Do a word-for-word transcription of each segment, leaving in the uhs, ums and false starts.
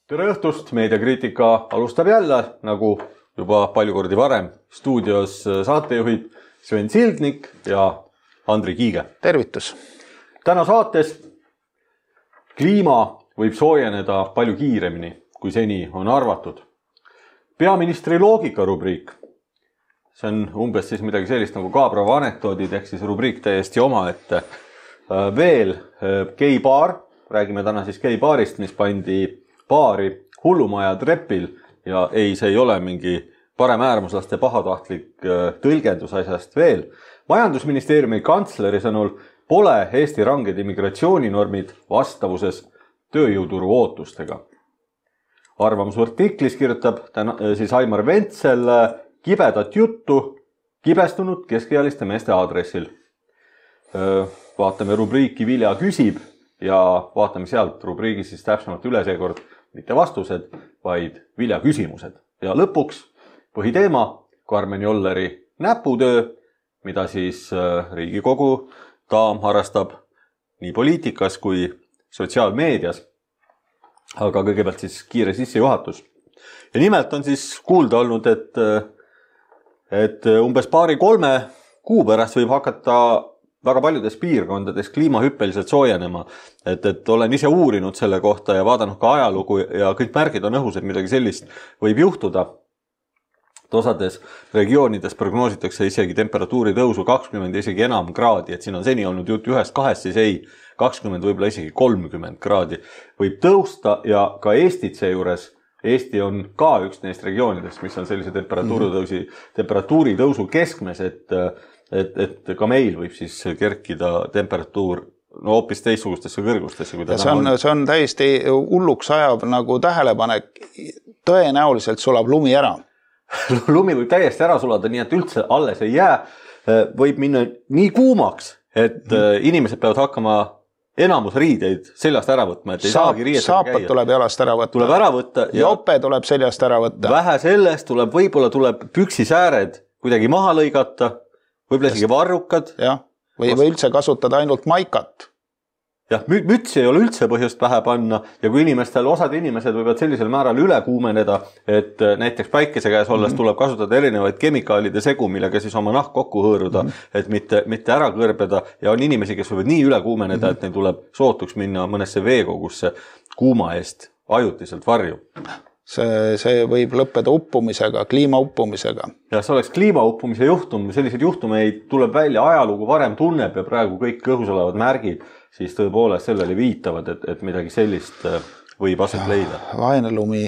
Tere õhtust, meediakriitika alustab jälle, nagu juba palju kordi varem, stuudios saatejuhid Sven Sildnik ja Andri Kiige. Tervitus! Täna saates kliima võib soojeneda palju kiiremini, kui seni on arvatud. Peaministri loogika rubriik. See on umbes siis midagi sellist nagu Kaabrava anekdoodid, ehk siis rubriik täiesti oma, et veel geibaar, räägime täna siis geibaarist, mis pandi baari hullumaja trepil ja ei, see ei ole mingi parem äärmuslaste pahatahtlik tõlgendus asjast veel. Majandusministeeriumi kantsleri sõnul pole Eesti ranged immigratsiooninormid vastavuses tööjõuturu ootustega. Arvamusartiklis kirjutab täna, siis Aimar Ventsel kibedat juttu kibestunud keskealiste meeste aadressil. Vaatame rubriiki Vilja küsib ja vaatame sealt rubriigi siis täpsemalt üle seekord mitte vastused, vaid Vilja küsimused. Ja lõpuks põhiteema Karmen Jolleri näputöö, mida siis Riigikogu daam harrastab nii poliitikas kui sotsiaalmeedias. Aga kõigepealt siis kiire sissejuhatus. Ja nimelt on siis kuulda olnud, et, et umbes paari kolme kuu pärast võib hakata väga paljudes piirkondades kliima hüppeliselt soojenema, et, et olen ise uurinud selle kohta ja vaadanud ka ajalugu ja kõik märgid on õhus, et midagi sellist võib juhtuda. Osades regioonides prognoositakse isegi temperatuuri tõusu kakskümmend isegi enam kraadi, et siin on seni olnud jutt ühest kahest, siis ei, kakskümmend võib-olla isegi kolmkümmend kraadi võib tõusta ja ka Eestit seejuures. Eesti on ka üks neist regioonidest, mis on sellise temperatuuri tõusi, temperatuuri tõusu keskmes, et Et, et ka meil võib siis kerkida temperatuur no hoopis teistsugustesse kõrgustesse. Kui see, on, see on täiesti hulluks ajav nagu tähelepanek. Tõenäoliselt sulab lumi ära. Lumi võib täiesti ära sulada, nii et üldse alles ei jää. Võib minna nii kuumaks, et mm. inimesed peavad hakkama enamus riideid seljast ära võtma. Et ei Saap, saagi riietega saapad käia. Tuleb jalast ära võtta. Tuleb ära võtta. Ja jope tuleb seljast ära võtta. Vähe sellest tuleb, võib-olla tuleb püksisääred kuidagi maha lõigata. Võib-olla isegi varrukad. Jah, või, või üldse kasutada ainult maikat. Jah, mütsi ei ole üldse põhjust pähe panna ja kui inimestel, osad inimesed võivad sellisel määral üle kuumeneda, et näiteks päikese käes olles mm-hmm. tuleb kasutada erinevaid kemikaalide segu, millega siis oma nahk kokku hõõruda, mm-hmm. et mitte, mitte ära kõrbeda ja on inimesi, kes võivad nii üle kuumeneda, mm-hmm. et neil tuleb sootuks minna mõnesse veekogusse kuuma eest ajutiselt varju. See, see võib lõppeda uppumisega, kliima uppumisega. Ja see oleks kliima uppumise juhtum, sellised juhtumeid tuleb välja ajalugu varem tunneb ja praegu kõik õhus olevad märgid, siis tõepoolest sellele viitavad, et, et midagi sellist võib aset ja, leida. Vaene lumi.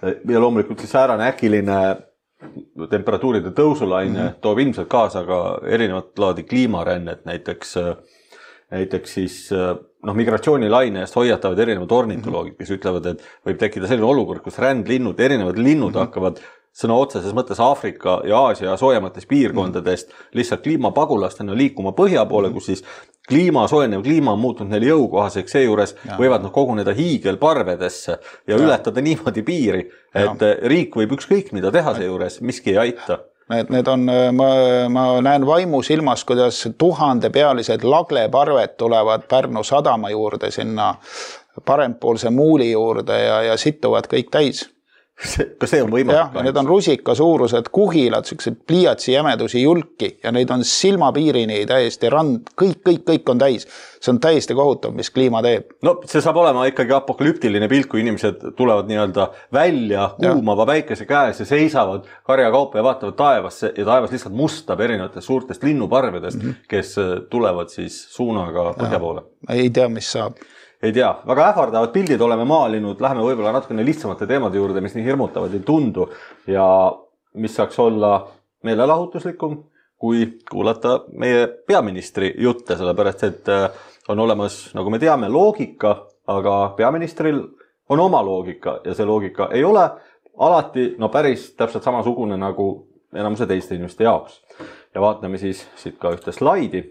Ja loomulikult siis äärane äkiline temperatuuride tõusulaine mm-hmm. toob ilmselt kaasa ka erinevat laadi kliimarännet, näiteks Näiteks siis no, migratsioonilaine eest hoiatavad erinevad ornitoloogid, kes ütlevad, et võib tekkida selline olukord, kus rändlinnud, erinevad linnud mm-hmm. hakkavad sõna otseses mõttes Aafrika ja Aasia soojemates piirkondadest lihtsalt kliimapagulastena liikuma põhja poole, kus siis kliima, soojenev kliima on muutunud neile jõukohaseks, seejuures ja. Võivad nad koguneda hiigelparvedesse ja, ja ületada niimoodi piiri, et ja. Riik võib ükskõik mida teha seejuures, miski ei aita. Need, need on, ma, ma näen vaimu silmas, kuidas tuhandepealised lagleparved tulevad Pärnu sadama juurde sinna parempoolse muuli juurde ja, ja situvad kõik täis. Kas see on võimalik? Ja, need on rusika suurused kuhilad, sellised pliiatsi jämedusi julki ja neid on silmapiirini täiesti rand, kõik, kõik, kõik on täis. See on täiesti kohutav, mis kliima teeb. No see saab olema ikkagi apokalüptiline pilt, kui inimesed tulevad nii-öelda välja kuumava päikese käes ja seisavad karjakaupa ja vaatavad taevasse ja taevas lihtsalt mustab erinevatest suurtest linnuparvedest, mm-hmm. kes tulevad siis suunaga põhja poole. Ei tea, mis saab. Ei tea, väga ähvardavad pildid oleme maalinud, läheme võib-olla natukene lihtsamate teemade juurde, mis nii hirmutavad ei tundu ja mis saaks olla meelelahutuslikum, kui kuulata meie peaministri jutte, sellepärast et on olemas, nagu me teame, loogika, aga peaministril on oma loogika ja see loogika ei ole alati no päris täpselt samasugune nagu enamuse teiste inimeste jaoks. Ja vaatame siis siit ka ühte slaidi.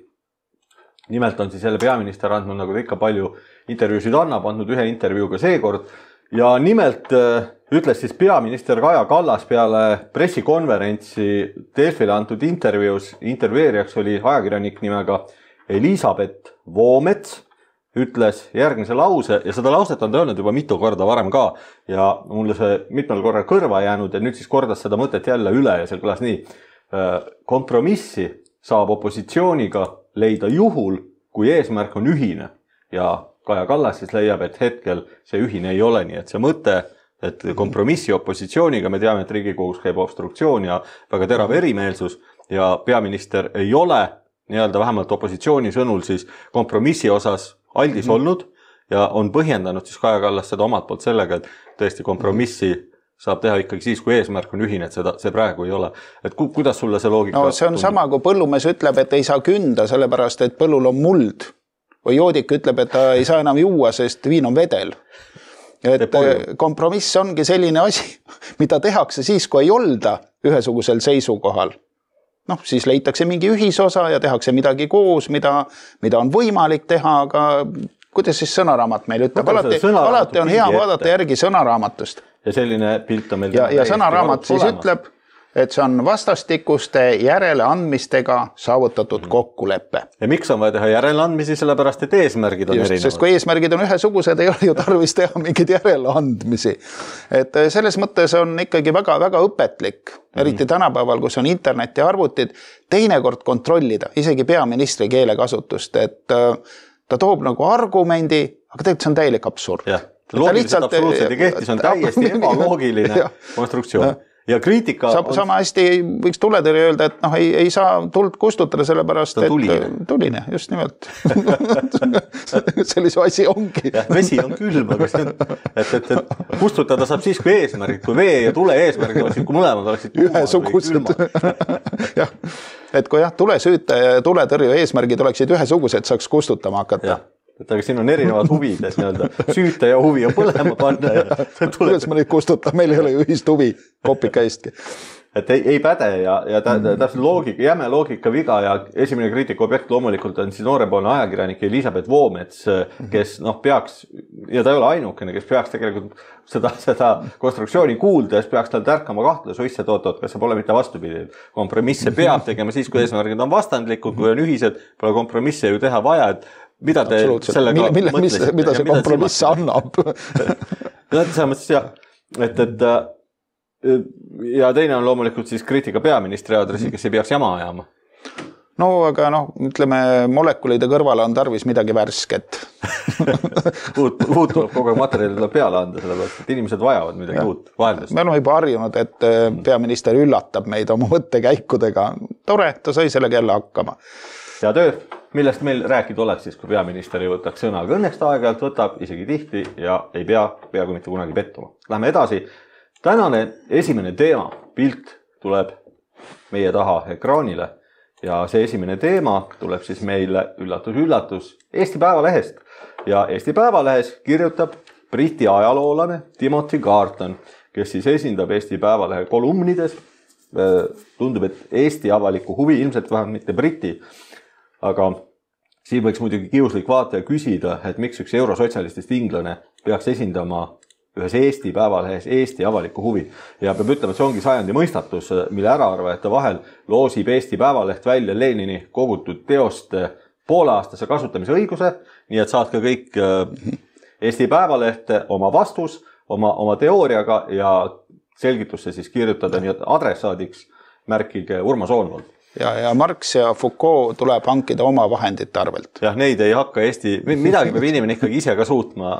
Nimelt on siis jälle peaminister andnud, nagu ta ikka palju intervjuusid annab, andnud ühe intervjuuga seekord. Ja nimelt ütles siis peaminister Kaja Kallas peale pressikonverentsi Delfile antud intervjuus, intervjueerijaks oli ajakirjanik nimega Elisabeth Voomets ütles järgmise lause ja seda lauset on ta öelnud juba mitu korda varem ka ja mulle see mitmel korral kõrva jäänud ja nüüd siis kordas seda mõtet jälle üle ja seal kõlas nii. Kompromissi saab opositsiooniga leida juhul, kui eesmärk on ühine ja Kaja Kallas siis leiab, et hetkel see ühine ei ole nii, et see mõte, et kompromissi opositsiooniga, me teame, et Riigikogus käib obstruktsioon ja väga terav erimeelsus ja peaminister ei ole nii-öelda vähemalt opositsiooni sõnul siis kompromissi osas aldis mm-hmm. olnud ja on põhjendanud siis Kaja Kallas seda omalt poolt sellega, et tõesti kompromissi saab teha ikkagi siis, kui eesmärk on ühine, et seda, see praegu ei ole. Et ku, kuidas sulle see loogika? No see on tundub? Sama, kui põllumees ütleb, et ei saa künda, sellepärast, et põllul on muld. Või joodik ütleb, et ta ei saa enam juua, sest viin on vedel. Et kompromiss ongi selline asi, mida tehakse siis, kui ei olda ühesugusel seisukohal. Noh, siis leitakse mingi ühisosa ja tehakse midagi koos, mida, mida on võimalik teha, aga kuidas siis sõnaraamat meil ütleb? Alati, alati on hea vaadata järgi sõnaraamatust. Ja selline pilt on meil... Ja, ja sõnaraamat siis olemas. Ütleb, et see on vastastikuste järeleandmistega saavutatud mm. kokkuleppe. Ja miks on vaja teha järeleandmisi, sellepärast, et eesmärgid on Just, erinevad? Sest kui eesmärgid on ühesugused, ei ole ju tarvis teha mingeid järeleandmisi. Et selles mõttes on ikkagi väga, väga õpetlik, eriti mm. tänapäeval, kus on internet ja arvutid, teinekord kontrollida, isegi peaministri keelekasutust, et ta toob nagu argumendi, aga tegelikult see on täielik absurd. Jah. Loogiliselt absoluutselt ei kehti, see on täiesti ebaloogiline konstruktsioon. Ja kriitika... Sa, on... Sama hästi võiks tuletõrje öelda, et noh, ei, ei saa tuld kustutada sellepärast, et tuline, tuline just nimelt. Sellise asi ongi. Ja, vesi on külm, aga see on, et, et, et kustutada saab siis, kui eesmärgid, kui vee ja tule eesmärgid oleksid, kui mõlemad oleksid ühesugused. jah, et kui jah, tule süüte ja tuletõrje eesmärgid oleksid ühesugused, saaks kustutama hakata. Ja. Et aga siin on erinevad huvid, et nii-öelda süüte ja huvi on põlema panna. Ja kuidas ma neid kustutan, meil ei ole ju ühist huvi kopika eestki. Et ei, ei päde ja, ja täpselt loogika, jäme loogika viga ja esimene kriitika objekt loomulikult on siis noorepoolne ajakirjanik Elisabeth Voomets, kes noh, peaks, ja ta ei ole ainukene, kes peaks tegelikult seda, seda konstruktsiooni kuuldes, peaks tal tärkama kahtluse uisse toot-toot, kas see pole mitte vastupidi. Kompromisse peab tegema siis, kui eesmärgid on vastandlikud, kui on ühised, pole kompromisse ju teha vaja, et mida te sellega mille, mõtlesite? Mida see kompromiss annab? Selles mõttes jah, et, et ja teine on loomulikult siis kriitika peaministri aadressi, kes ei peaks jama ajama. No aga noh, ütleme, molekulide kõrvale on tarvis midagi värsket. uut, uut tuleb kogu aeg materjalile peale anda, sellepärast, et inimesed vajavad midagi ja. Uut vaheldust. Me oleme juba harjunud, et peaminister üllatab meid oma mõttekäikudega. Tore, ta sai sellega jälle hakkama. Ja töö, millest meil rääkida oleks siis, kui peaminister ei võtaks sõna. Õnneks ta aeg-ajalt võtab isegi tihti ja ei pea peaaegu mitte kunagi pettuma. Lähme edasi. Tänane esimene teema, pilt tuleb meie taha ekraanile ja see esimene teema tuleb siis meile üllatus-üllatus Eesti Päevalehest. Ja Eesti Päevalehes kirjutab Briti ajaloolane Timothy Garton, kes siis esindab Eesti Päevalehe kolumnides. Tundub, et Eesti avaliku huvi, ilmselt vähemalt mitte Briti, aga siin võiks muidugi kiuslik vaataja küsida, et miks üks eurosotsialistist inglane peaks esindama ühes Eesti Päevalehes Eesti avaliku huvi. Ja peab ütlema, et see ongi sajandi mõistatus, mille äraarvajate vahel loosib Eesti Päevaleht välja Lenini kogutud teoste pooleaastase kasutamise õiguse, nii et saad ka kõik Eesti Päevalehte oma vastus, oma, oma teooriaga ja selgitusse siis kirjutada nii, et adressaadiks märkige Urmas Oonvald. Ja, ja Marx ja Foucault tuleb hankida oma vahendite arvelt. Jah, neid ei hakka Eesti, midagi peab inimene ikkagi ise ka suutma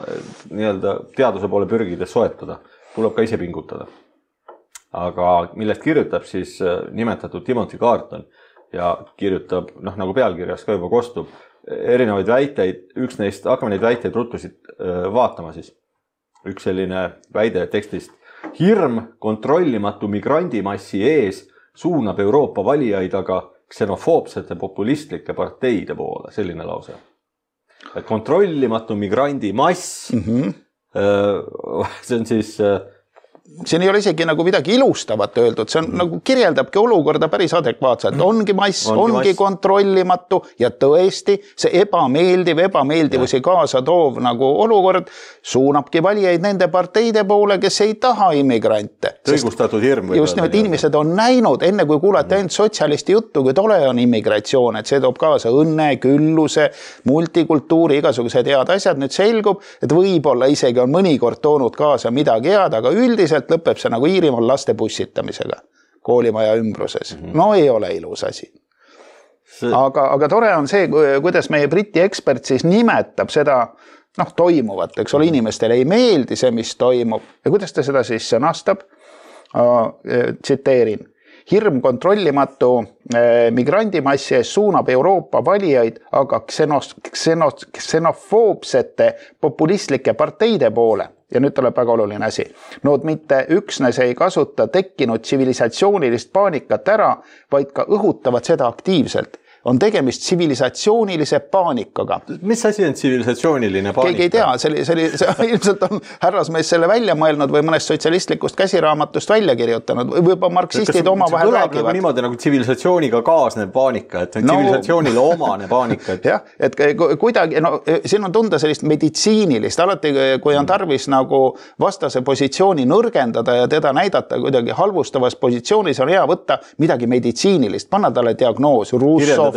nii-öelda teaduse poole pürgides soetada. Tuleb ka ise pingutada. Aga millest kirjutab siis nimetatud Timothy Garton ja kirjutab, noh nagu pealkirjas ka juba kostub, erinevaid väiteid, üks neist, hakkame neid väiteid ruttusid vaatama siis. Üks selline väide tekstist. Hirm kontrollimatu migrandimassi ees suunab Euroopa valijaid aga ksenofoobsete populistlike parteide poole. Selline lause. Et kontrollimatu migrandi mass, mm-hmm. see on siis siin ei ole isegi nagu midagi ilustavat öeldud, see on mm. nagu kirjeldabki olukorda päris adekvaatselt. Ongi mass, ongi, ongi mass. Kontrollimatu ja tõesti see ebameeldiv, ebameeldivusi ja. Kaasa toov nagu olukord suunabki valijaid nende parteide poole, kes ei taha immigrante. Õigustatud hirm. Just nimelt inimesed on näinud, enne kui kuulete mm. ainult sotsialisti juttu, kui tole on immigratsioon, et see toob kaasa õnne, külluse, multikultuuri, igasugused head asjad. Nüüd selgub, et võib-olla isegi on mõnikord toonud kaasa midagi head, aga üldiselt lõpeb see nagu Iirimaal laste bussitamisega koolimaja ümbruses. Mm -hmm. No ei ole ilus asi. See... Aga, aga tore on see, kuidas meie Briti ekspert siis nimetab seda noh, toimuvat, eks ole, inimestele ei meeldi see, mis toimub. Ja kuidas ta seda siis sõnastab? Tsiteerin. Hirm kontrollimatu migrandimassi ees suunab Euroopa valijaid aga ksenos, ksenos, ksenofoobsete populistlike parteide poole. Ja nüüd tuleb väga oluline asi. Nood mitte üksnes ei kasuta tekkinud tsivilisatsioonilist paanikat ära, vaid ka õhutavad seda aktiivselt. On tegemist tsivilisatsioonilise paanikaga. Mis asi on tsivilisatsiooniline paanika? Keegi ei tea, see, oli, see, oli, see ilmselt on härrasmees selle välja mõelnud või mõnest sotsialistlikust käsiraamatust välja kirjutanud või juba marksistid oma vahel räägivad. Nagu niimoodi nagu tsivilisatsiooniga kaasnev paanika, et no, tsivilisatsioonile omane paanika. Et... jah, et kuidagi, no siin on tunda sellist meditsiinilist, alati kui on tarvis nagu vastase positsiooni nõrgendada ja teda näidata kuidagi halvustavas positsioonis, on hea võtta midagi meditsiinilist, panna talle diagnoos, Russo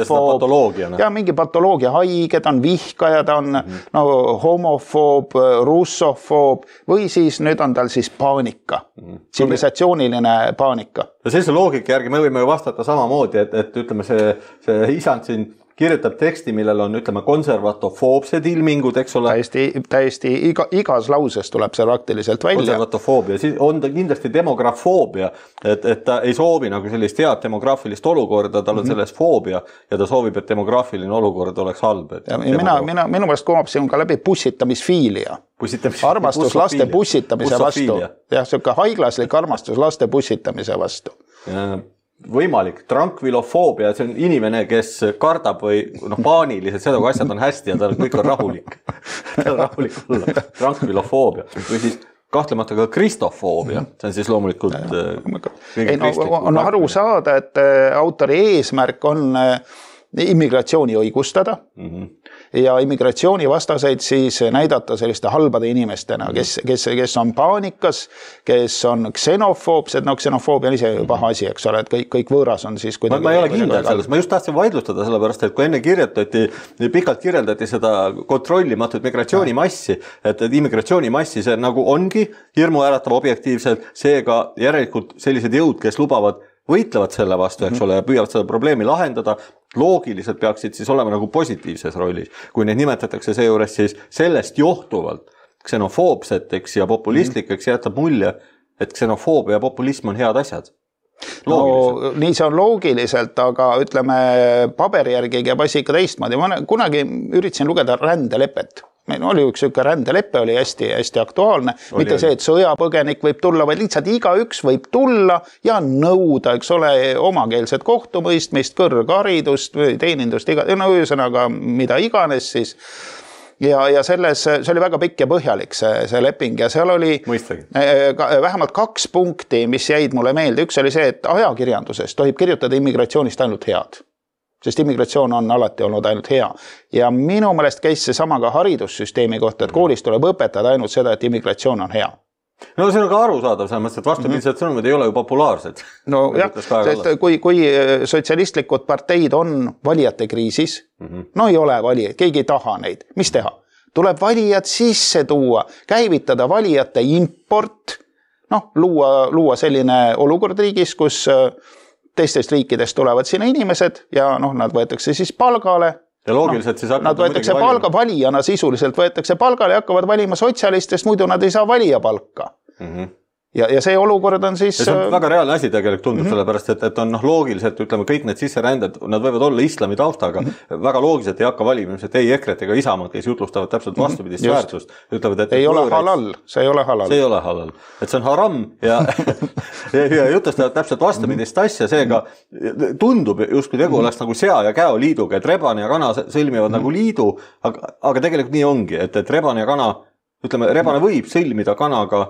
ja mingi patoloogia haiged on vihkajad, on mm -hmm. no, homofoob, russofoob või siis nüüd on tal siis paanika, mm -hmm. tsivilisatsiooniline paanika. Ja sellise loogika järgi me võime ju vastata samamoodi, et, et ütleme see, see isand siin kirjutab teksti, millel on, ütleme, konservatofoobsed ilmingud, eks ole. Täiesti, täiesti iga, igas lauses tuleb see praktiliselt välja. Konservatofoobia, siis on ta kindlasti demografoobia, et, et ta ei soovi nagu sellist head demograafilist olukorda, tal on mm -hmm. selles foobia ja ta soovib, et demograafiline olukord oleks halb. Ja mina, mina, minu pärast kumab siin ka läbi pussitamisfiilia. Armastus laste pussitamise vastu. Jah, selline haiglaslik armastus laste pussitamise vastu. Ja võimalik, trankvilofoobia, see on inimene, kes kardab või noh, paaniliselt seda, kui asjad on hästi ja tal kõik on rahulik. ta on rahulik olla. Trankvilofoobia. Või siis kahtlemata ka kristofoobia. See on siis loomulikult... Ei, no, on aru saada, et autori eesmärk on immigratsiooni õigustada mm -hmm. ja immigratsiooni vastaseid siis näidata selliste halbade inimestena, kes, kes, kes on paanikas, kes on ksenofoobsed, no ksenofoobia on ise paha asi, eks ole, et kõik, kõik võõras on siis kuidagi... Ma, ma ei ole kindel selles, ma just tahtsin vaidlustada sellepärast, et kui enne kirjutati, pikalt kirjeldati seda kontrollimatut migratsioonimassi, et, et immigratsioonimassi see nagu ongi hirmu äratav objektiivselt, seega järelikult sellised jõud, kes lubavad võitlevad selle vastu, eks ole, ja püüavad seda probleemi lahendada, loogiliselt peaksid siis olema nagu positiivses rollis. Kui neid nimetatakse seejuures siis sellest johtuvalt ksenofoobseteks ja populistlikeks, jätab mulje, et ksenofoobia ja populism on head asjad. No, nii see on loogiliselt, aga ütleme paberi järgi käib asi ikka teistmoodi. Ma kunagi üritasin lugeda rändelepet. Meil oli üks üks rändeleppe, oli hästi, hästi aktuaalne. Oli, mitte see, et sõjapõgenik võib tulla, vaid lihtsalt igaüks võib tulla ja nõuda, eks ole, omakeelset kohtumõistmist, kõrgharidust või teenindust, iga, no ühesõnaga mida iganes siis. Ja, ja selles, see oli väga pikk ja põhjalik see, see leping ja seal oli Mõistagi. vähemalt kaks punkti, mis jäid mulle meelde. Üks oli see, et ajakirjanduses tohib kirjutada immigratsioonist ainult head. Sest immigratsioon on alati olnud ainult hea. Ja minu mõelest käis see sama ka haridussüsteemi kohta, et koolis tuleb õpetada ainult seda, et immigratsioon on hea. No see on ka arusaadav, selles mõttes, et vastupidised mm -hmm. sõnumid ei ole ju populaarsed. No jah, sest kui, kui sotsialistlikud parteid on valijate kriisis, mm -hmm. no ei ole valijaid, keegi ei taha neid. Mis teha? Tuleb valijad sisse tuua, käivitada valijate import, noh, luua, luua selline olukord riigis, kus teistest riikidest tulevad sinna inimesed ja noh, nad võetakse siis palgale. Ja loogiliselt no, siis nad võetakse palga valijana, sisuliselt võetakse palgale ja hakkavad valima sotsialistest, muidu nad ei saa valija palka. Mm -hmm. Ja, ja see olukord on siis... Ja see on väga reaalne asi tegelikult tundub mm -hmm. sellepärast, et, et on noh, loogiliselt, ütleme, kõik need sisseränded, nad võivad olla islami taustaga, mm -hmm. väga loogiliselt ei hakka valimised, ei Ekret ega Isamaad, kes jutlustavad täpselt vastupidist mm -hmm. väärtust. Ütlevad, et ei ole võõreid, halal, see ei ole halal. See ei ole halal, et see on haram ja, ja, ja jutlustavad täpselt vastupidist mm -hmm. asja, seega tundub justkui tegu mm -hmm. oleks nagu sea ja käo liiduga, et rebane ja kana sõlmivad mm -hmm. nagu liidu, aga, aga tegelikult nii ongi, et, et rebane ja kana, ütleme, rebane võib sõlmida kanaga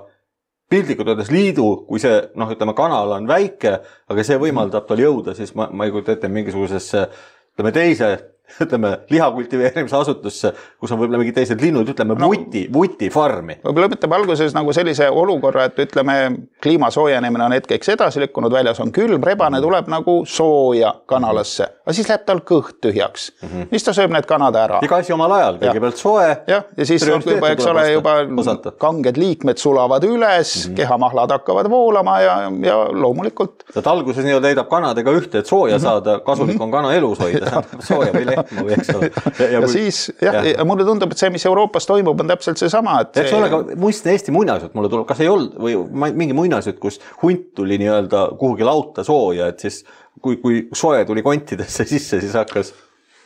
piltlikult öeldes liidu, kui see, noh, ütleme, kanal on väike, aga see võimaldab tal jõuda, siis ma, ma ei kujuta ette mingisugusesse, ütleme, teise ütleme, lihakultiveerimise asutusse, kus on võib-olla mingi teised linnud, ütleme, no, vuti, vuti farmi. Võib-olla lõpetab alguses nagu sellise olukorra, et ütleme, kliima soojenemine on hetkeks edasi lükkunud, väljas on külm, rebane tuleb nagu sooja kanalasse, aga siis läheb tal kõht tühjaks. Mm -hmm. Mis ta sööb need kanad ära? Iga asi omal ajal, kõigepealt soe. Ja, ja siis on juba, eks ole, juba osata. Kanged liikmed sulavad üles, mm -hmm. kehamahlad hakkavad voolama ja, ja loomulikult. Et alguses nii leidab kanadega ühte, et sooja mm -hmm. saada, kasulik on kana elus hoida, sooja või lehma või eks ole. Ja, ja, ja kui, siis, jah, ja. mulle tundub, et see, mis Euroopas toimub, on täpselt see sama. Et eks see... ole, ka muistne Eesti muinasjutt mulle tuleb, kas ei olnud või mingi muinasjutt, kus hunt tuli nii-öelda kuhugi lauta sooja, et siis kui, kui soe tuli kontidesse sisse, siis hakkas...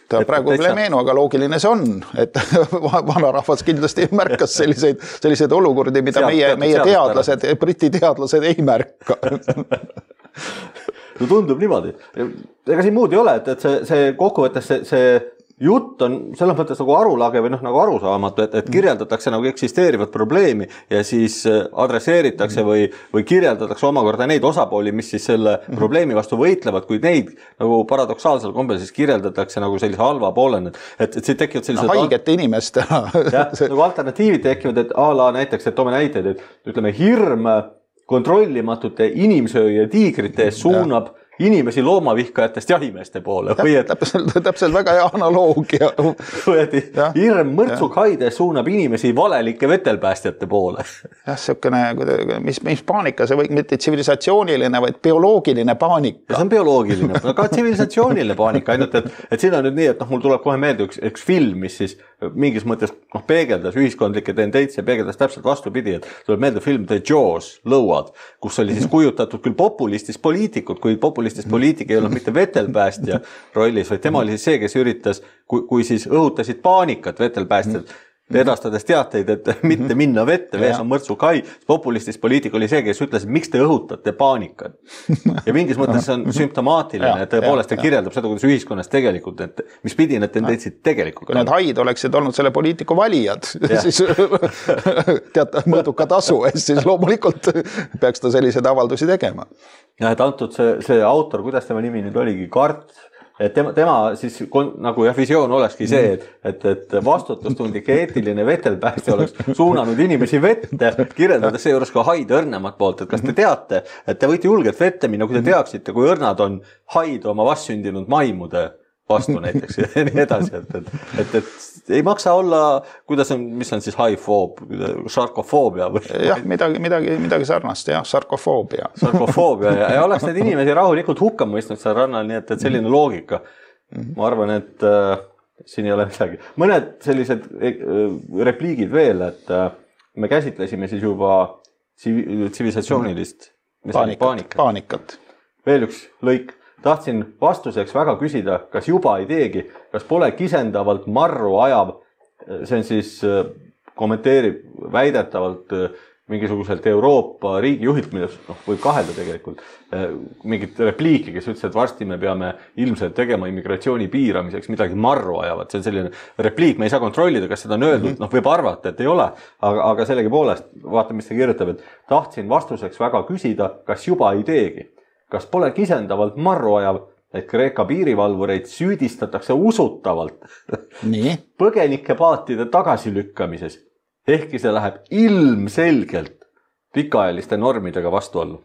Ta et praegu veel ei meenu, aga loogiline see on, et vanarahvas kindlasti märkas selliseid, selliseid olukordi, mida sealt, meie, meie teadlased, briti teadlased ei märka. No tundub niimoodi. Ega siin muud ei ole, et, et see, see kokkuvõttes see, see jutt on selles mõttes nagu arulage või noh, nagu arusaamatu, et, et kirjeldatakse nagu eksisteerivat probleemi ja siis adresseeritakse või, või kirjeldatakse omakorda neid osapooli, mis siis selle probleemi vastu võitlevad, kui neid nagu paradoksaalsel kombel siis kirjeldatakse nagu sellise halva poolena, et, et see tekivad sellised... No, haigete inimeste. jah, nagu alternatiivid tekivad, et a la näiteks, et toome näiteid, et ütleme hirm kontrollimatute inimsööja tiigrite ees suunab ja. Inimesi loomavihkajatest jahimeeste poole. Ja, et... täpselt, täpselt väga hea analoogia. Hirm mõrtsukhaide suunab inimesi valelike vetelpäästjate poole. jah, siukene, mis, mis paanika, see või mitte tsivilisatsiooniline, vaid bioloogiline paanika. See on bioloogiline, aga tsivilisatsiooniline paanika, ainult et, et siin on nüüd nii, et noh, mul tuleb kohe meelde üks, üks film, mis siis mingis mõttes noh, peegeldas ühiskondlikke tendentsi ja peegeldas täpselt vastupidi, et tuleb meelde film The Jaws, Lõuad, kus oli siis kujutatud küll populistis poliitikud, kui populistist poliitik ei olnud mitte vetelpäästja rollis, vaid tema oli siis see, kes üritas, kui, kui siis õhutasid paanikat vetelpäästjad, edastades teateid, et mitte minna vette, vees on mõrtsukai. Populistis poliitik oli see, kes ütles, et miks te õhutate paanikat. Ja mingis mõttes see on sümptomaatiline, et tõepoolest ta kirjeldab seda, kuidas ühiskonnas tegelikult, et mis pidi need tendentsid tegelikult. Kui need haid oleksid olnud selle poliitiku valijad, siis tead, mõõduka tasu eest, siis loomulikult peaks ta selliseid avaldusi tegema. Ja et antud see, see autor, kuidas tema nimi nüüd oligi, Kart, et tema, tema siis nagu jah, visioon olekski see, et, et, et vastutustundlik eetiline vetelpäästja oleks suunanud inimesi vette, kirjeldades seejuures ka haid õrnemat poolt, et kas te teate, et te võite julgelt vette minna, kui te teaksite, kui õrnad on haid oma vastsündinud maimude vastu näiteks ja nii edasi, et, et, et, et ei maksa olla, kuidas on, mis on siis haifoob, sarkofoobia või? jah, midagi, midagi, midagi sarnast, jah, sarkofoobia. Sarkofoobia ja, ja oleks need inimesi rahulikult hukka mõistnud seal rannal, nii et, et selline loogika. Ma arvan, et äh, siin ei ole midagi. Mõned sellised äh, repliigid veel, et äh, me käsitlesime siis juba tsivilisatsioonilist paanikat, paanikat. paanikat. Veel üks lõik. Tahtsin vastuseks väga küsida, kas juba ei teegi, kas pole kisendavalt marru ajav, see on siis, kommenteerib väidetavalt mingisuguselt Euroopa riigijuhilt, millest noh, võib kahelda tegelikult, mingit repliiki, kes ütles, et varsti me peame ilmselt tegema immigratsiooni piiramiseks midagi marru ajavat. See on selline repliik, me ei saa kontrollida, kas seda on öeldud, noh võib arvata, et ei ole, aga, aga sellegi poolest, vaata, mis ta kirjutab, et tahtsin vastuseks väga küsida, kas juba ei teegi. Kas pole kisendavalt marru ajav, et Kreeka piirivalvureid süüdistatakse usutavalt Nii. põgenike paatide tagasilükkamises, ehkki see läheb ilmselgelt pikaajaliste normidega vastuollu.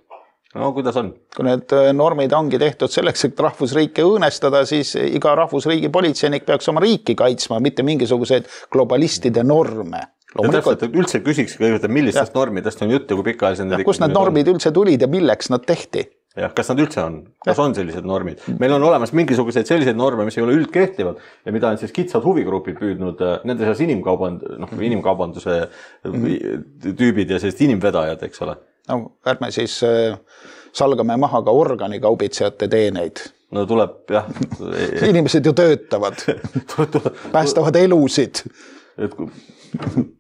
No kuidas on? Kui need normid ongi tehtud selleks, et rahvusriike õõnestada, siis iga rahvusriigi politseinik peaks oma riiki kaitsma, mitte mingisuguseid globalistide norme. Ja täpselt, et üldse küsiks kõigepealt, millistest ja. normidest on juttu, kui pikaajalise... Ja, kus need normid üldse tulid ja milleks nad tehti? Ja, kas nad üldse on? Kas on sellised normid? Meil on olemas mingisuguseid selliseid norme, mis ei ole üldkehtivad ja mida on siis kitsad huvigrupid püüdnud, nende seas inimkauband, noh, inimkaubanduse tüübid ja sellised inimvedajad, eks ole. No, ärme siis salgame maha ka organikaubitsejate teeneid. No tuleb, jah. Inimesed ju töötavad, päästavad elusid. Et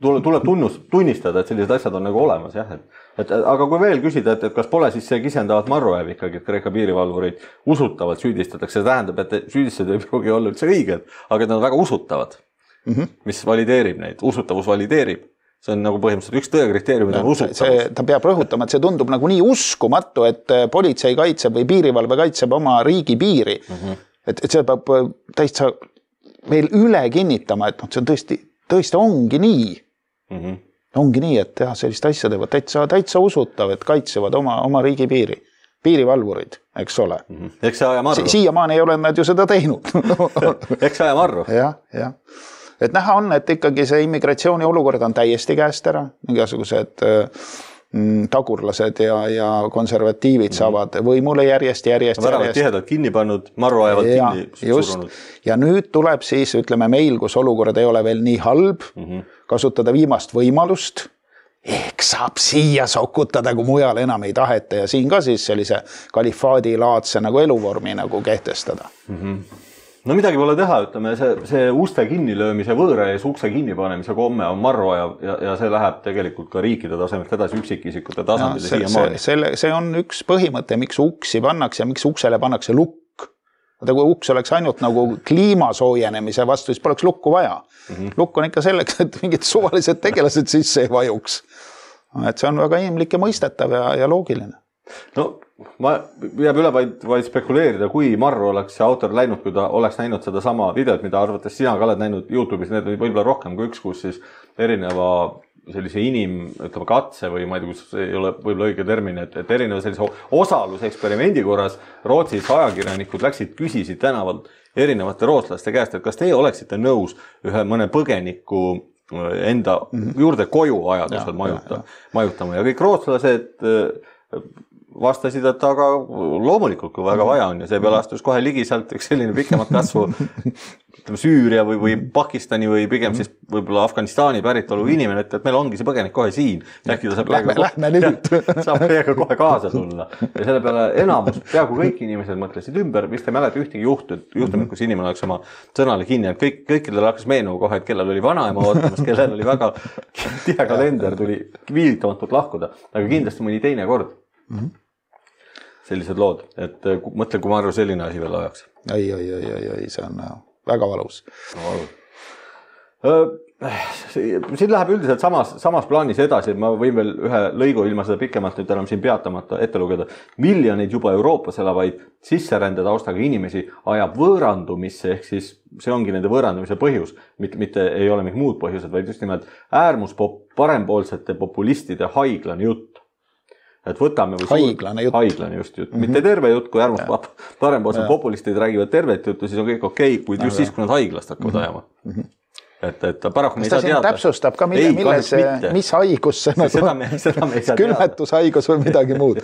tuleb, tuleb tunnus, tunnistada, et sellised asjad on nagu olemas, jah. Et, et, aga kui veel küsida, et, et kas pole siis see kisendavat marruäev ikkagi, et Kreeka piirivalvureid usutavalt süüdistatakse, see tähendab, et süüdistused ei pruugi olla üldse õiged, aga nad on väga usutavad, mm -hmm. mis valideerib neid, usutavus valideerib see on nagu põhimõtteliselt üks tõe kriteeriumid on usutavus. Ta peab rõhutama, et see tundub nagu nii uskumatu, et politsei kaitseb või piirivalve kaitseb oma riigi piiri. Mm-hmm. Et, et see peab täitsa veel üle kinnitama, et no, see on tõesti, tõesti ongi nii. Mm-hmm. Ongi nii, et jah, sellist asja teevad täitsa, täitsa usutav, et kaitsevad oma, oma riigi piiri. Piirivalvurid, eks ole. Mm-hmm. Eks see aja marru. Si siiamaani ei ole nad ju seda teinud. Eks see aja marru. Jah, jah. Et näha on, et ikkagi see immigratsiooni olukord on täiesti käest ära. Igasugused mm, tagurlased ja, ja konservatiivid mm-hmm. saavad võimule järjest, järjest, no, järjest. Tihedalt kinni pannud, marru ajavad ja, kinni just. Surunud. Ja nüüd tuleb siis, ütleme meil, kus olukord ei ole veel nii halb, mm-hmm. kasutada viimast võimalust, ehk saab siia sokutada, kui mujal enam ei taheta ja siin ka siis sellise kalifaadi laadse nagu eluvormi nagu kehtestada. Mm-hmm. No midagi pole teha, ütleme, see, see uste kinnilöömise võõra ees ukse kinnipanemise komme on marru ja, ja, ja see läheb tegelikult ka riikide tasemelt edasi üksikisikute tasandile siia maani. See, see on üks põhimõte, miks uksi pannakse ja miks uksele pannakse lukk. Vaata, kui uks oleks ainult nagu kliima soojenemise vastu, siis poleks lukku vaja. Mm-hmm. Lukk on ikka selleks, et mingid suvalised tegelased sisse ei vajuks. Et see on väga inimlik ja mõistetav ja, ja loogiline. No, ma jääb üle vaid, vaid spekuleerida, kui marru oleks see autor läinud, kui ta oleks näinud seda sama videot, mida arvates sina ka oled näinud YouTube'is, need oli võib-olla rohkem kui üks, kus siis erineva sellise inim, ütleme katse või ma ei tea, kus ei ole võib-olla õige termin, et, et erineva sellise osaluseksperimendi korras Rootsis ajakirjanikud läksid, küsisid tänavalt erinevate rootslaste käest, et kas teie oleksite nõus ühe mõne põgeniku enda juurde koju ajadusel majuta, majutama ja kõik rootslased vastasid, et aga loomulikult, kui väga vaja on ja see peale astus kohe ligi sealt üks selline pikemat kasvu ütleme, Süüria või, või Pakistani või pigem siis võib-olla Afganistani päritolu inimene, et, et meil ongi see põgenik kohe siin. Äkki ta saab lähme, lähme nüüd. saab meiega kohe kaasa tulla. Ja selle peale enamus, peaaegu kõik inimesed mõtlesid ümber, vist ei mäleta ühtegi juhtu, juhtumit, kus inimene oleks oma sõnale kinni, et kõik, kõikidel hakkas meenuga kohe, et kellel oli vanaema ootamas, kellel oli väga tihe kalender, tuli viilitamatult lahkuda, aga kindlasti mõni teine kord. Mm-hmm. Sellised lood, et mõtle, kui Marru selline asi veel ajaks. Ei, ei, ei, ei, ei, see on väga valus. Siin läheb üldiselt samas, samas plaanis edasi, et ma võin veel ühe lõigu ilma seda pikemalt nüüd enam siin peatamata ette lugeda. Miljoneid juba Euroopas elavaid sisserände taustaga inimesi ajab võõrandumisse, ehk siis see ongi nende võõrandumise põhjus, mitte, mitte ei ole mingid muud põhjused, vaid just nimelt äärmus parempoolsete populistide haiglane jutt. Et võtame või haiglane jutt. Haiglane just jutt. Mm-hmm. Mitte terve jutt, kui äärmus parempoolsed populistid räägivad tervet juttu, siis on kõik okei, okay, kuid just siis, kui nad haiglast hakkavad ajama. Mm-hmm. Et, et paraku me ei saa teada. Täpsustab ka, mille, milles, mis haigus see nagu seda me, seda me ei saa külmetushaigus või midagi muud.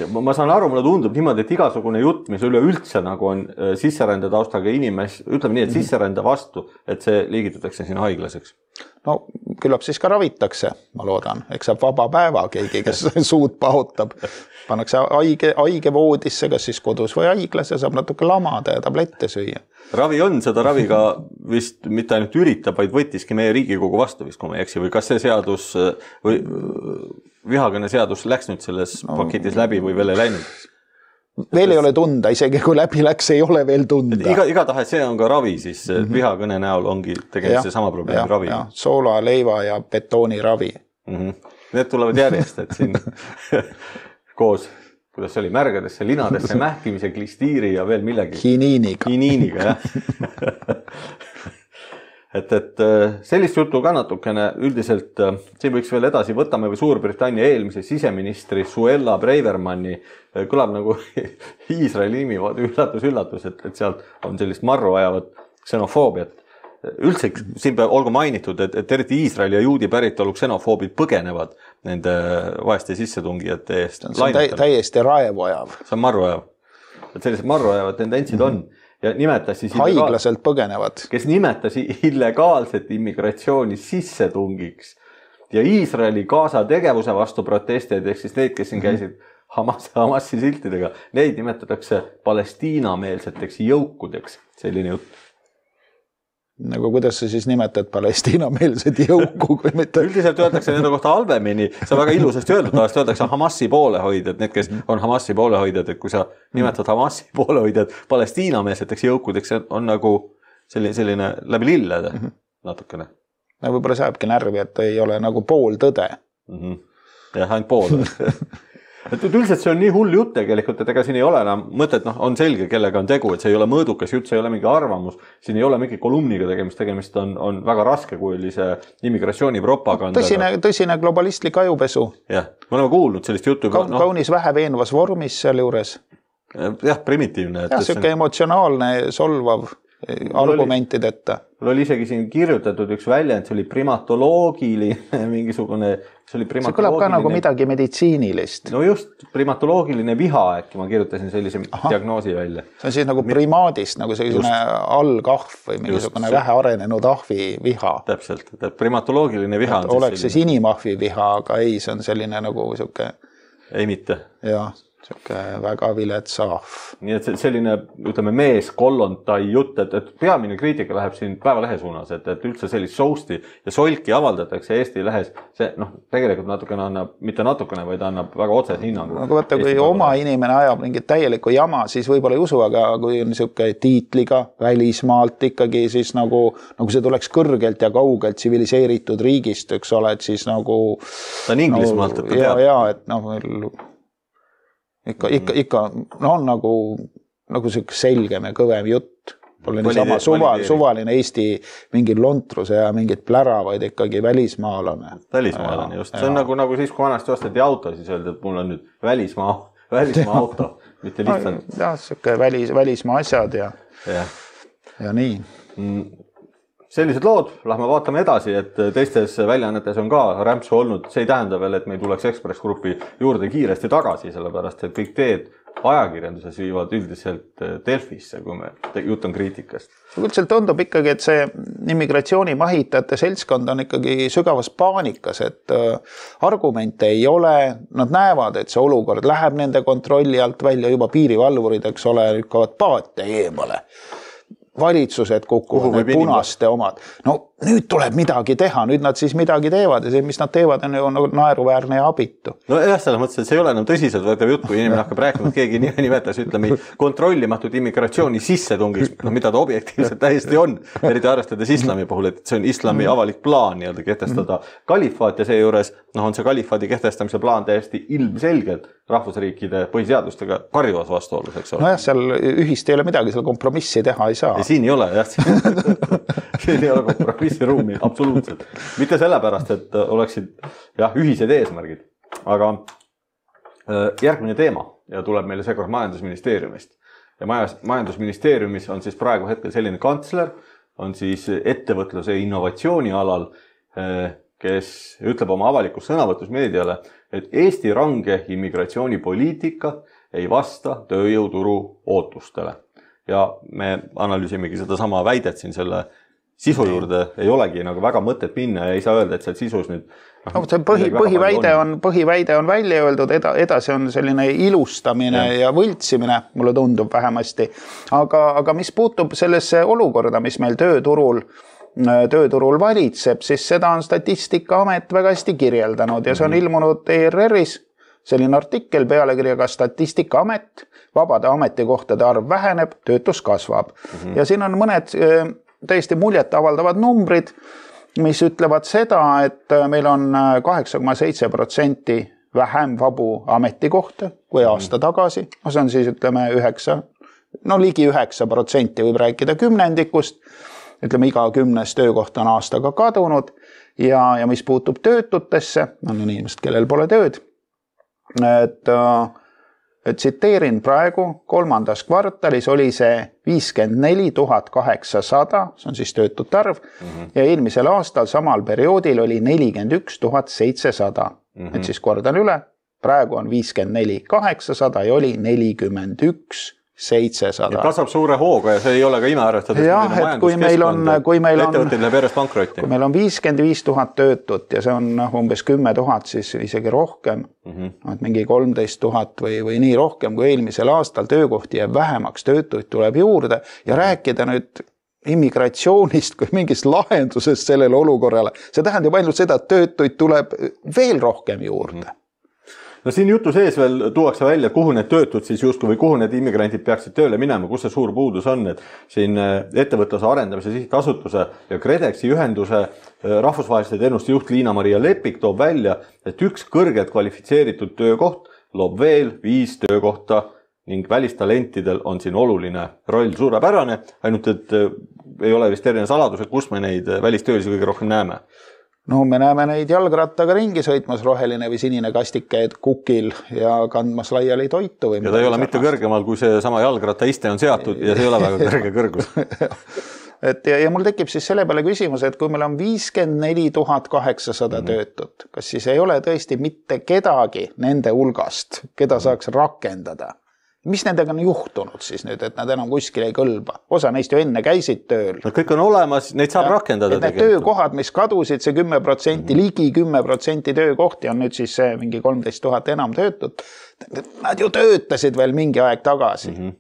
Ma saan aru, mulle tundub niimoodi, et igasugune jutt, mis üleüldse nagu on sisserände taustaga inimes, ütleme nii, et sisserände vastu, et see liigitatakse siin haiglaseks. No küllap siis ka ravitakse, ma loodan. Eks saab vaba päeva keegi, kes suud pahutab. Pannakse haige, haige voodisse, kas siis kodus või haiglas ja saab natuke lamada ja tablette süüa. Ravi on, seda raviga vist mitte ainult üritab, vaid võttiski meie Riigikogu vastu vist, kui ma ei eksi, või kas see seadus või vihakõne seadus läks nüüd selles no, paketis läbi või veel ei läinud? Veel ei ole tunda, isegi kui läbi läks, ei ole veel tunda. Iga, igatahes see on ka ravi, siis mm-hmm. vihakõne näol ongi tegelikult see sama probleem ja, ravi. Ja, soola, leiva ja betooni ravi. Mm-hmm. Need tulevad järjest, et siin koos, kuidas see oli, märgadesse, linadesse, mähkimise, klistiiri ja veel millegi. Hiniiniga. Hiniiniga, jah. Et, et sellist juttu ka natukene üldiselt, siin võiks veel edasi, võtame või Suurbritannia eelmise siseministri Suella Bravermanni, kõlab nagu Iisraeli nimi, üllatus, üllatus, et, et sealt on sellist marru ajavat ksenofoobiat. Üldse siin peab olgu mainitud, et, et eriti Iisraeli ja juudi päritolu ksenofoobid põgenevad nende vaeste sissetungijate eest. See on tä täiesti raevuajav. See on marru ajav. Et sellised marru ajavad tendentsid on. Ja nimetasi haiglaselt põgenevad. Kes nimetasi illegaalset immigratsiooni sissetungiks ja Iisraeli Gaza tegevuse vastu protestijaid, ehk siis neid, kes siin käisid Hamas, Hamasi siltidega, neid nimetatakse Palestiina-meelseteks jõukudeks, selline jutt. Nagu kuidas sa siis nimetad Palestiina-meelsed jõuku, kui mitte... Üldiselt öeldakse nende kohta halvemini, see on väga ilusasti öeldud, tavaliselt öeldakse Hamasi poolehoidjad, need, kes on Hamasi poolehoidjad, et kui sa nimetad Hamasi poolehoidjad Palestiina-meelseteks jõukudeks, on nagu selline, selline läbi lillede natukene. võib-olla saabki närvi, et ei ole nagu pool tõde. Mm-hmm. jah, ainult pool. et üldiselt see on nii hull jutt tegelikult, et ega siin ei ole enam mõtet, noh, on selge, kellega on tegu, et see ei ole mõõdukas jutt, see ei ole mingi arvamus, siin ei ole mingi kolumniga tegemist, tegemist on, on väga raskekuulise immigratsioonipropaganda. Tõsine, tõsine globalistlik ajupesu. jah, me oleme kuulnud sellist juttu. Ka, no, kaunis vähe veenvas vormis seal juures. jah, primitiivne. jah, siuke on... emotsionaalne, solvav argumentideta. Mul oli isegi siin kirjutatud üks väljend, see oli primatoloogiline mingisugune, see oli primatoloogiline. See kõlab ka nagu midagi meditsiinilist. No just, primatoloogiline viha äkki, ma kirjutasin sellise Aha. diagnoosi välja. See on siis nagu primaadist, nagu selline allkahv või mingisugune vähe arenenud ahvi viha. Täpselt, et primatoloogiline viha et on oleks siis inimahvi viha, aga ei, see on selline nagu siuke... Ei mitte. Jah. Siuke väga vilet saaf. Nii et selline, ütleme, mees kollontai jutt, et, et peamine kriitika läheb siin Päevalehe suunas, et, et üldse sellist sousti ja solki avaldatakse Eesti lehes. See, noh, tegelikult natukene annab, mitte natukene, vaid annab väga otsese hinnangu. Aga võtta, kui oma inimene ajab mingit täielikku jama, siis võib-olla ei usu, aga kui on siuke tiitliga välismaalt ikkagi, siis nagu, nagu see tuleks kõrgelt ja kaugelt tsiviliseeritud riigist, üks ole, et siis nagu... Ta on Inglismaalt, et ta teab. Ja, et noh, Ikka, ikka, ikka no on nagu, nagu siuke selgem ja kõvem jutt. Pole niisama suval, suvaline Eesti mingi lontruse ja mingit plära, vaid ikkagi välismaalane. Välismaalane, just. See on nagu, nagu siis, kui vanasti osteti auto, siis öeldi, et mul on nüüd välismaa, välismaa auto, mitte lihtsalt. Jah, siuke välis, välismaa asjad ja, ja. ja nii. Sellised lood, lähme vaatame edasi, et teistes väljaannetes on ka rämpsu olnud. See ei tähenda veel, et meil tuleks Ekspress Grupi juurde kiiresti tagasi, sellepärast, et kõik teed ajakirjanduses viivad üldiselt Delfisse, kui me jutt on kriitikast. Üldiselt tundub ikkagi, et see immigratsiooni mahitajate seltskond on ikkagi sügavas paanikas, et argumente ei ole, nad näevad, et see olukord läheb nende kontrolli alt välja, juba piirivalvurid, eks ole, lükkavad paate eemale. Valitsused kukuvad, need punaste omad. No nüüd tuleb midagi teha, nüüd nad siis midagi teevad ja see, mis nad teevad, on ju naeruväärne ja abitu. No jah, selles mõttes, et see ei ole enam tõsiselt võetav jutt, kui inimene hakkab rääkima, et keegi nimetas, ütleme, kontrollimatud immigratsiooni sissetungiks, no mida ta objektiivselt täiesti on, eriti arvestades islami puhul, et see on islami avalik plaan nii-öelda kehtestada kalifaat ja seejuures noh, on see kalifaadi kehtestamise plaan täiesti ilmselgelt rahvusriikide põhiseadustega karjuvas vastuolus, eks ole. No jah, seal ühist ei ole midagi, seal kompromissi teha ei saa. Ja siin ei ole, jah. Siin ei ole kompromissi ruumi, absoluutselt. Mitte sellepärast, et oleksid jah, ühised eesmärgid. Aga järgmine teema ja tuleb meile seekord majandusministeeriumist. Ja majandusministeeriumis on siis praegu hetkel selline kantsler, on siis ettevõtluse innovatsiooni alal, kes ütleb oma avalikus sõnavõtus meediale, et Eesti range immigratsioonipoliitika ei vasta tööjõuturu ootustele. Ja me analüüsimegi seda sama väidet siin selle sisu juurde, ei olegi nagu väga mõtet minna ja ei saa öelda, et seal sisus nüüd... No, see põhi, põhiväide, on, põhiväide on välja öeldud, eda, edasi on selline ilustamine ja, ja võltsimine, mulle tundub vähemasti. Aga, aga mis puutub sellesse olukorda, mis meil tööturul, tööturul valitseb, siis seda on Statistikaamet väga hästi kirjeldanud ja see on ilmunud E R R-is. Selline artikkel pealekirjaga Statistikaamet, vabade ametikohtade arv väheneb, töötus kasvab. Mm-hmm. Ja siin on mõned täiesti muljet avaldavad numbrid, mis ütlevad seda, et meil on kaheksa koma seitse protsenti vähem vabu ametikohta kui aasta tagasi. See on siis, ütleme, üheksa, no ligi üheksa protsenti võib rääkida kümnendikust. Ütleme, iga kümnes töökoht on aastaga kadunud ja, ja mis puutub töötutesse, on inimesed, kellel pole tööd, et, et tsiteerin praegu, kolmandas kvartalis oli see viiskümmend neli tuhat kaheksasada, see on siis töötute arv, mm-hmm. ja eelmisel aastal samal perioodil oli nelikümmend üks tuhat seitsesada. Mm-hmm. Et siis kordan üle, praegu on viiskümmend neli tuhat kaheksasada ja oli nelikümmend üks tuhat seitsesada. Ja kasvab suure hooga ja see ei ole ka ime arvestades. Jah, et kui meil on, kui meil on, ettevõtted läheb järjest pankrotti. Kui meil on viiskümmend viis tuhat töötut ja see on umbes kümme tuhat, siis isegi rohkem, mm-hmm. et mingi kolmteist tuhat või, või nii rohkem kui eelmisel aastal töökohti jääb vähemaks, töötuid tuleb juurde ja rääkida nüüd immigratsioonist kui mingist lahendusest sellele olukorrale. See tähendab ainult seda, et töötuid tuleb veel rohkem juurde. Mm-hmm. no siin jutu sees veel tuuakse välja, kuhu need töötud siis justkui või kuhu need immigrantid peaksid tööle minema, kus see suur puudus on, et siin ettevõtluse arendamise sihtasutuse ja KredExi ühenduse rahvusvaheliste teenuste juht Liina-Maria Lepik toob välja, et üks kõrgelt kvalifitseeritud töökoht loob veel viis töökohta ning välistalentidel on siin oluline roll suurepärane, ainult et ei ole vist erinev saladus, et kus me neid välistöölisi kõige rohkem näeme. No me näeme neid jalgrattaga ringi sõitmas roheline või sinine kastike kukil ja kandmas laiali toitu. Või ja ta ei ole mitte kõrgemal, kui see sama jalgratta iste on seatud ja see ei ole väga kõrge kõrgus. et ja, ja mul tekib siis selle peale küsimus, et kui meil on viiskümmend neli tuhat kaheksasada mm-hmm. töötut, kas siis ei ole tõesti mitte kedagi nende hulgast, keda saaks rakendada? Mis nendega on juhtunud siis nüüd, et nad enam kuskil ei kõlba? Osa neist ju enne käisid tööl. No kõik on olemas, neid saab ja, rakendada. Need töökohad, mis kadusid, see kümme protsenti, mm-hmm. ligi kümme protsenti töökohti on nüüd siis see mingi kolmteist tuhat enam töötut. Nad ju töötasid veel mingi aeg tagasi. Mm-hmm.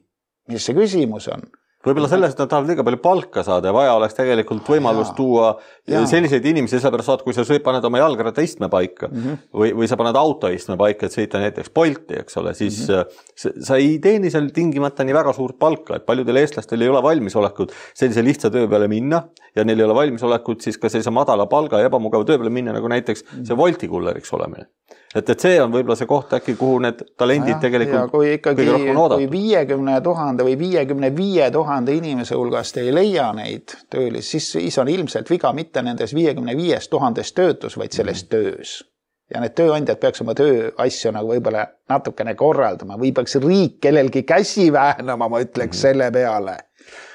Mis see küsimus on? Võib-olla sellest, et nad tahavad liiga palju palka saada ja vaja oleks tegelikult võimalus ja. tuua ja. selliseid inimesi, sellepärast saad, kui sa paned oma jalgratta istme paika mm-hmm. või, või sa paned auto istme paika, et sõita näiteks Bolti, eks ole, siis mm-hmm. sa ei teeni seal tingimata nii väga suurt palka, et paljudel eestlastel ei ole valmisolekut sellise lihtsa töö peale minna ja neil ei ole valmisolekut siis ka sellise madala palga ja ebamugava töö peale minna, nagu näiteks see Wolti kulleriks olemine. Et, et see on võib-olla see koht äkki, kuhu need talendid ja, tegelikult ja kui ikkagi, kõige rohkem oodatud. Kui viiekümne tuhande või viiekümne viie tuhande inimese hulgast ei leia neid töölis, siis, siis on ilmselt viga mitte nendes viiekümne viies tuhandes töötus, vaid selles mm. töös. Ja need tööandjad peaks oma tööasju nagu võib-olla natukene korraldama või peaks riik kellelgi käsi väänama, ma ütleks mm. selle peale.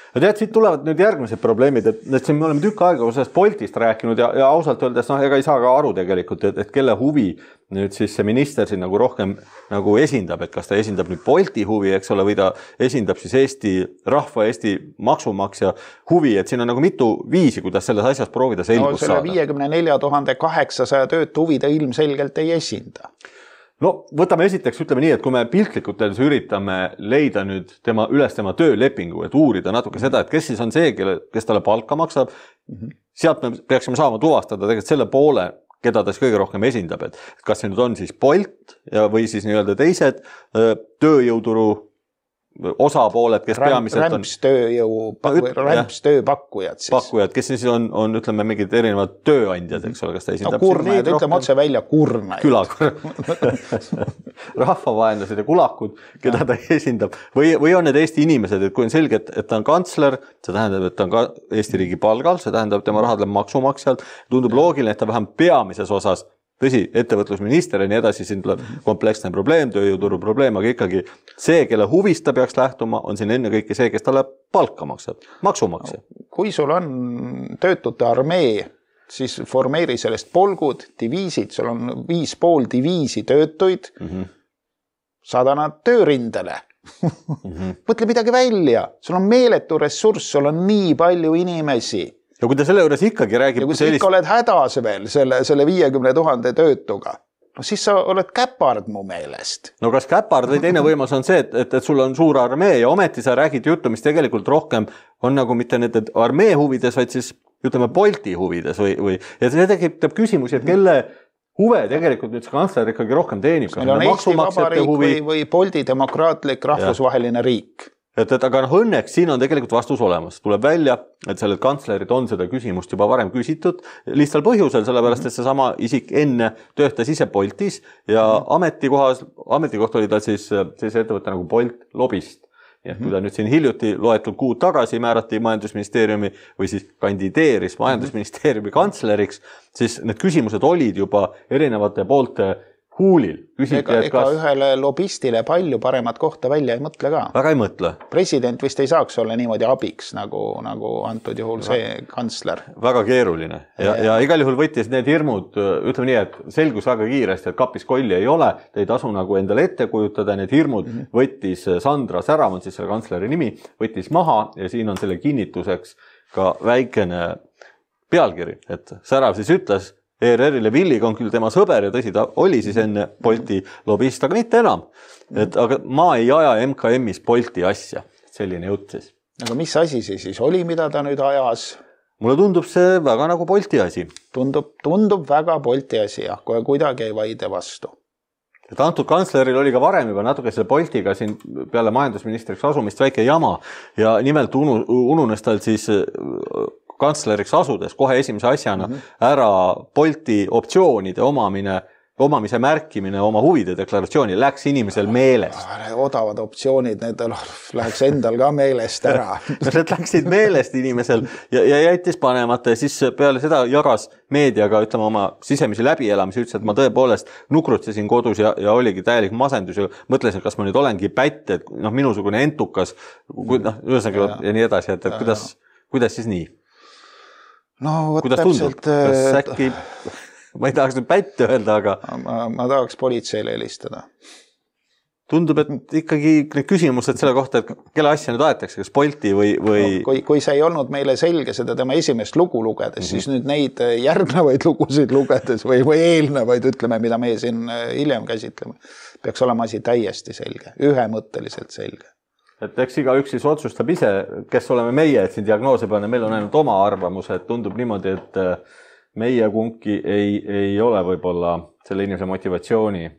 Ja tead, siit tulevad nüüd järgmised probleemid, et, et siin me oleme tükk aega sellest Boltist rääkinud ja, ja ausalt öeldes, noh, ega ei saa ka aru tegelikult, et, et kelle huvi nüüd siis see minister siin nagu rohkem nagu esindab, et kas ta esindab nüüd Bolti huvi, eks ole, või ta esindab siis Eesti rahva, Eesti maksumaksja huvi, et siin on nagu mitu viisi, kuidas selles asjas proovida selgust no, selle saada. viiekümne nelja tuhande kaheksasaja töötu huvi ta ilmselgelt ei esinda. No võtame esiteks, ütleme nii, et kui me piltlikult üritame leida nüüd tema, üles tema töölepingu, et uurida natuke seda, et kes siis on see, kelle, kes talle palka maksab, mm-hmm. sealt me peaksime saama tuvastada tegelikult selle poole, keda ta siis kõige rohkem esindab, et kas see nüüd on siis Bolt ja, või siis nii-öelda teised tööjõuturu osapooled, kes Rämp, peamiselt on... Rämpstööjõu, rämpstööpakkujad siis. Pakkujad, kes siis on, on ütleme, mingid erinevad tööandjad, eks ole, kas ta esindab... No kurnajad, ütleme otse välja kurnajad. Külakurn. Rahvavaenlased ja kulakud, keda ta esindab. Või, või on need Eesti inimesed, et kui on selge, et, et ta on kantsler, see tähendab, et ta on ka Eesti riigi palgal, see tähendab, tema rahad läheb maksumaksjalt, tundub loogiline, et ta vähem peamises osas tõsi, ettevõtlusminister ja nii edasi, siin tuleb kompleksne probleem, tööjõuturu probleem, aga ikkagi see, kelle huvist ta peaks lähtuma, on siin enne kõike see, kes talle palka maksab, maksumaksja. Kui sul on töötute armee, siis formeeri sellest polgud, diviisid, sul on viis pool diviisi töötuid, mm-hmm. saada nad töörindele. mm-hmm. Mõtle midagi välja, sul on meeletu ressurss, sul on nii palju inimesi. Ja kui ta selle juures ikkagi räägib... Ja kui sa sellist... ikka oled hädas veel selle, selle viiekümne tuhande töötuga, no siis sa oled käpard mu meelest. No kas käpard või teine võimalus on see, et, et, et sul on suur armee ja ometi sa räägid juttu, mis tegelikult rohkem on nagu mitte need armee huvides, vaid siis ütleme Bolti huvides või, või ja see tekitab küsimusi, et kelle huve tegelikult nüüd see kantsler ikkagi rohkem teenib. Meil on Eesti Vabariik huvi... või, või Bolti demokraatlik rahvusvaheline ja. riik. Et, et aga noh, õnneks siin on tegelikult vastus olemas. Tuleb välja, et sellelt kantslerid on seda küsimust juba varem küsitud lihtsal põhjusel, sellepärast, et see sama isik enne töötas ise Boltis ja ametikohas, ametikoht oli ta siis sellise ettevõtte nagu Bolt lobist. Ja kui ta nüüd siin hiljuti loetud kuud tagasi määrati majandusministeeriumi või siis kandideeris majandusministeeriumi kantsleriks, siis need küsimused olid juba erinevate poolte huulil. Küsiti, ega, ega kas... ühele lobistile palju paremat kohta välja ei mõtle ka. Väga ei mõtle. President vist ei saaks olla niimoodi abiks, nagu, nagu antud juhul see kantsler. Väga keeruline. Ja, ja igal juhul võttis need hirmud, ütleme nii, et selgus väga kiiresti, et kapis kolli ei ole, te ei tasu nagu endale ette kujutada, need hirmud mm-hmm. võttis Sandra Särav, on siis selle kantsleri nimi, võttis maha ja siin on selle kinnituseks ka väikene pealkiri, et Särav siis ütles, E R R-ile Villiga on küll tema sõber ja tõsi, ta oli siis enne Bolti lobist, aga mitte enam. Et, aga ma ei aja M K M-is Bolti asja. Selline jutt siis. Aga mis asi see siis oli, mida ta nüüd ajas? Mulle tundub see väga nagu Bolti asi. Tundub, tundub väga Bolti asi, jah, kohe kuidagi ei vaide vastu. et antud kantsleril oli ka varem juba natuke selle Boltiga siin peale majandusministriks asumist väike jama ja nimelt unu, ununes tal siis kantsleriks asudes kohe esimese asjana mm -hmm. ära Bolti optsioonide omamine, omamise märkimine oma huvide deklaratsiooni, läks inimesel meelest. Odavad optsioonid, need läheks endal ka meelest ära. Need läksid meelest inimesel ja, ja jättis panemata ja siis peale seda jagas meediaga, ütleme oma sisemisi läbielamisi, ütles, et ma tõepoolest nukrutsesin kodus ja, ja oligi täielik masendus ja mõtlesin, kas ma nüüd olengi pätt, et noh, minusugune entukas, noh, ühesõnaga ja, ja nii edasi, et, et kuidas, kuidas siis nii? No, võt kuidas täpselt, tundub? Kas äkki... Ma ei tahaks nüüd pätte öelda, aga... Ma, ma tahaks politseile helistada. Tundub, et ikkagi need küsimused selle kohta, et kelle asja nüüd aetakse, kas Bolti või... või... No, kui, kui see ei olnud meile selge seda tema esimest lugu lugedes, mm -hmm. siis nüüd neid järgnevaid lugusid lugedes või, või eelnevaid, ütleme, mida meie siin hiljem käsitleme, peaks olema asi täiesti selge, ühemõtteliselt selge. Et eks iga üks siis otsustab ise, kes oleme meie, et siin diagnoose peale, meil on ainult oma arvamus, et tundub niimoodi, et meie kunki ei, ei ole võib-olla selle inimese motivatsiooni,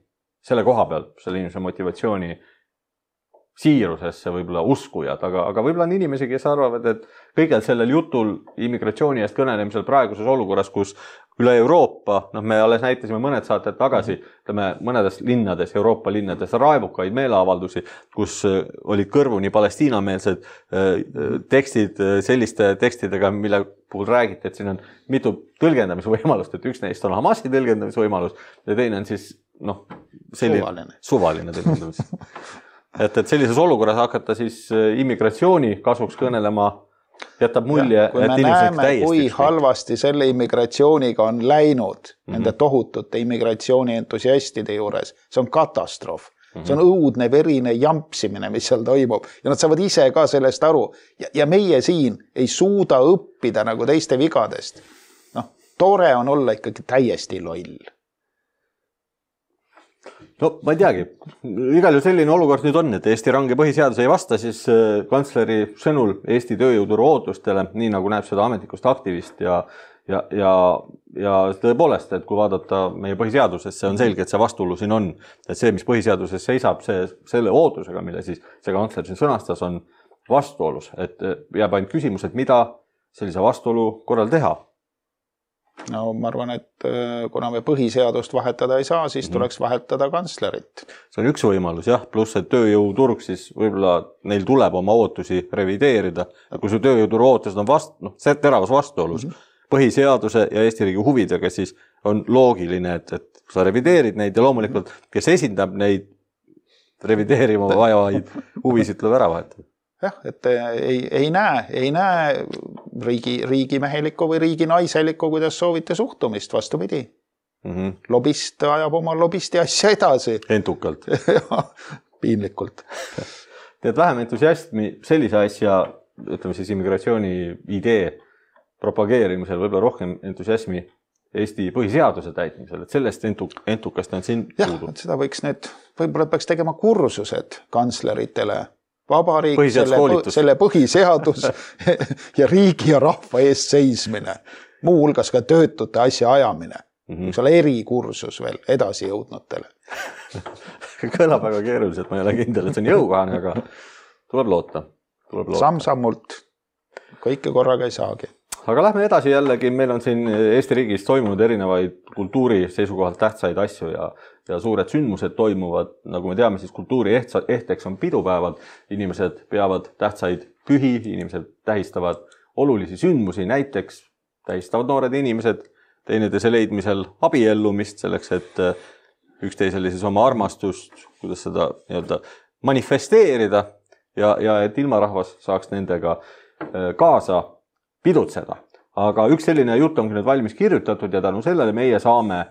selle koha peal, selle inimese motivatsiooni siirusesse võib-olla uskujad, aga, aga võib-olla on inimesi, kes arvavad, et kõigel sellel jutul immigratsiooni eest kõnelemisel praeguses olukorras, kus üle Euroopa, noh me alles näitasime mõned saated tagasi, ütleme mõnedes linnades, Euroopa linnades raevukaid meeleavaldusi, kus olid kõrvuni palestiinameelsed tekstid selliste tekstidega, mille puhul räägiti, et siin on mitu tõlgendamisvõimalust, et üks neist on Hamasi tõlgendamisvõimalus ja teine on siis noh, selline suvaline, suvaline tõlgendamis. Et, et sellises olukorras hakata siis immigratsiooni kasuks kõnelema jätab mulje, kui me näeme, kui halvasti selle immigratsiooniga on läinud mm -hmm. nende tohutute immigratsiooni entusiastide juures, see on katastroof. Mm -hmm. See on õudne verine jampsimine, mis seal toimub ja nad saavad ise ka sellest aru ja, ja meie siin ei suuda õppida nagu teiste vigadest. Noh, tore on olla ikkagi täiesti loll. No ma ei teagi, igal ju selline olukord nüüd on, et Eesti range põhiseadus ei vasta siis kantsleri sõnul Eesti tööjõuturu ootustele, nii nagu näeb seda ametlikust aktivist ja, ja, ja, ja tõepoolest, et kui vaadata meie põhiseadusesse, see on selge, et see vastuolu siin on, et see, mis põhiseaduses seisab, see, selle ootusega, mille siis see kantsler siin sõnastas, on vastuolus, et jääb ainult küsimus, et mida sellise vastuolu korral teha. No ma arvan, et kuna me põhiseadust vahetada ei saa, siis tuleks vahetada kantslerit. See on üks võimalus, jah, pluss et tööjõuturg siis võib-olla neil tuleb oma ootusi revideerida. Kui su tööjõuturu ootused on vast, noh, see teravas vastuolus mm -hmm. põhiseaduse ja Eesti riigi huvidega, siis on loogiline, et, et sa revideerid neid ja loomulikult, kes esindab neid revideerima vajavaid huvisid, tuleb ära vahetada. Jah, et ei, ei näe, ei näe riigi, riigimehelikku või riiginaiselikku, kuidas soovite suhtumist, vastupidi. Mm -hmm. Lobist ajab oma lobisti asja edasi. Entukalt. Piinlikult. Tead vähem entusiasmi sellise asja, ütleme siis immigratsiooni idee propageerimisel, võib-olla rohkem entusiasmi Eesti põhiseaduse täitmisel, et sellest entuk, entukast on siin jah, puudu. Seda võiks nüüd, võib-olla peaks tegema kursused kantsleritele. Vabariik, selle, selle põhiseadus ja riigi ja rahva eest seismine. Muu hulgas ka töötute asja ajamine. Mm -hmm. Üks ole erikursus veel edasi jõudnutele. Kõlab väga keeruliselt, ma ei ole kindel, et see on jõukohane, aga tuleb loota. Tuleb loota. Samm-sammult. Kõike korraga ei saagi. Aga lähme edasi jällegi, meil on siin Eesti riigis toimunud erinevaid kultuuri seisukohalt tähtsaid asju ja, ja suured sündmused toimuvad. Nagu me teame, siis kultuuri ehteks on pidupäevad. Inimesed peavad tähtsaid pühi, inimesed tähistavad olulisi sündmusi, näiteks tähistavad noored inimesed teineteise leidmisel abiellumist selleks, et üksteisele siis oma armastust, kuidas seda nii-öelda manifesteerida ja, ja et ilmarahvas saaks nendega kaasa pidutseda. Aga üks selline jutt ongi nüüd valmis kirjutatud ja tänu sellele meie saame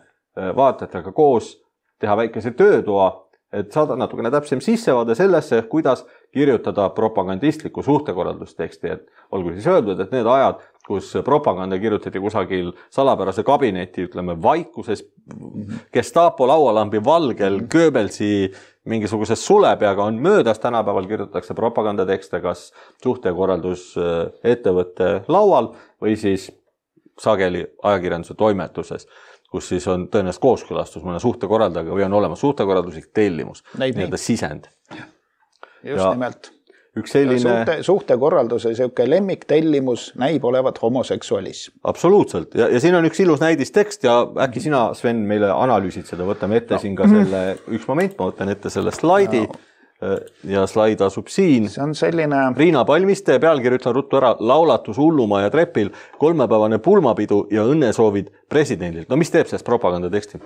vaatajatega koos teha väikese töötoa, et saada natukene täpsem sissevaade sellesse, kuidas kirjutada propagandistlikku suhtekorraldusteksti. Et olgu siis öeldud, et need ajad, kus propaganda kirjutati kusagil salapärase kabineti, ütleme vaikuses, Gestapo laualambi valgel, Goebbelsi mingisuguses sulepeaga on möödas, tänapäeval kirjutatakse propagandatekste kas suhtekorraldusettevõtte laual või siis sageli ajakirjanduse toimetuses. kus siis on tõenäoliselt kooskõlastus mõne suhtekorraldajaga või on olemas suhtekorralduslik tellimus, nii-öelda sisend. Just ja nimelt. Üks selline... Suhte, suhtekorralduse siuke lemmiktellimus näib olevat homoseksualism. Absoluutselt. Ja, ja siin on üks ilus näidistekst ja äkki sina, Sven, meile analüüsid seda. Võtame ette no. siin ka selle üks moment. Ma võtan ette selle slaidi no. ja slaid asub siin. See on selline... Riina Palmiste pealkiri ütlen ruttu ära. Laulatus Hullumaa ja Trepil, kolmepäevane pulmapidu ja õnnesoovid presidendilt. No mis teeb sellest propagandateksti?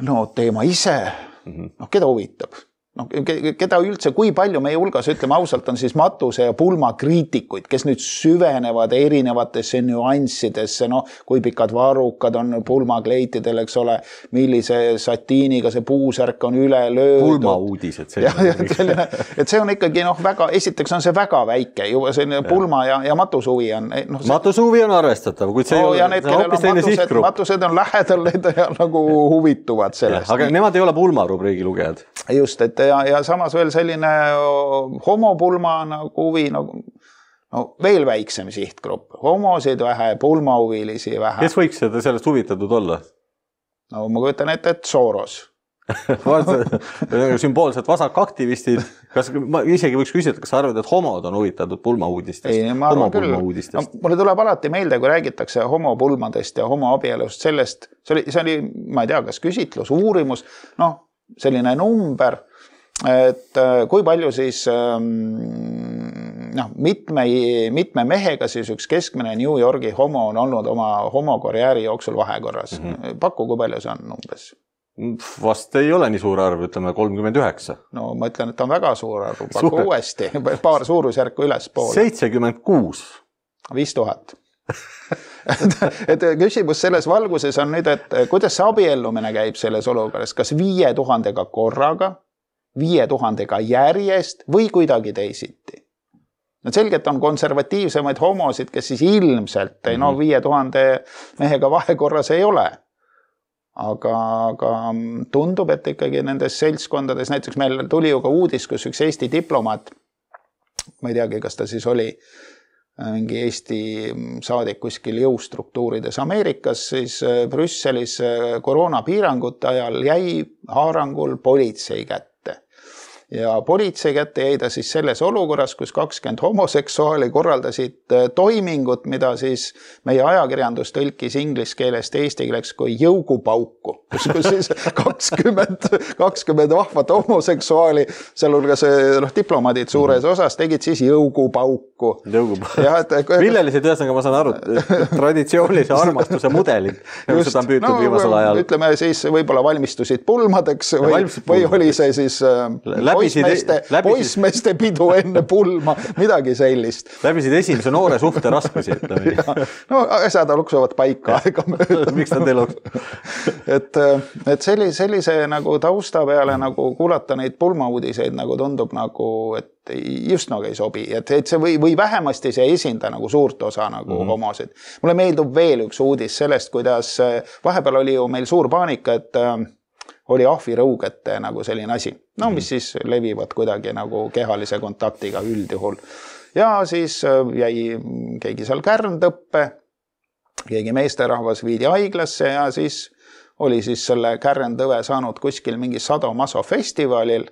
No teema ise. No keda huvitab? No, keda üldse, kui palju meie hulgas, ütleme ausalt, on siis matuse ja pulma kriitikuid, kes nüüd süvenevad erinevatesse nüanssidesse, no kui pikad varrukad on pulmakleitidel, eks ole, millise satiiniga see puusärk on üle löödud. Pulmauudised. Ja, ja, selline, et see on ikkagi, noh, väga, esiteks on see väga väike, juba selline ja. Pulma ja, ja matusuvi on. No, see... Matusuvi on arvestatav, kuid see no, ei ole, see on hoopis teine sihtgrupp. Matused on lähedal, need ja, nagu huvituvad sellest. Ja, aga nemad ei ole pulma rubriigi lugejad. Just, et ja, ja samas veel selline homopulma nagu huvi, nagu, no veel väiksem sihtgrupp. Homosid vähe, pulmahuvilisi vähe. Kes võiks seda sellest huvitatud olla? No ma kujutan ette, et Soros. Sümboolsed vasakaktivistid. Kas, ma isegi võiks küsida, kas sa arvad, et homod on huvitatud pulmahuudistest? Ei, ma arvan küll. No, mulle tuleb alati meelde, kui räägitakse homopulmadest ja homoabielust sellest, see oli, see oli, ma ei tea, kas küsitlus, uurimus, noh, selline number, et kui palju siis noh, mitme, mitme mehega siis üks keskmine New Yorgi homo on olnud oma homokarjääri jooksul vahekorras. Mm-hmm. Pakku, kui palju see on umbes? Vast ei ole nii suur arv, ütleme kolmkümmend üheksa. No ma ütlen, et on väga suur arv. Pakku suur. Uuesti, paar suurusjärku üles poole. seitsekümmend kuus. viis tuhat. et küsimus selles valguses on nüüd, et kuidas see abiellumine käib selles olukorras, kas viie tuhandega korraga, viie tuhandega järjest või kuidagi teisiti. No selgelt on konservatiivsemaid homosid, kes siis ilmselt mm-hmm. no viie tuhande mehega vahekorras ei ole. Aga, aga tundub, et ikkagi nendes seltskondades, näiteks meil tuli ju ka uudis, kus üks Eesti diplomaat, ma ei teagi, kas ta siis oli mingi Eesti saadik kuskil jõustruktuurides Ameerikas, siis Brüsselis koroonapiirangute ajal jäi haarangul politsei kätte. Ja politsei kätte jäi ta siis selles olukorras, kus kakskümmend homoseksuaali korraldasid toimingut, mida siis meie ajakirjandus tõlkis inglise keelest eesti keeleks kui jõugupauku, kus, kus siis kakskümmend, kakskümmend vahvat homoseksuaali, sealhulgas noh, diplomaadid suures osas tegid siis jõugupauku. Jõugupauku. Villelisid ühesõnaga, ma saan aru, traditsioonilise armastuse mudelid, nagu seda on püütud no, viimasel ajal. Ütleme siis võib-olla valmistusid pulmadeks või, valmistusid või oli see siis poismeeste, poismeeste pidu enne pulma, midagi sellist. Läbisid esimese noore suhte raskusi. No asjad luksuvad paika aega mööda. Miks nad ei luksu? et, et sellise, sellise nagu tausta peale nagu kuulata neid pulmauudiseid nagu tundub nagu, et just nagu ei sobi. Et, et see või, või vähemasti see esinda nagu suurt osa nagu mm-hmm. homosid. Mulle meeldub veel üks uudis sellest, kuidas vahepeal oli ju meil suur paanika, et oli ahvirõugete nagu selline asi. No mis siis levivad kuidagi nagu kehalise kontaktiga üldjuhul. Ja siis jäi keegi seal kärntõppe, keegi meesterahvas viidi haiglasse ja siis oli siis selle kärntõve saanud kuskil mingi Sado-Maso festivalil.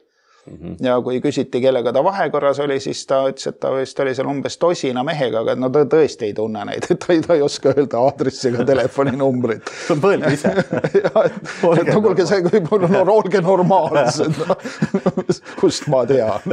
Mm-hmm. Ja kui küsiti, kellega ta vahekorras oli, siis ta ütles, et ta vist oli seal umbes tosina mehega, aga no ta tõesti ei tunne neid, et ta ei, ta ei oska öelda aadressiga telefoninumbrit. See on põlv ise. ja, et, et no kuulge, see kui mul no, olge normaalsed. No, kust ma tean.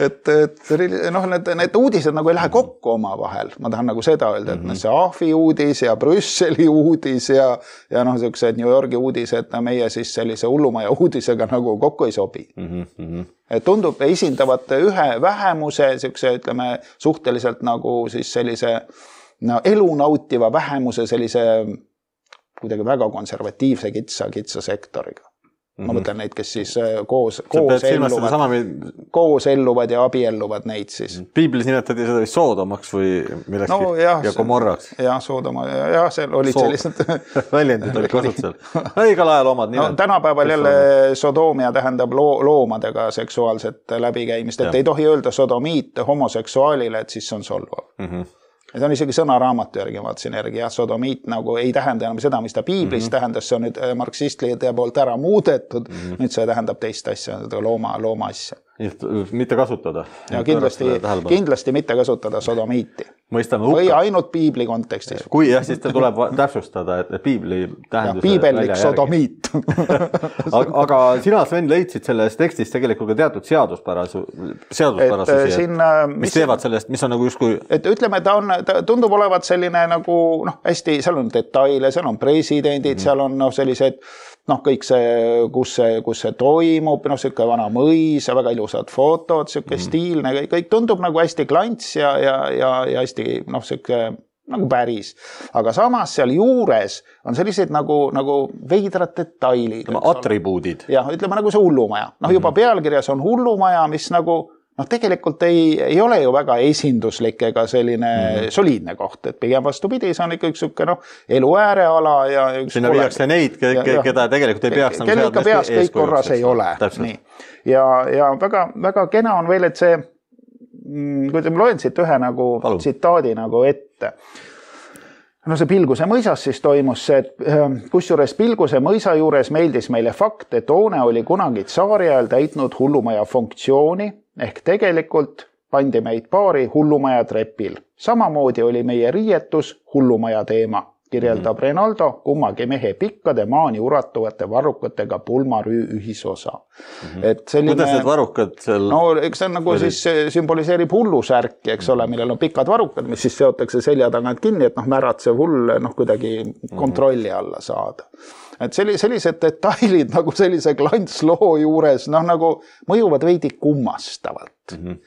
et, et noh, need, need uudised nagu ei lähe kokku oma vahel. Ma tahan nagu seda öelda, et mm-hmm. see Ahvi uudis ja Brüsseli uudis ja, ja noh, sellised New Yorgi uudised, meie siis sellise hullumaja uudis ega nagu kokku ei sobi. Mm-hmm. Et tundub esindavad ühe vähemuse, selline, ütleme, suhteliselt nagu siis sellise no, elu nautiva vähemuse sellise kuidagi väga konservatiivse kitsa, kitsa sektoriga. Ma mõtlen neid, kes siis koos, koos, elluvad, sama... koos elluvad ja abielluvad neid siis. Piiblis nimetati seda vist Soodomaks või millekski no, jah, ja Gomorraks. Jah, Soodoma. Jah, seal olid Sood... sellised... väljendid olid kasutusel. Igal ajal omad nimed. No, tänapäeval jälle sodoomia tähendab loo, loomadega seksuaalset läbikäimist, et ja. Ei tohi öelda sodomiit homoseksuaalile, et siis on solvav. Mm-hmm. See on isegi sõnaraamatu järgi, vaatasin järgi, jah, sodomiit nagu ei tähenda enam seda, mis ta piiblis mm-hmm. tähendas, see on nüüd marksistlide poolt ära muudetud, mm-hmm. nüüd see tähendab teist asja, looma, looma asja. Mitte kasutada. Ja kindlasti, kindlasti mitte kasutada sodomiiti. Mõistame või ainult piibli kontekstis. Kui jah, siis tuleb täpsustada, et piibli tähenduse piibellik sodomiit. aga, aga sina, Sven, leidsid selles tekstis tegelikult ka teatud seaduspärasu, seaduspärasusi, siin, mis, mis teevad sellest, mis on nagu justkui... Et ütleme, ta, on, ta tundub olevat selline nagu, noh, hästi, seal on detaile, seal on presidendid, mm-hmm. seal on noh, sellised noh, kõik see, kus see, kus see toimub, noh, siuke vana mõis ja väga ilusad fotod, siuke mm. stiilne, kõik tundub nagu hästi klants ja, ja, ja, ja hästi, noh, siuke nagu päris. Aga samas seal juures on sellised nagu, nagu veidrad detailid. Atribuudid. Jah, ütleme nagu see hullumaja. Noh, juba pealkirjas on hullumaja, mis nagu noh, tegelikult ei, ei ole ju väga esinduslik ega selline mm. soliidne koht, et pigem vastupidi, see on ikka üks suke, noh, elu ääreala ja üks sinna viiakse neid, keda tegelikult ei peaks kelle ikka peas kõik korras ei ole. Nii. Ja, ja väga, väga kena on veel, et see, kui te loen siit ühe nagu Palun. Tsitaadi nagu ette, no see Pilguse mõisas siis toimus see, et kusjuures Pilguse mõisa juures meeldis meile fakt, et hoone oli kunagi tsaari ajal täitnud hullumaja funktsiooni, ehk tegelikult pandi meid paari hullumaja trepil. Samamoodi oli meie riietus hullumaja teema, kirjeldab mm-hmm. Renaldo kummagi mehe pikkade maani uratuvate varrukatega pulmarüü ühisosa. Mm-hmm. Et selline, kuidas need varrukad seal... No eks see nagu siis sümboliseerib hullusärki, eks ole, millel on pikad varrukad, mis siis seotakse selja tagant kinni, et noh, märatsev hull noh, kuidagi kontrolli alla saada. Et sellised detailid nagu sellise klantsloo juures noh, nagu mõjuvad veidi kummastavalt mm-hmm.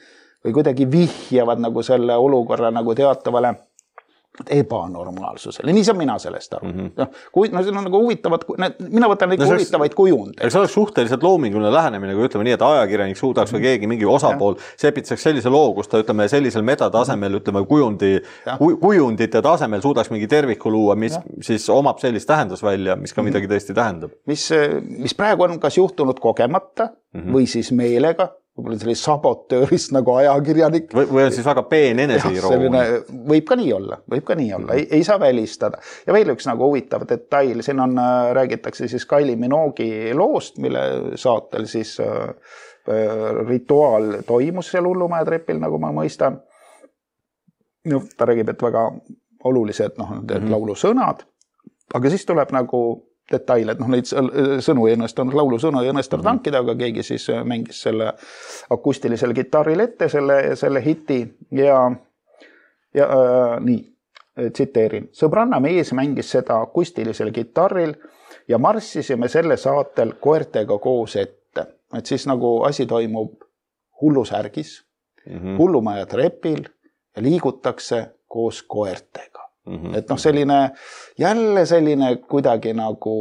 või kuidagi vihjavad nagu selle olukorra nagu teatavale ebanormaalsusele. Nii saan mina sellest aru. Mm-hmm. No, kui, no see on nagu huvitavad, mina võtan neid no, huvitavaid kujundeid. See oleks suhteliselt loominguline lähenemine, kui ütleme nii, et ajakirjanik suudaks või keegi mingi osapool sepitseks sellise loo, kus ta ütleme sellisel metatasemel, ütleme kujundi, kujundite tasemel suudaks mingi terviku luua, mis ja. Siis omab sellist tähendusvälja, mis ka midagi tõesti tähendab. Mis, mis praegu on kas juhtunud kogemata mm-hmm. või siis meelega, võib-olla selline sabotöörist nagu ajakirjanik. Või, või on siis väga peen eneseiroomia. Võib ka nii olla, võib ka nii olla, ei, ei saa välistada. Ja veel üks nagu huvitav detail, siin on, räägitakse siis Kylie Minogue'i loost, mille saatel siis äh, rituaal toimus seal hullumaja trepil, nagu ma mõistan. No, ta räägib, et väga olulised noh, mm-hmm. laulusõnad, aga siis tuleb nagu detail, et noh, neid sõnu ei õnnestunud, laulusõnu ei õnnestunud mm-hmm. tankida, aga keegi siis mängis selle akustilisel kitarril ette selle, selle hiti ja, ja äh, nii, tsiteerin. Sõbranna mees mängis seda akustilisel kitarril ja marssisime selle saatel koertega koos ette. Et siis nagu asi toimub hullusärgis, mm-hmm. hullumaja trepil ja liigutakse koos koertega. Mm-hmm. Et noh, selline, jälle selline kuidagi nagu,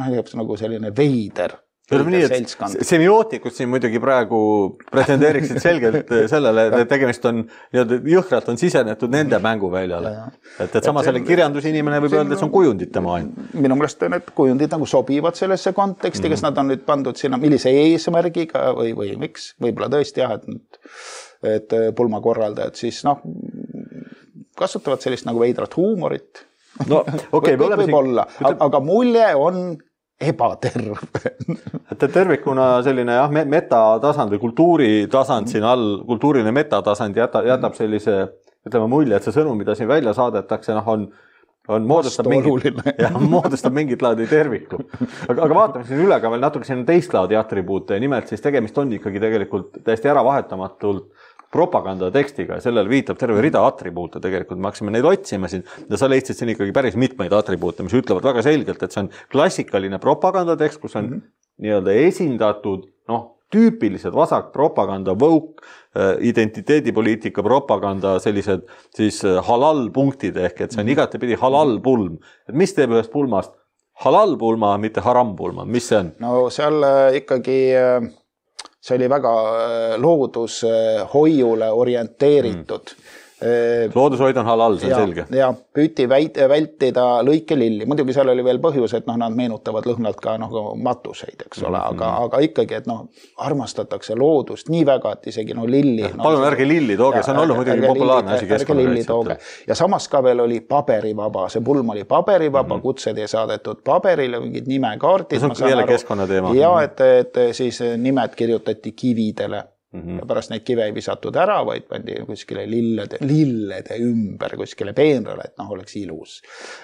noh, nagu selline veider, veider seltskond. Semiootikud siin muidugi praegu pretendeeriksid selgelt sellele, et tegemist on, jõhkralt on sisenetud nende mänguväljale. Et, et sama selle kirjandusinimene võib öelda, et see on kujundite maailm. Minu meelest need kujundid nagu sobivad sellesse konteksti, mm-hmm. kes nad on nüüd pandud sinna, millise eesmärgiga või, või miks, võib-olla tõesti jah, et, et pulmakorraldajad siis noh, kasutavad sellist nagu veidrat huumorit. No, okay, võib, võib olla, aga, aga mulje on ebaterve. et tervikuna selline jah, metatasand või kultuuritasand siin all, kultuuriline metatasand jätab, jätab sellise, ütleme mulje, et see sõnum, mida siin välja saadetakse, noh, on, on moodustab mingit, ja, moodustab mingit laadi terviku. Aga, aga vaatame siin üle ka veel natuke siin teist laadi atribuute, nimelt siis tegemist on ikkagi tegelikult täiesti ära vahetamatult propagandatekstiga ja sellele viitab terve rida atribuute tegelikult. Me hakkasime neid otsima siin ja sa leidsid siin ikkagi päris mitmeid atribuute, mis ütlevad väga selgelt, et see on klassikaline propagandatekst, kus on mm-hmm. nii-öelda esindatud noh, tüüpilised vasak propaganda, woke, identiteedipoliitika propaganda, sellised siis halal punktid ehk, et see on igatepidi halal pulm. Et mis teeb ühest pulmast halal pulma, mitte haram pulma? Mis see on? No seal ikkagi see oli väga loodushoiule orienteeritud. Mm. loodushoid on halal, see on ja, selge. Ja püüti väit, vältida lõikelilli. Muidugi seal oli veel põhjus, et noh, nad meenutavad lõhnalt ka noh, matuseid, eks ole, mm-hmm. aga, aga ikkagi, et noh, armastatakse loodust nii väga, et isegi no lilli. No, palun ärge lilli tooge, see on olnud muidugi populaarne asi keskkonnakaitsetel. Ja samas ka veel oli paberivaba, see pulm oli paberivaba, mm-hmm. kutsed ei saadetud paberile, mingid nimekaardid. See on jälle keskkonnateema. Ja et, et siis nimed kirjutati kividele. Mm-hmm. Ja pärast neid kive ei visatud ära, vaid pandi kuskile lillede, lillede ümber kuskile peenrale, et noh, oleks ilus.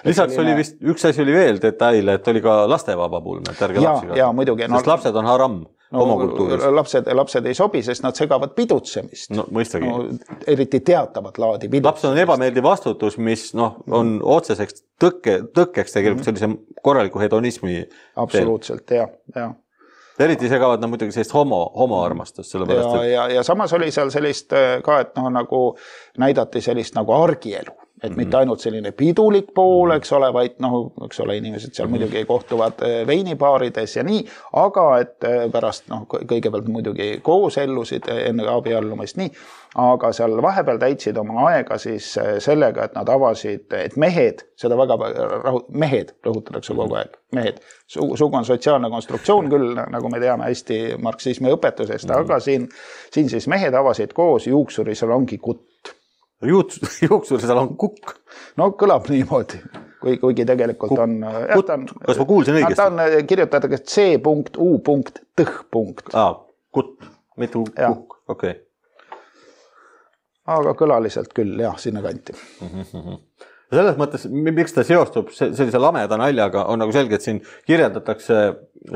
Lisaks selline... oli vist, üks asi oli veel detail, et oli ka lastevaba pulm, et ärge ja, lapsi ja, muidugi, sest no, lapsed on haram no, homokultuuris. Lapsed, lapsed ei sobi, sest nad segavad pidutsemist. No mõistagi. No, eriti teatavat laadi pidutsemist. Lapsed on ebameeldiv vastutus, mis noh, on otseseks tõkke, tõkkeks tegelikult sellise korraliku hedonismi. Absoluutselt, ja, ja. Eriti segavad nad muidugi sellist homo, homoarmastust. Ja, et... ja, ja samas oli seal sellist ka, et noh, nagu näidati sellist nagu argielu. Et mm-hmm. mitte ainult selline pidulik pool, eks ole, vaid noh, eks ole, inimesed seal mm-hmm. muidugi kohtuvad veinipaarides ja nii, aga et pärast noh, kõigepealt muidugi koos ellusid enne abiellumist nii, aga seal vahepeal täitsid oma aega siis sellega, et nad avasid, et mehed, seda väga rahu, mehed rõhutatakse kogu aeg, mehed. Sugu on sotsiaalne konstruktsioon küll, nagu me teame hästi marksismi õpetusest, mm-hmm. aga siin, siin siis mehed avasid koos juuksurisalongi kutt. Juuksurisal on kukk. No kõlab niimoodi, kui, kuigi tegelikult kukk. On... Kut, on kas ma kuulsin õigesti? Ta on kirjutatud C punkt U punkt tõh punkt. Aa, kutt, mitte kukk, okei. Okay. Aga kõlaliselt küll, jah, sinna kanti. Mm-hmm. Selles mõttes, miks ta seostub sellise lameda naljaga, on nagu selge, et siin kirjeldatakse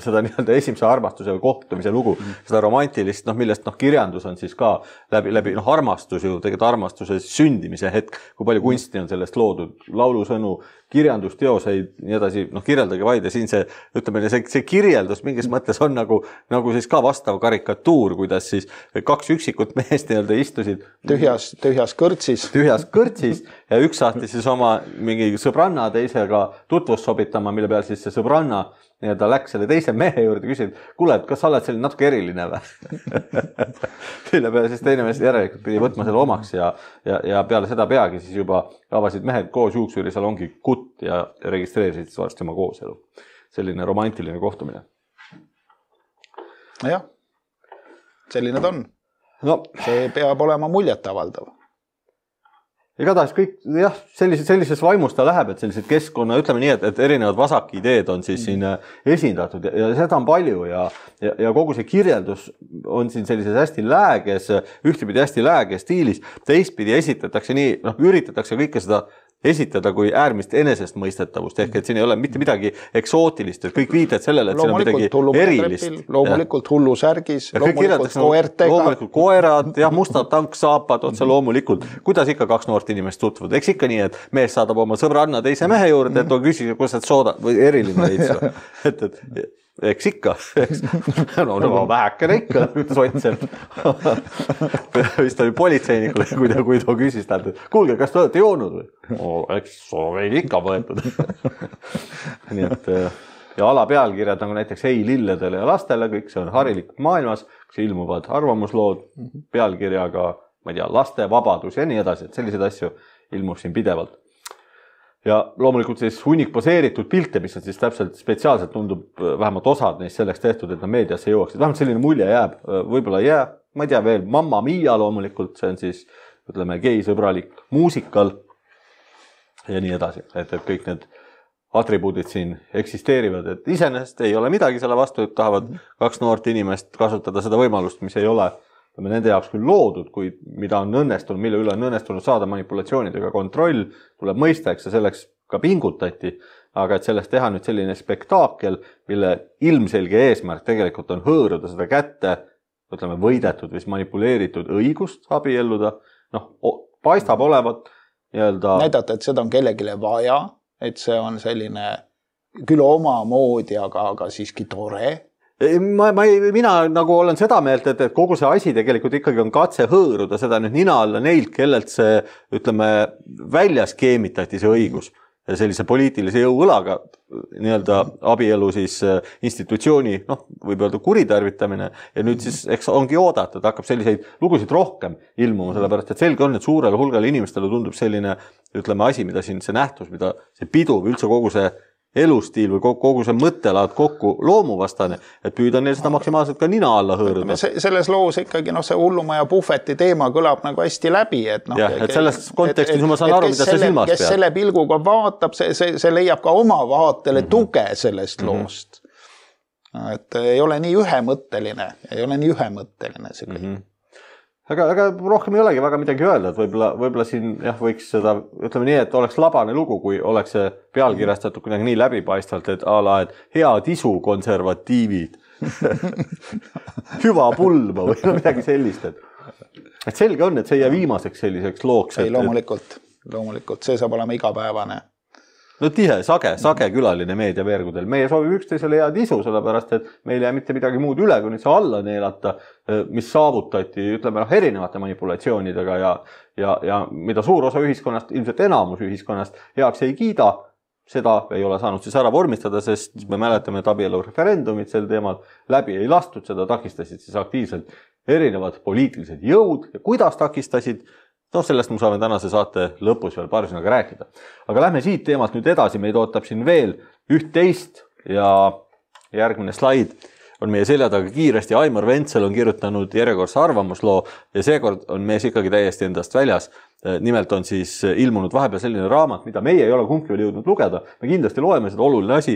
seda nii-öelda esimese armastuse või kohtumise lugu, mm. seda romantilist, noh, millest noh, kirjandus on siis ka läbi, läbi noh, armastus ju, tegelikult armastuse sündimise hetk, kui palju kunsti on sellest loodud, laulusõnu, kirjandusteoseid, nii edasi, noh, kirjeldage vaid ja siin see, ütleme, see, see kirjeldus mingis mõttes on nagu, nagu siis ka vastav karikatuur, kuidas siis kaks üksikut meest nii-öelda istusid tühjas, tühjas kõrtsis. Tühjas kõrtsis ja üks saati siis oma mingi sõbranna teisega tutvust sobitama, mille peal siis see sõbranna nii-öelda läks selle teise mehe juurde ja küsid, kuule, et kas sa oled selline natuke eriline või? Mille peale siis teine mees järelikult pidi võtma selle omaks ja, ja, ja peale seda peagi siis juba avasid mehed koos juuksurisalongi kutt ja registreerisid siis varsti oma kooselu. Selline romantiline kohtumine. Jah, selline ta on. No. See peab olema muljet avaldav. Igatahes kõik, jah, sellises, sellises vaimus ta läheb, et sellised keskkonna, ütleme nii, et, et erinevad vasakideed on siis siin esindatud ja, ja seda on palju ja, ja, ja kogu see kirjeldus on siin sellises hästi lääges, ühtepidi hästi lääge stiilis, teistpidi esitatakse nii, noh, üritatakse kõike seda esitada kui äärmist enesestmõistetavust, ehk et siin ei ole mitte midagi eksootilist, et kõik viited sellele, et siin on midagi erilist. Loomulikult hullusärgis, loomulikult koertega. Loomulikult koerad, jah, mustad tanksaapad, otse loomulikult. Kuidas ikka kaks noort inimest tutvuvad? Eks ikka nii, et mees saadab oma sõbranna teise mehe juurde, et on küsida, kus et sooda või eriline veits. Et, et eks ikka, eks. No, no vähekene ikka, ütles Ott. Vist oli politseinikule, kui ta, kui ta küsis talt, et kuulge, kas te olete joonud või? No, eks meil ikka võetud. Nii et, ja ala pealkirjad nagu näiteks Ei lilledele ja lastele, kõik see on harilik maailmas, kus ilmuvad arvamuslood pealkirjaga, ma ei tea, laste vabadus ja nii edasi, et selliseid asju ilmub siin pidevalt. Ja loomulikult siis hunnik poseeritud pilte, mis on siis täpselt spetsiaalselt tundub vähemalt osad neist selleks tehtud, et nad meediasse jõuaksid. Vähemalt selline mulje jääb, võib-olla jää, ma ei tea veel, Mamma Mia loomulikult, see on siis, ütleme, geisõbralik muusikal ja nii edasi, et, et kõik need atribuudid siin eksisteerivad, et iseenesest ei ole midagi selle vastu, et tahavad kaks noort inimest kasutada seda võimalust, mis ei ole nende jaoks küll loodud, kuid mida on õnnestunud, mille üle on õnnestunud saada manipulatsioonidega kontroll, tuleb mõista, eks selleks ka pingutati, aga et sellest teha nüüd selline spektaakel, mille ilmselge eesmärk tegelikult on hõõruda seda kätte, ütleme, võidetud või manipuleeritud õigust abielluda, noh, paistab olevat nii-öelda... Näidata, et seda on kellegile vaja, et see on selline küll oma moodi, aga, aga siiski tore. Ma, ma ei, mina nagu olen seda meelt, et, et kogu see asi tegelikult ikkagi on katse hõõruda seda nüüd nina alla neilt, kellelt see, ütleme, välja skeemitati see õigus. sellise poliitilise jõuõlaga nii-öelda abielu siis institutsiooni, noh, võib öelda kuritarvitamine ja nüüd siis eks ongi oodata, et hakkab selliseid lugusid rohkem ilmuma, sellepärast et selge on, et suurele hulgale inimestele tundub selline, ütleme, asi, mida siin see nähtus, mida see pidu või üldse kogu see elustiil või kogu see mõttelaad kokku loomuvastane, et püüda neil seda maksimaalselt ka nina alla hõõruda. Selles loos ikkagi no, see hullumaja puhveti teema kõlab nagu hästi läbi. Et, no, jah, et selles kontekstis ma saan aru, mida see silmas peab. Kes selle pilguga vaatab, see, see, see leiab ka oma vaatele mm-hmm. tuge sellest mm-hmm. loost. Et ei ole nii ühemõtteline, ei ole nii ühemõtteline see kõik. Mm-hmm. Aga, aga rohkem ei olegi väga midagi öelda, et võib-olla, võib-olla siin jah, võiks seda, ütleme nii, et oleks labane lugu, kui oleks see pealkirjastatud kuidagi nii läbipaistvalt, et a la, et hea tisu konservatiivid, hüva pulma või midagi sellist. Et, et selge on, et see ei jää viimaseks selliseks looks. Ei, loomulikult, loomulikult, see saab olema igapäevane. No tihe, sage, sage külaline meediaveergudel. Meie soovib üksteisele head isu, sellepärast, et meil ei jää mitte midagi muud üle, kui nüüd see alla neelata, mis saavutati, ütleme, noh, erinevate manipulatsioonidega ja, ja, ja mida suur osa ühiskonnast, ilmselt enamus ühiskonnast heaks ei kiida, seda ei ole saanud siis ära vormistada, sest me mäletame, et abielu referendumit sel teemal läbi ei lastud, seda takistasid siis aktiivselt erinevad poliitilised jõud ja kuidas takistasid, no sellest me saame tänase saate lõpus veel paari sõnaga rääkida. Aga lähme siit teemalt nüüd edasi, meid ootab siin veel üht-teist ja järgmine slaid on meie selja taga kiiresti. Aimar Ventsel on kirjutanud järjekordse arvamusloo ja seekord on mees ikkagi täiesti endast väljas. Nimelt on siis ilmunud vahepeal selline raamat, mida meie ei ole kumbki veel jõudnud lugeda. Me kindlasti loeme seda oluline asi.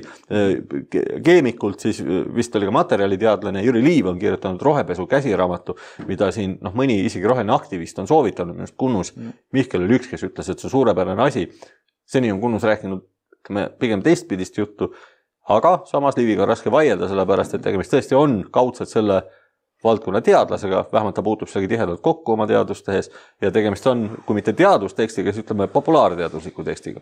Keemikult siis vist oli ka materjaliteadlane Jüri Liiv on kirjutanud rohepesu käsiraamatu, mida siin noh, mõni isegi roheline aktivist on soovitanud. Minust Kunnus Mihkel oli üks, kes ütles, et see suurepärane asi. Seni on Kunnus rääkinud pigem teistpidist juttu, aga samas Liiviga on raske vaielda, sellepärast, et tegemist tõesti on kaudselt selle valdkonna teadlasega, vähemalt ta puutub sellegi tihedalt kokku oma teadustehes ja tegemist on, kui mitte teadustekstiga, siis ütleme populaarteadusliku tekstiga.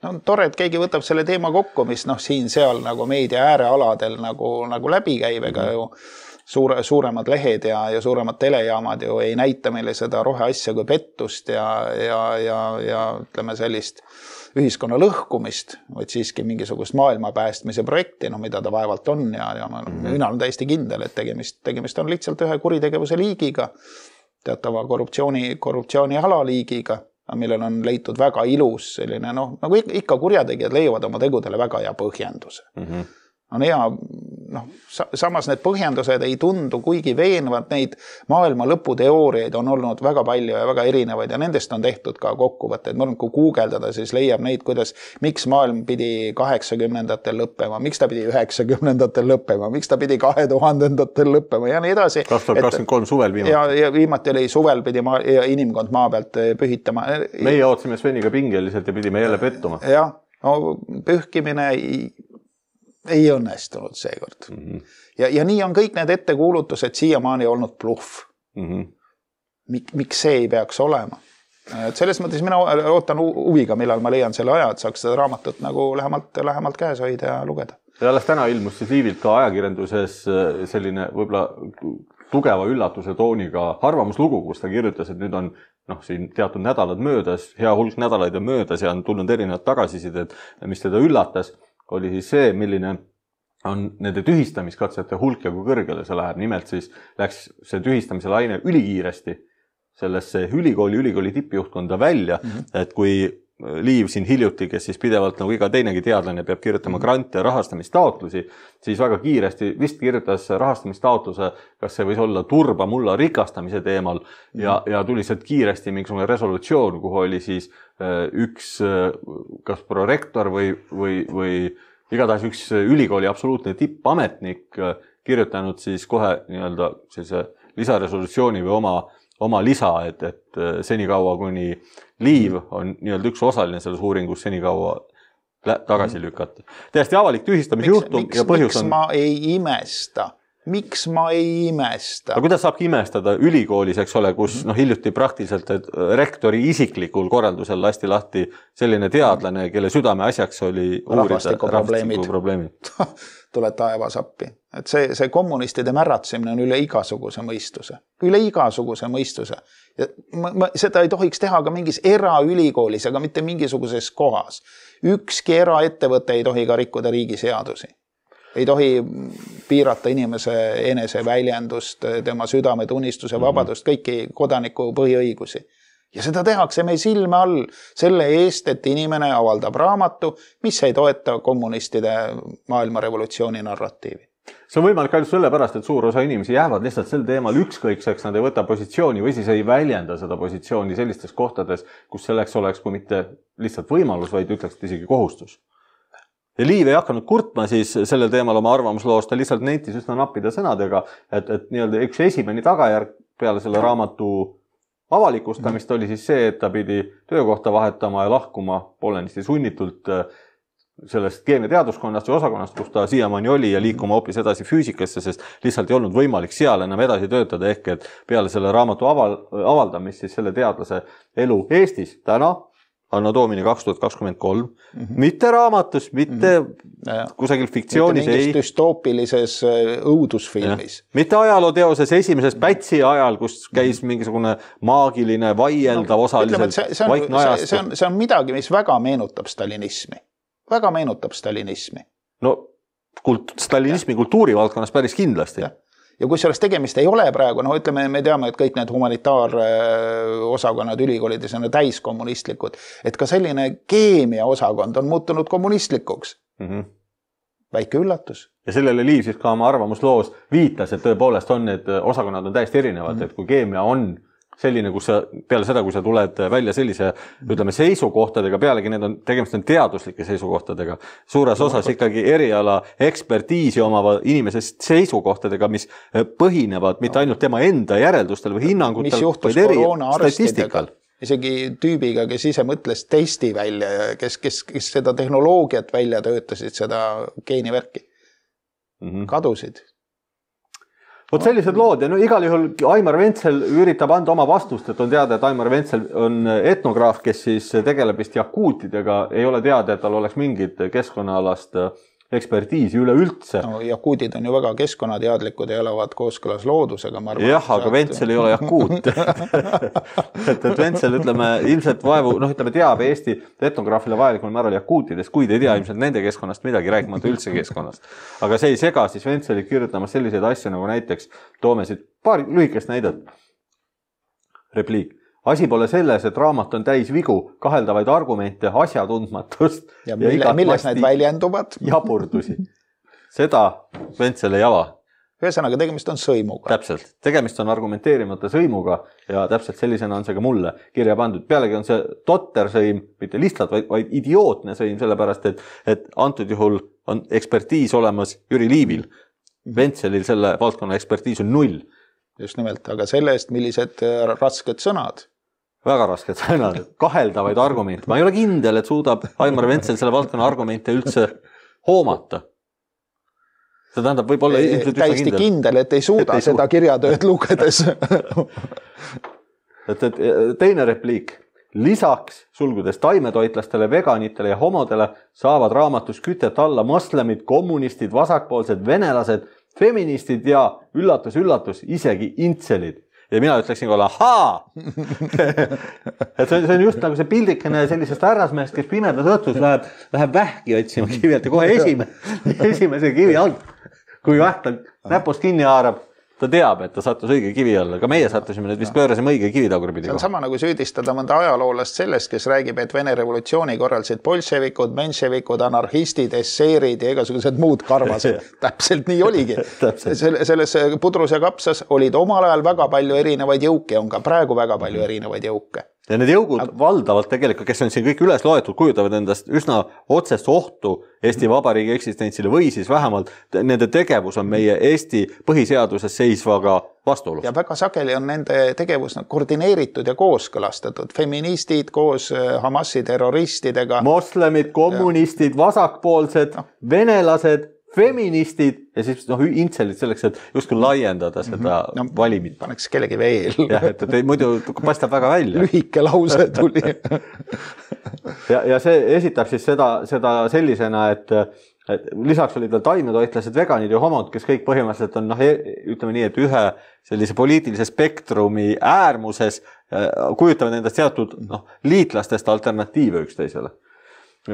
No tore, et keegi võtab selle teema kokku, mis noh, siin-seal nagu meedia äärealadel nagu, nagu läbi käib, ega ju suure, suuremad lehed ja, ja suuremad telejaamad ju ei näita meile seda roheasja kui pettust ja, ja, ja, ja ütleme sellist ühiskonna lõhkumist, vaid siiski mingisugust maailma päästmise projekti, no mida ta vaevalt on ja, ja ma, mm-hmm. mina olen täiesti kindel, et tegemist, tegemist on lihtsalt ühe kuritegevuse liigiga, teatava korruptsiooni, korruptsiooni alaliigiga, millel on leitud väga ilus selline, noh, nagu ikka kurjategijad leiavad oma tegudele väga hea põhjenduse. Mm-hmm. On hea, noh, samas need põhjendused ei tundu kuigi veenvad, neid maailma lõputeooriaid on olnud väga palju ja väga erinevaid ja nendest on tehtud ka kokkuvõtteid. Ma olen, kui guugeldada, siis leiab neid, kuidas, miks maailm pidi kaheksakümnendatel lõppema, miks ta pidi üheksakümnendatel lõppema, miks ta pidi kahe tuhandendatel lõppema ja nii edasi. kaks tuhat kakskümmend kolm suvel viimati. Ja, ja viimati oli suvel pidi maa, ja inimkond maa pealt pühitama. Meie ootsime Sveniga pingeliselt ja pidime jälle pettuma. Jah, no, pühkimine ei õnnestunud seekord. Mm-hmm. Ja, ja nii on kõik need ettekuulutused siiamaani olnud bluff. Mm-hmm. Mik, miks see ei peaks olema? Et selles mõttes mina ootan huviga, millal ma leian selle aja, et saaks seda raamatut nagu lähemalt, lähemalt käes hoida ja lugeda. Ja alles täna ilmus siis Liivilt ka ajakirjanduses selline võib-olla tugeva üllatuse tooniga arvamuslugu, kus ta kirjutas, et nüüd on noh, siin teatud nädalad möödas, hea hulk nädalaid on möödas ja on tulnud erinevad tagasisided, mis teda üllatas, oli siis see, milline on nende tühistamiskatsete hulk ja kui kõrgele see läheb. Nimelt siis läks see tühistamise laine ülikiiresti sellesse ülikooli, ülikooli tippjuhtkonda välja, mm-hmm. et kui Liiv siin hiljuti, kes siis pidevalt nagu iga teinegi teadlane peab kirjutama grante ja rahastamistaotlusi, siis väga kiiresti vist kirjutas rahastamistaotluse, kas see võis olla turba mulla rikastamise teemal ja, ja tuli sealt kiiresti mingisugune resolutsioon, kuhu oli siis üks kas prorektor või, või, või igatahes üks ülikooli absoluutne tippametnik kirjutanud siis kohe nii-öelda sellise lisaresolutsiooni või oma oma lisa, et, et senikaua kuni Liiv on nii-öelda üks osaline selles uuringus senikaua tagasi lükata. Täiesti avalik tühistamisjuhtum ja põhjus on... Miks ma ei imesta, miks ma ei imesta? Aga kuidas saabki imestada ülikoolis, eks ole, kus noh, hiljuti praktiliselt et rektori isiklikul korraldusel lasti lahti selline teadlane, kelle südame asjaks oli uurida rahvastikuprobleemid. Tuleb taevas appi. Et see, see kommunistide märratsemine on üle igasuguse mõistuse. Üle igasuguse mõistuse. Ja ma, ma, seda ei tohiks teha ka mingis eraülikoolis, aga mitte mingisuguses kohas. Ükski eraettevõte ei tohi ka rikkuda riigi seadusi. Ei tohi piirata inimese enese väljendust, tema südametunnistuse vabadust, kõiki kodaniku põhiõigusi. Ja seda tehakse meil silme all selle eest, et inimene avaldab raamatu, mis ei toeta kommunistide maailmarevolutsiooni narratiivi. See on võimalik ainult sellepärast, et suur osa inimesi jäävad lihtsalt sel teemal ükskõikseks, nad ei võta positsiooni või siis ei väljenda seda positsiooni sellistes kohtades, kus selleks oleks, kui mitte lihtsalt võimalus, vaid ütleks isegi kohustus. Ja Liiv ei hakanud kurtma siis sellel teemal oma arvamusloos, ta lihtsalt nentis üsna nappida sõnadega, et, et nii-öelda üks esimene tagajärg peale selle raamatu avalikustamist oli siis see, et ta pidi töökohta vahetama ja lahkuma poolenisti sunnitult sellest keemiateaduskonnast või osakonnast, kus ta siiamaani oli ja liikuma hoopis edasi füüsikasse, sest lihtsalt ei olnud võimalik seal enam edasi töötada, ehk et peale selle raamatu aval, avaldamist siis selle teadlase elu Eestis täna Anno Domini kaks tuhat kakskümmend kolm, mm-hmm. mitte raamatus, mitte mm-hmm. kusagil fiktsioonis. Mitte mingis düstoopilises õudusfilmis. Ja. Mitte ajalooteoses esimeses Pätsi ajal, kus käis mingisugune maagiline, vaieldav no, osaliselt see, see on, vaikne ajastu. See on, see on midagi, mis väga meenutab stalinismi. Väga meenutab stalinismi. No kult, stalinismi ja. Kultuurivaldkonnas päris kindlasti. Ja. Ja kui sellest tegemist ei ole praegu, no ütleme, me teame, et kõik need humanitaarosakonnad ülikoolides on täiskommunistlikud, et ka selline keemia osakond on muutunud kommunistlikuks. Mm-hmm. Väike üllatus. Ja sellele Liiv siis ka oma arvamusloos viitas, et tõepoolest on need osakonnad on täiesti erinevad, mm-hmm. et kui keemia on selline, kus sa, peale seda, kui sa tuled välja sellise, ütleme, seisukohtadega, pealegi need on, tegemist on teaduslike seisukohtadega, suures osas ikkagi eriala ekspertiisi omava inimese seisukohtadega, mis põhinevad mitte ainult tema enda järeldustel või hinnangutel, mis juhtus koroona arstidega, isegi tüübiga, kes ise mõtles testi välja, kes, kes, kes seda tehnoloogiat välja töötasid, seda geenivärki, mm-hmm. kadusid. Vot sellised lood ja no igal juhul Aimar Ventsel üritab anda oma vastust, et on teada, et Aimar Ventsel on etnograaf, kes siis tegeleb vist jakuutidega, ei ole teada, et tal oleks mingit keskkonnaalast ekspertiisi üleüldse. No, jakuudid on ju väga keskkonnateadlikud ja elavad kooskõlas loodusega. Arvan, jah, aga saad... Ventsel ei ole jakuut. et, et Ventsel, ütleme, ilmselt vaevu, noh, ütleme, teab Eesti etnograafile vajalikul määral jakuutidest, kuid ei tea ilmselt nende keskkonnast midagi, rääkimata üldse keskkonnast. Aga see ei sega siis Ventselit kirjutama selliseid asju, nagu näiteks toome siit paar lühikest näidet. Repliik. Asi pole selles, et raamat on täis vigu, kaheldavaid argumente, asjatundmatust ja, mille, ja milles need väljenduvad? Jaburdusi. Seda Ventsel ei ava. Ühesõnaga, tegemist on sõimuga. Täpselt. Tegemist on argumenteerimata sõimuga ja täpselt sellisena on see ka mulle kirja pandud. Pealegi on see totter sõim, mitte lihtsalt, vaid, vaid idiootne sõim, sellepärast, et, et antud juhul on ekspertiis olemas Jüri Liivil. Ventselil selle valdkonna ekspertiis on null. Just nimelt, aga selle eest, millised rasked sõnad. Väga rasked sõnad, kaheldavaid argumente. Ma ei ole kindel, et suudab Aimar Ventsel selle valdkonna argumente üldse hoomata. See tähendab võib-olla ilmselt üsna täiesti kindel. kindel, et ei suuda et ei seda kirjatööd lugedes. et, et teine repliik. Lisaks sulgudes taimetoitlastele, veganitele ja homodele saavad raamatus kütet alla moslemid, kommunistid, vasakpoolsed, venelased, feministid ja üllatus, üllatus, isegi intselid. Ja mina ütleksin kohe, ahaa! et see on, see on just nagu see pildikene sellisest härrasmehest, kes pimedas õhtus läheb, läheb vähki otsima kivilt ja kohe esime, esimese kivi alt. Kui väht on näpust kinni haarab, ta teab, et ta sattus õige kivi alla. Ka meie sattusime nüüd vist pöörasime õige kivi tagurpidi. See on sama nagu süüdistada mõnda ajaloolast sellest, kes räägib, et Vene revolutsiooni korraldasid bolševikud, menševikud, anarhistid, esseerid ja igasugused muud karvased. Täpselt nii oligi. Selles pudrus ja kapsas olid omal ajal väga palju erinevaid jõuke, on ka praegu väga palju erinevaid jõuke. Ja need jõugud Aga... valdavalt tegelikult, kes on siin kõik üles loetud, kujutavad endast üsna otsest ohtu Eesti Vabariigi eksistentsile või siis vähemalt nende tegevus on meie Eesti põhiseaduses seisvaga vastuolus. Ja väga sageli on nende tegevus koordineeritud ja kooskõlastatud. Feministid koos Hamasi terroristidega. Moslemid, kommunistid, vasakpoolsed, no. venelased, feministid ja siis noh, intselid selleks, et justkui laiendada seda no, valimit. Paneks kellegi veel. jah, et, et muidu paistab väga välja. Lühike lause tuli. ja, ja see esitab siis seda, seda sellisena, et, et lisaks olid veel taimetoitlased, veganid ja homod, kes kõik põhimõtteliselt on, noh, ütleme nii, et ühe sellise poliitilise spektrumi äärmuses kujutavad endast teatud noh, liitlastest alternatiive üksteisele.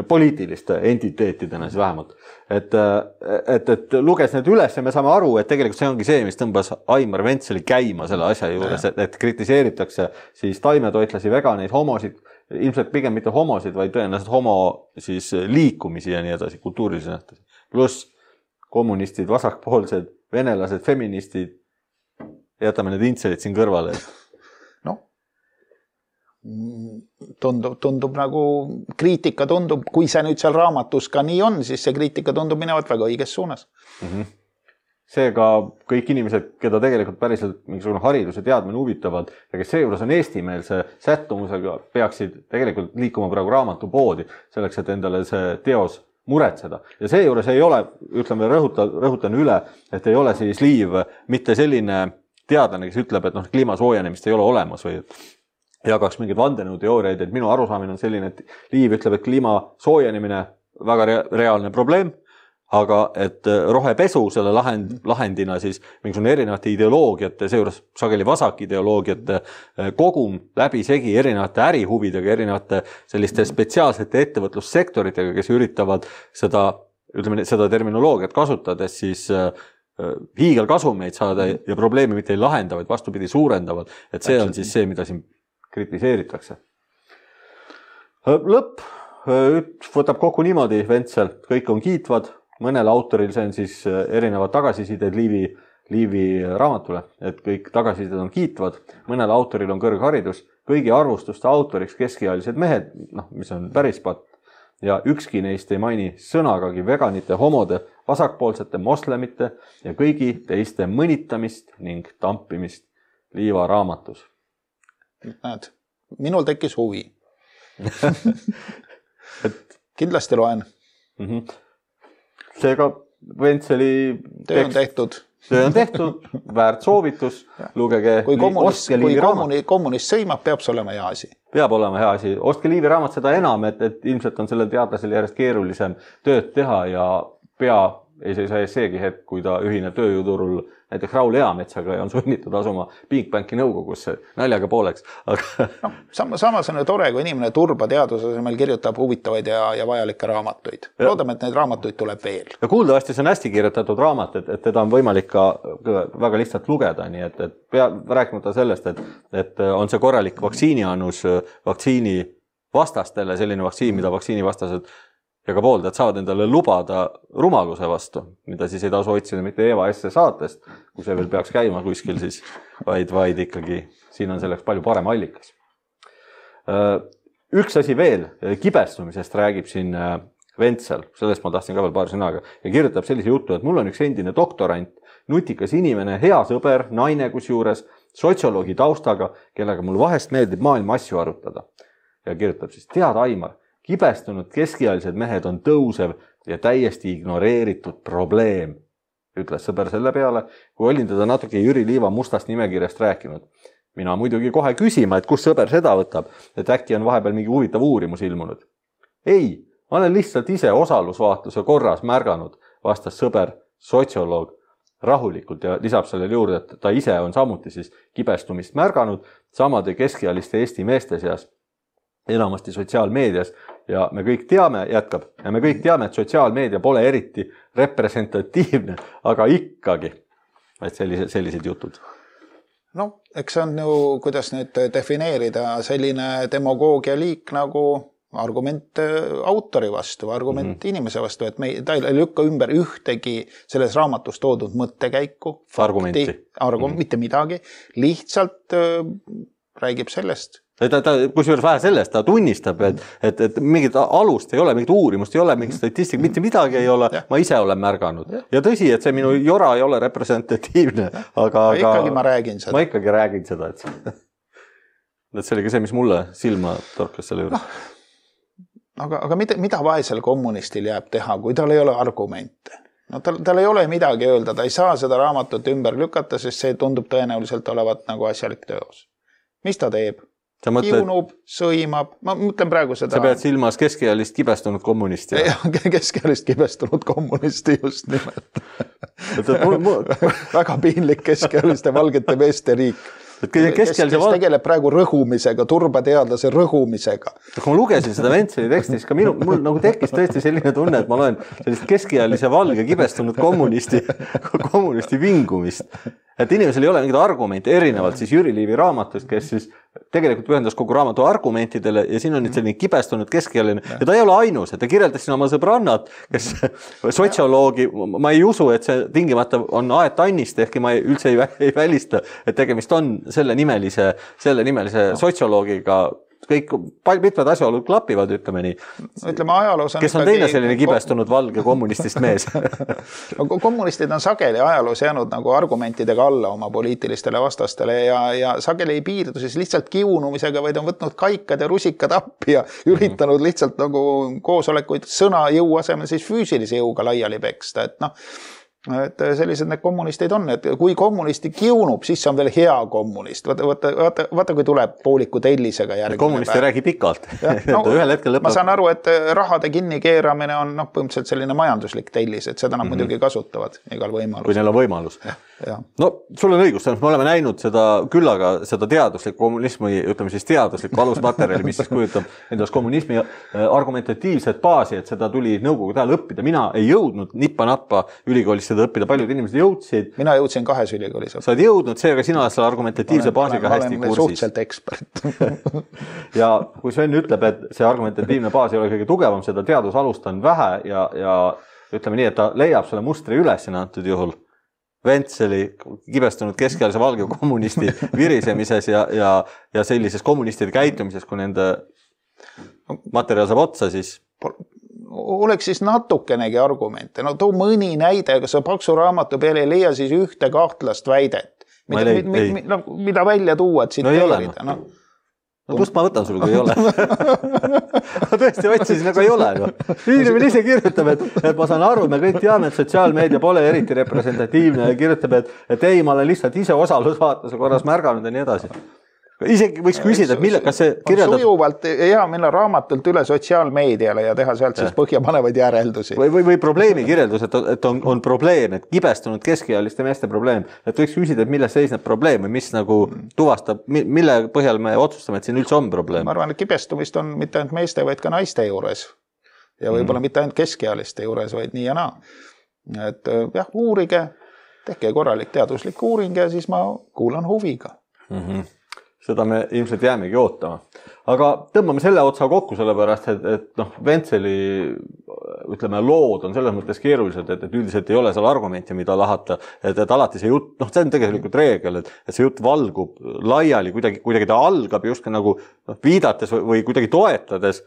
Poliitiliste entiteetidena siis vähemalt. Et, et, et luges need üles ja me saame aru, et tegelikult see ongi see, mis tõmbas Aimar Ventseli käima selle asja juures, et, et kritiseeritakse siis taimetoitlasi, veganeid, homosid, ilmselt pigem mitte homosid, vaid tõenäoliselt homo siis liikumisi ja nii edasi, kultuurilisi nähtusi. Pluss kommunistid, vasakpoolsed, venelased, feministid, jätame need intselid siin kõrvale. No, tundub, tundub nagu kriitika tundub, kui see nüüd seal raamatus ka nii on, siis see kriitika tundub minevat väga õiges suunas. Mm-hmm. Seega kõik inimesed, keda tegelikult päriselt mingisugune haridus ja teadmine huvitavad ja kes seejuures on eestimeelse sättumusega, peaksid tegelikult liikuma praegu raamatupoodi selleks, et endale see teos muretseda. Ja seejuures ei ole, ütleme, rõhutan, rõhutan üle, et ei ole siis Liiv mitte selline teadlane, kes ütleb, et noh, kliima soojenemist ei ole olemas või jagaks mingid vandenõuteooriaid, et minu arusaamine on selline, et Liiv ütleb, et kliima soojenemine väga reaalne probleem, aga et rohepesu selle lahend, lahendina siis mingisugune erinevate ideoloogiate, seejuures sageli vasak ideoloogiate kogum läbi segi erinevate ärihuvidega, erinevate selliste spetsiaalsete ettevõtlussektoritega, kes üritavad seda, ütleme, seda terminoloogiat kasutades siis hiigelkasumeid saada ja probleemi mitte ei lahenda, vaid vastupidi suurendavad. Et see on siis see, mida siin kritiseeritakse. Lõpp võtab kokku niimoodi Ventsel, kõik on kiitvad. Mõnel autoril see on siis erinevad tagasisided Liivi, Liivi raamatule, et kõik tagasisided on kiitvad. Mõnel autoril on kõrgharidus, kõigi arvustuste autoriks keskealised mehed, noh, mis on päris patt. Ja ükski neist ei maini sõnagagi veganite, homode, vasakpoolsete, moslemite ja kõigi teiste mõnitamist ning tampimist Liiva raamatus. Näed, minul tekkis huvi. et... Kindlasti loen. Mhm. Seega Ventseli töö on tehtud. Töö on tehtud, väärt soovitus, lugege. Kui kommunist, kui kommuni, kommunist sõimab, peab see olema hea asi. Peab olema hea asi. Ostke Liivi raamat seda enam, et, et ilmselt on sellel teadlasel järjest keerulisem tööd teha ja pea ei saa seegi hetk, kui ta ühine tööjuturul näiteks Raul Eametsaga ja on sunnitud asuma Bigbanki nõukogusse naljaga pooleks. Aga... No, samas on tore, kui inimene turba teaduse meil kirjutab huvitavaid ja, ja vajalikke raamatuid. Loodame, et neid raamatuid tuleb veel. Ja kuuldavasti see on hästi kirjutatud raamat, et, et teda on võimalik ka väga lihtsalt lugeda, nii et, et pea, rääkimata sellest, et, et on see korralik vaktsiiniannus vaktsiini vastastele, selline vaktsiin, mida vaktsiini vastased ja ka pooldajad saavad endale lubada rumaluse vastu, mida siis ei tasu otsida mitte Eva S. saatest, kui see veel peaks käima kuskil siis, vaid, vaid ikkagi siin on selleks palju parem allikas. Üks asi veel, kibestumisest räägib siin Ventsel, sellest ma tahtsin ka veel paar sõnaga, ja kirjutab sellise jutu, et mul on üks endine doktorant, nutikas inimene, hea sõber, naine kusjuures, sotsioloogi taustaga, kellega mul vahest meeldib maailma asju arutada. Ja kirjutab siis, tead Aimar, kibestunud keskealised mehed on tõusev ja täiesti ignoreeritud probleem, ütles sõber selle peale, kui olin teda natuke Jüri Liiva mustast nimekirjast rääkinud. Mina muidugi kohe küsima, et kus sõber seda võtab, et äkki on vahepeal mingi huvitav uurimus ilmunud. Ei, ma olen lihtsalt ise osalusvaatluse korras märganud, vastas sõber, sotsioloog, rahulikult ja lisab sellele juurde, et ta ise on samuti siis kibestumist märganud samade keskealiste Eesti meeste seas, enamasti sotsiaalmeedias ja me kõik teame, jätkab, ja me kõik teame, et sotsiaalmeedia pole eriti representatiivne, aga ikkagi, et sellised, sellised jutud. No, eks see on ju, kuidas nüüd defineerida selline demagoogia liik nagu argument autori vastu, argument mm-hmm. inimese vastu, et me, ta ei lükka ümber ühtegi selles raamatus toodud mõttekäiku, argumenti, argum, mm-hmm. mitte midagi, lihtsalt äh, räägib sellest. Ta, ta, kusjuures vähe sellest, ta tunnistab, et, et, et mingit alust ei ole, mingit uurimust ei ole, mingit statistik, mitte midagi ei ole, ja. Ma ise olen märganud. Ja. ja tõsi, et see minu jora ei ole representatiivne, aga... Ma ikkagi ma räägin seda. Ma ikkagi räägin seda, et, et see oli ka see, mis mulle silma torkas selle juures. No, aga, aga mida, mida vaesel kommunistil jääb teha, kui tal ei ole argumente? No tal, tal ei ole midagi öelda, ta ei saa seda raamatut ümber lükata, sest see tundub tõenäoliselt olevat nagu asjalik teos. Mis ta teeb? Mõtled, kiunub, sõimab, ma mõtlen praegu seda... Sa pead silmas keskealist kibestunud kommunisti. Keskealist kibestunud kommunisti just nimelt. Väga piinlik keskealiste valgete meeste riik. Kes, kes val... tegeleb praegu rõhumisega, turbateadlase rõhumisega. Kui ma lugesin seda Ventseli teksti, siis ka minu, mul nagu tekkis tõesti selline tunne, et ma loen sellist keskealise valge kibestunud kommunisti, kommunisti vingumist. Et inimesel ei ole mingit argumente, erinevalt siis Jüri Liivi raamatust, kes siis tegelikult pühendas kogu raamatu argumentidele ja siin on nüüd selline kibestunud keskealine ja ta ei ole ainus, et ta kirjeldas siin oma sõbrannad, kes sotsioloogi, ma ei usu, et see tingimata on Aet Annist, ehkki ma üldse ei, ei välista, et tegemist on selle nimelise, selle nimelise no. sotsioloogiga, kõik mitmed asjaolud klapivad, ütleme nii. Ütleme, ajaloos on kes on teine selline kibestunud valge kommunistist mees? Kommunistid on sageli ajaloos jäänud nagu argumentidega alla oma poliitilistele vastastele ja, ja sageli ei piirdu siis lihtsalt kiunumisega, vaid on võtnud kaikad ja rusikad appi ja üritanud lihtsalt nagu koosolekuid sõna jõu asemel siis füüsilise jõuga laiali peksta, et noh, et sellised need kommunistid on, et kui kommunisti kiunub, siis see on veel hea kommunist. Vaata, vaata, vaata, vaata kui tuleb pooliku tellisega järgmine kommunist ei räägi pikalt. No, ühel hetkel lõpeb. Ma saan aru, et rahade kinni keeramine on no, põhimõtteliselt selline majanduslik tellis, et seda nad mm -hmm. muidugi kasutavad igal võimalus. Kui neil on võimalus. Ja, ja. No, sul on õigus, me oleme näinud seda küllaga, seda teaduslikku kommunismi, ütleme siis teaduslikku alusmaterjali, mis siis kujutab endast kommunismi argumentatiivset baasi, et seda tuli nõukogude ajal õppida. Mina ei jõudnud nippa-nappa ülikoolisse õppida, paljud inimesed jõudsid. Mina jõudsin kahes ülikoolis. Sa oled jõudnud, seega sina oled selle argumentatiivse baasiga hästi kursis. Olen suhteliselt ekspert. Ja kui Sven ütleb, et see argumentatiivne baas ei ole kõige tugevam, seda teadusalust on vähe ja, ja ütleme nii, et ta leiab selle mustri üles antud juhul Ventseli kibestunud keskealise valge kommunisti virisemises ja, ja, ja sellises kommunistide käitumises, kui nende materjal saab otsa, siis oleks siis natukenegi argumente. No too mõni näide, kas sa paksu raamatu peale ei leia siis ühte kahtlast väidet, mida, leid, mida, mida, no, mida välja tuua, et tsiteerida. No, no. no kust ma võtan sul, kui ei ole? ma tõesti otsisin, aga ei ole. No. Inimene ise kirjutab, et, et ma saan aru, me kõik teame, et sotsiaalmeedia pole eriti representatiivne ja kirjutab, et, et ei, ma olen lihtsalt ise osalusvaatuse korras märganud ja nii edasi. Isegi võiks küsida, et mille, kas see kirjeldab... Sujuvalt hea minna raamatult üle sotsiaalmeediale ja teha sealt siis põhjapanevaid järeldusi. Või, või, või probleemi kirjeldus, et, et on, on probleem, et kibestunud keskealiste meeste probleem. Et võiks küsida, et milles seisneb probleem või mis nagu tuvastab, mille põhjal me otsustame, et siin üldse on probleem. Ma arvan, et kibestumist on mitte ainult meeste, vaid ka naiste juures. Ja võib-olla mm. mitte ainult keskealiste juures, vaid nii ja naa. Et jah, uurige, tehke korralik teaduslik uuring ja siis ma kuulan huviga. Mhm. Seda me ilmselt jäämegi ootama. Aga tõmbame selle otsa kokku sellepärast, et, et noh, Ventseli ütleme, lood on selles mõttes keerulised, et, et üldiselt ei ole seal argumente, mida lahata, et, et alati see jutt, noh, see on tegelikult reegel, et, et see jutt valgub laiali, kuidagi, kuidagi ta algab just nagu noh, viidates või, või kuidagi toetades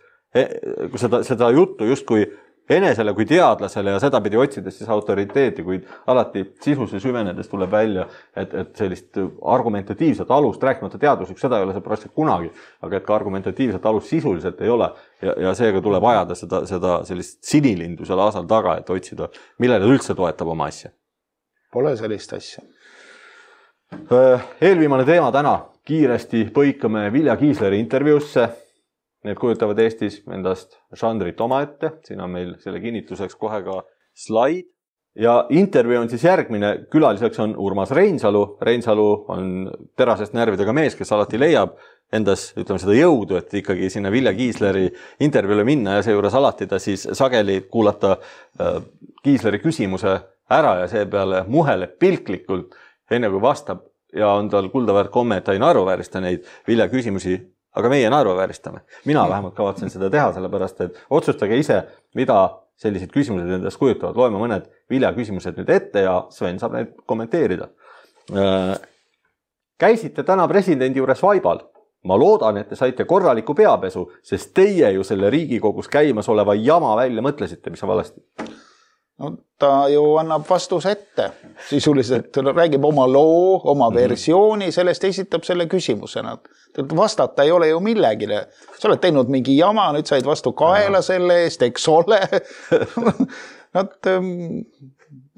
seda, seda juttu just kui enesele kui teadlasele ja seda pidi otsides siis autoriteeti, kuid alati sisusse süvenedes tuleb välja, et, et sellist argumentatiivset alust, rääkimata teaduslik, seda ei ole see praktiliselt kunagi, aga et ka argumentatiivset alust sisuliselt ei ole ja, ja seega tuleb ajada seda, seda sellist sinilindu selle asal taga, et otsida, millele üldse toetab oma asja. Pole sellist asja. Eelviimane teema täna. Kiiresti põikame Vilja Kiisleri intervjuusse. Need kujutavad Eestis endast žanrit omaette. Siin on meil selle kinnituseks kohe ka slaid. Ja intervjuu on siis järgmine. Külaliseks on Urmas Reinsalu. Reinsalu on terasest närvidega mees, kes alati leiab endas, ütleme seda jõudu, et ikkagi sinna Vilja Kiisleri intervjuule minna ja seejuures alati ta siis sageli kuulata Kiisleri küsimuse ära ja seepeale muheleb pilklikult, enne kui vastab ja on tal kuldaväärt komme, et ta ei naeruväärista neid Vilja küsimusi, aga meie naeruvääristame. Mina vähemalt kavatsen seda teha, sellepärast, et otsustage ise, mida sellised küsimused endast kujutavad. Loeme mõned Vilja küsimused nüüd ette ja Sven saab neid kommenteerida. Käisite täna presidendi juures vaibal. Ma loodan, et te saite korraliku peapesu, sest teie ju selle Riigikogus käimas oleva jama välja mõtlesite, mis on valesti. No, ta ju annab vastus ette. Sisuliselt räägib oma loo, oma versiooni, sellest esitab selle küsimusena. Vastata ei ole ju millegile. Sa oled teinud mingi jama, nüüd said vastu kaela selle eest, eks ole. Nad,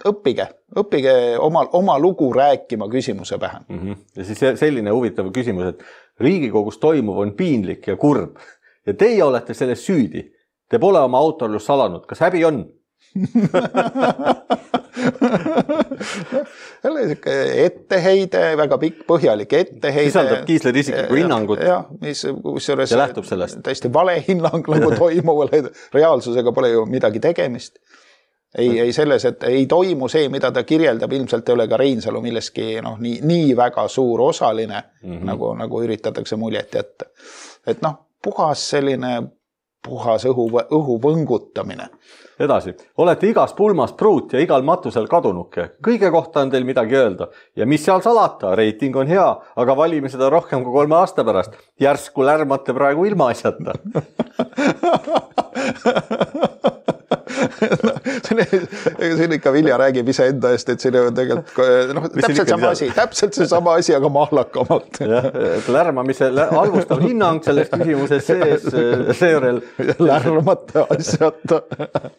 õppige, õppige oma, oma lugu rääkima küsimuse pähe. Mm-hmm. Ja siis selline huvitav küsimus, et Riigikogus toimuv on piinlik ja kurb ja teie olete selles süüdi. Te pole oma autorlust salanud. Kas häbi on? etteheide, väga pikk põhjalik etteheide. Sisaldab Kiisleri isiklikku hinnangut ja, mis, kusjuures, ja lähtub sellest. Täiesti vale hinnang nagu toimuvale. Reaalsusega pole ju midagi tegemist. Ei, ei selles, et ei toimu see, mida ta kirjeldab, ilmselt ei ole ka Reinsalu milleski noh, nii, nii väga suur osaline, mm-hmm. nagu, nagu üritatakse muljet jätta. Et noh, puhas selline puhas õhu, õhu võngutamine. Edasi. Olete igas pulmas pruut ja igal matusel kadunuke. Kõige kohta on teil midagi öelda. Ja mis seal salata? Reiting on hea, aga valime seda rohkem kui kolme aasta pärast. Järsku lärmate praegu ilma asjata. siin ikka Vilja räägib ise enda eest, et siin on tegelikult no, täpselt sama asi, täpselt see sama asi, aga mahlakamalt. Lärmamise halvustav hinnang selles küsimuses sees, seejärel lärmate asjata.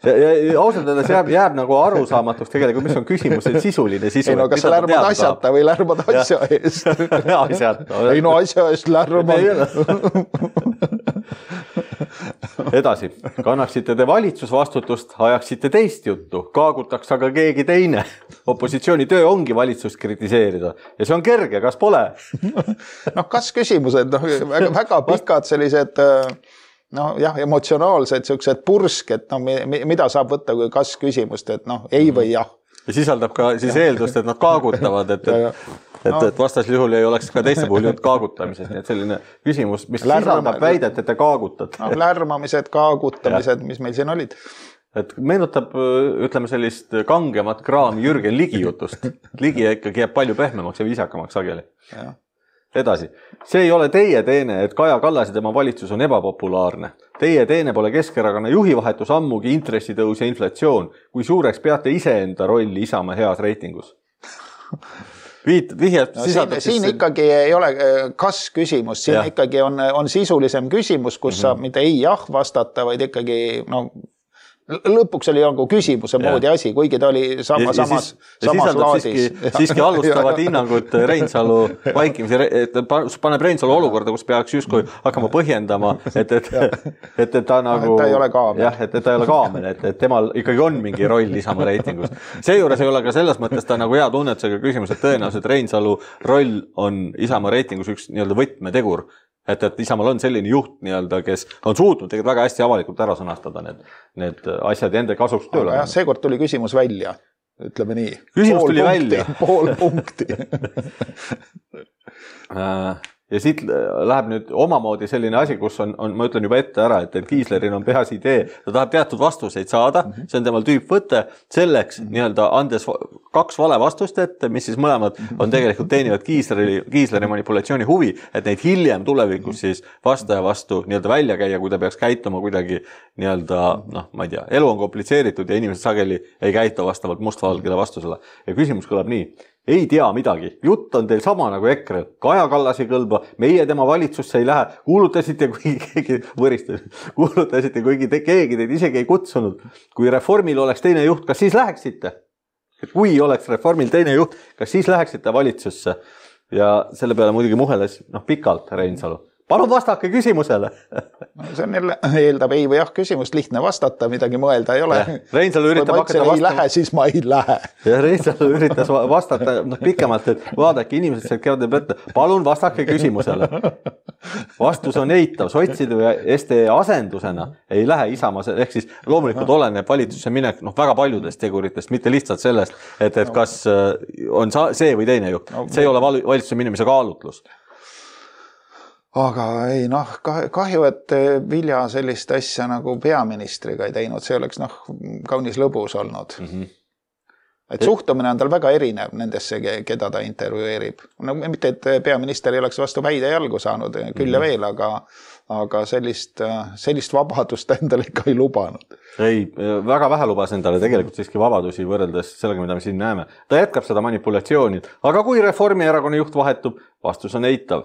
Ja, ja, ja ausalt öeldes jääb, jääb nagu arusaamatuks tegelikult, mis on küsimusel sisuline sisu. Ei no, kas sa lärmad asjata või lärmad asja eest? Asjata. Ei no asja eest lärmad. Edasi, kannaksite te valitsusvastutust, ajaksite teist juttu, kaagutaks aga keegi teine. Opositsiooni töö ongi valitsust kritiseerida ja see on kerge, kas pole? noh, kas küsimused, noh, väga, väga pikad sellised, noh, jah, emotsionaalsed sellised pursk, et noh, mida saab võtta kui kas küsimust, et noh, ei või jah. Ja sisaldab ka siis eeldust, et nad kaagutavad, et, et, et, no. et vastas juhul ei oleks ka teiste puhul jutt kaagutamisest. Nii et selline küsimus, mis Lärma, sisaldab väidet, et te kaagutate. No, lärmamised, kaagutamised, mis meil siin olid. Et meenutab, ütleme sellist kangemat kraami Jürgen Ligi jutust. Ligi ikkagi jääb palju pehmemaks ja viisakamaks sageli. Ja. Edasi. See ei ole teie teene, et Kaja Kallas ja tema valitsus on ebapopulaarne. Teie teene pole Keskerakonna juhivahetus ammugi intressitõus ja inflatsioon, kui suureks peate iseenda rolli Isamaa heas reitingus. Viit, vihjad, no, siin, siis... siin ikkagi ei ole kas küsimus, siin ja. Ikkagi on, on sisulisem küsimus, kus mm-hmm. saab mitte ei jah vastata, vaid ikkagi no, lõpuks oli nagu küsimuse moodi asi, kuigi ta oli sama, ja, samas, ja samas laadis. Siiski, siiski alustavad hinnangud Reinsalu vaikimise, et paneb Reinsalu olukorda, kus peaks justkui hakkama põhjendama, et, et, et, et ta nagu... Ta ei ole kaamel. Jah, et, et ta ei ole kaamel, et, et temal ikkagi on mingi roll Isamaa reitingus. Seejuures ei ole ka selles mõttes ta nagu hea tunnetusega küsimus, et tõenäoliselt Reinsalu roll on Isamaa reitingus üks nii-öelda võtmetegur. Et, et Isamaal on selline juht, nii-öelda, kes on suutnud tegelikult väga hästi avalikult ära sõnastada need, need asjad enda kasuks tööle. Jah, seekord tuli küsimus välja, ütleme nii. Küsimus pool tuli punkti, välja. Pool punkti. Ja siit läheb nüüd omamoodi selline asi, kus on, on ma ütlen juba ette ära, et, et Kiisleril on peas idee, ta tahab teatud vastuseid saada, see on temal tüüp võtte, selleks nii-öelda andes kaks vale vastust ette, mis siis mõlemad on tegelikult teenivad Kiisleri, Kiisleri manipulatsiooni huvi, et neid hiljem tulevikus siis vastaja vastu nii-öelda välja käia, kui ta peaks käituma kuidagi nii-öelda, noh, ma ei tea, elu on komplitseeritud ja inimesed sageli ei käitu vastavalt mustvalgele vastusele. Ja küsimus kõlab nii. Ei tea midagi. Jutt on teil sama nagu EKRE. Kaja Kallas ei kõlba, meie tema valitsusse ei lähe. Kuulutasite, kui keegi võristas, kuulutasite, kuigi te, keegi teid isegi ei kutsunud. Kui reformil oleks teine juht, kas siis läheksite? Kui oleks reformil teine juht, kas siis läheksite valitsusse? Ja selle peale muidugi muheles noh, pikalt Reinsalu. Palun vastake küsimusele. No, see on jälle, eeldab ei või jah küsimust, lihtne vastata, midagi mõelda ei ole. Reinsalu üritab hakata vastama. Ei lähe, siis ma ei lähe. Ja Reinsalu üritas vastata no, pikemalt, et vaadake inimesed sealt kevadel võtta. Palun vastake küsimusele. Vastus on eitav. Sotside või S D asendusena ei lähe Isamaa, ehk siis loomulikult oleneb valitsusse minek noh, väga paljudest teguritest, mitte lihtsalt sellest, et, et kas on see või teine juht. See ei ole valitsuse minemise kaalutlus. Aga ei, noh, kahju, et Vilja sellist asja nagu peaministriga ei teinud, see oleks noh, kaunis lõbus olnud. Mm-hmm. et suhtumine on tal väga erinev nendesse, keda ta intervjueerib. No mitte, et peaminister ei oleks vastu päide jalgu saanud, küll ja veel, aga, aga sellist, sellist vabadust endale ikka ei lubanud. Ei, väga vähe lubas endale tegelikult siiski vabadusi võrreldes sellega, mida me siin näeme. Ta jätkab seda manipulatsiooni, aga kui Reformierakonna juht vahetub, vastus on eitav.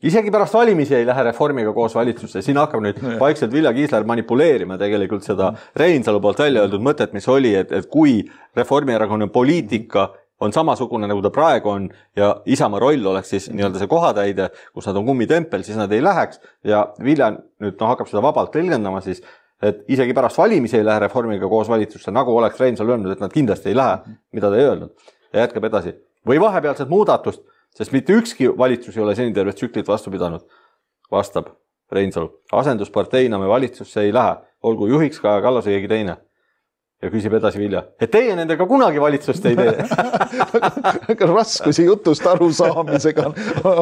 Isegi pärast valimisi ei lähe Reformiga koos valitsusse. Siin hakkab nüüd vaikselt Vilja Kiisler manipuleerima tegelikult seda Reinsalu poolt välja öeldud mõtet, mis oli, et, et kui Reformierakonna poliitika on samasugune, nagu ta praegu on ja Isamaa roll oleks siis nii-öelda see kohatäide, kus nad on kummitempel, siis nad ei läheks ja Vilja nüüd no, hakkab seda vabalt tõlgendama siis, et isegi pärast valimisi ei lähe Reformiga koos valitsusse, nagu oleks Reinsalu öelnud, et nad kindlasti ei lähe, mida ta ei öelnud ja jätkab edasi. Või vahepealset muudatust, sest mitte ükski valitsus ei ole seni tervet tsüklit vastu pidanud, vastab Reinsalu. Asendusparteina me valitsusse ei lähe, olgu juhiks Kaja Kallas või keegi teine. Ja küsib edasi Vilja, et teie nendega kunagi valitsust ei tee. Raskusi jutust aru saamisega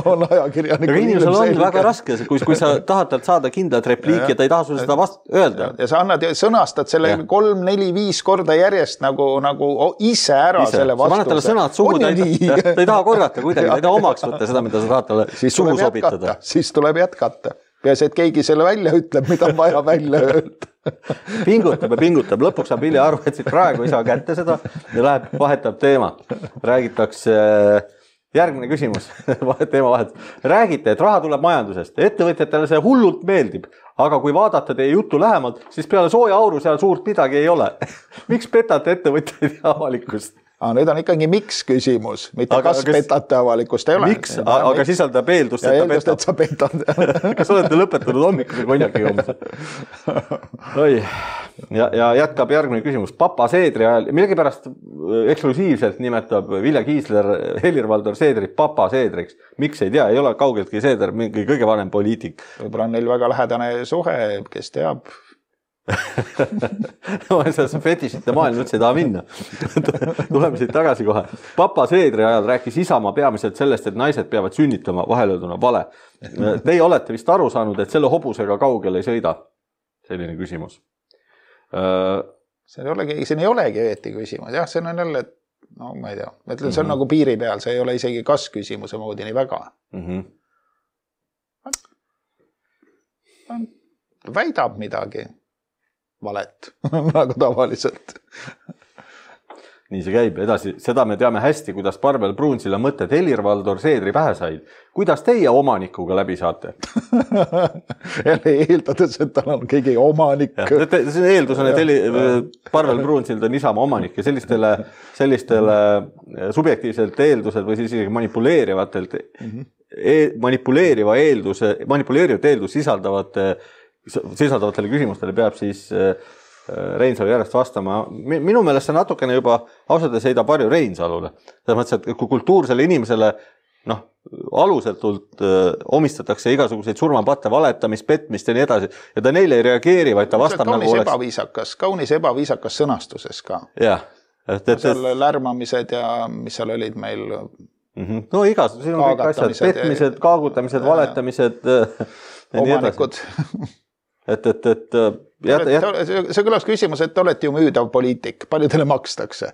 on ajakirjanikul. Aga inimesel on väga raske, kui, kui sa tahad talt saada kindlat repliiki ja ta ei taha sulle seda vast öelda. Ja sa annad, sõnastad selle ja. kolm, neli, viis korda järjest nagu, nagu ise ära ise. Selle vastuse. Sa paned talle sõnad suhu, ta ei, ta ei taha korrata kuidagi, ta ei taha omaks võtta seda, mida sa tahad talle siis suhu sobitada. Siis tuleb jätkata. Peas, et keegi selle välja ütleb, mida on vaja välja öelda. Pingutab ja pingutab. Lõpuks saab Vilja aru, et siit praegu ei saa kätte seda ja läheb, vahetab teema. Räägitakse, järgmine küsimus, teema vahet. Räägite, et raha tuleb majandusest. Ettevõtjatele see hullult meeldib, aga kui vaadata teie juttu lähemalt, siis peale sooja auru seal suurt midagi ei ole. Miks petate ettevõtjaid ja avalikkust? Ah, nüüd on ikkagi miks küsimus, mitte aga, kas kes, petate avalikust ei ole. Miks, aga miks? Sisaldab eeldust, et ta eeldust, et sa petad. Kas olete lõpetanud hommikuse konjaki joomise? Oi. Ja, ja jätkab järgmine küsimus. Papa Seedri ajal, millegi pärast eksklusiivselt nimetab Vilja Kiisler Helir-Valdor Seedrit Papa Seedriks. Miks ei tea, ei ole kaugeltki Seeder mingi kõige vanem poliitik. Võib-olla on neil väga lähedane suhe, kes teab. No, see fetišite maailm üldse ei taha minna. Tuleme siit tagasi kohe. Papa Seedri ajal rääkis Isamaa peamiselt sellest, et naised peavad sünnitama vahelööduna vale. Teie olete vist aru saanud, et selle hobusega kaugel ei sõida. Selline küsimus. See ei olegi, see ei olegi õieti küsimus. Jah, see on jälle, no ma ei tea, ma ütlen, see on mm-hmm. nagu piiri peal, see ei ole isegi kas küsimuse moodi nii väga. Mm-hmm. Väidab midagi. Valet, nagu tavaliselt. Nii see käib edasi. Seda me teame hästi, kuidas Parvel Pruunsilla mõtted Helir-Valdor Seedri pähe said. Kuidas teie omanikuga läbi saate? Jälle eeldades, et tal on keegi omanik. Ja, see eeldus on, et Heli, Parvel Pruunsild on Isamaa omanik ja sellistele, sellistele subjektiivselt eeldused või siis manipuleerivatelt mm-hmm. e, manipuleeriva eelduse, manipuleerivat eeldus sisaldavate sisaldavatele küsimustele peab siis Reinsalu järjest vastama. Minu meelest see natukene juba ausalt heidab varju Reinsalule. Selles mõttes, et kui kultuursele inimesele noh, alusetult omistatakse igasuguseid surmapatte, valetamist, petmist ja nii edasi ja ta neile ei reageeri, vaid ta vastab kaunis nagu oleks... Ebaviisakas, kaunis ebaviisakas sõnastuses ka. Jah. Et, et, seal lärmamised ja mis seal olid meil... Mm-hmm. No igas, siin on kõik asjad, petmised, kaagutamised, valetamised ja nii edasi. Et, et, et, jät, jät... see kõlas küsimus, et olete ju müüdav poliitik, palju teile makstakse?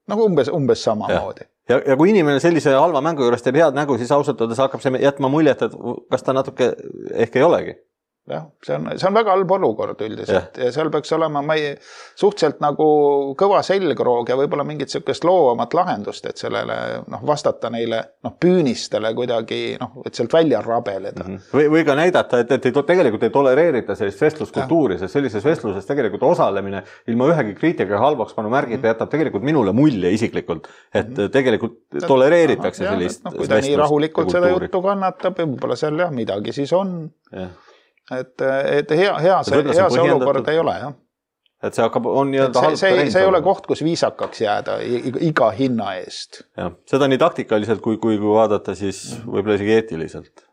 Nagu umbes, umbes sama ja. moodi. Ja, ja kui inimene sellise halva mängu juures teeb head nägu, siis ausalt öeldes hakkab see jätma muljet, et kas ta natuke ehk ei olegi. jah, see on, see on väga halb olukord üldiselt ja. ja seal peaks olema ma ei, suhteliselt nagu kõva selgroog ja võib-olla mingit sellist loovamat lahendust, et sellele noh, vastata neile noh, püünistele kuidagi, noh, et sealt välja rabeleda. Mm-hmm. Või, või ka näidata, et, et ei, tegelikult ei tolereerita sellist vestluskultuuri, sest sellises vestluses tegelikult osalemine ilma ühegi kriitika halvaks panu märgita mm-hmm. jätab tegelikult minule mulje isiklikult, et mm-hmm. tegelikult tolereeritakse aha, sellist no, kui ta nii rahulikult seda juttu kannatab, võib-olla seal jah, midagi siis on. Ja. Et, et hea, hea see, hea see olukord ei ole, jah. Et see hakkab, on nii-öelda see, see, see ei ole koht, kus viisakaks jääda iga hinna eest. Ja, seda nii taktikaliselt, kui, kui, kui vaadata, siis võib-olla isegi eetiliselt.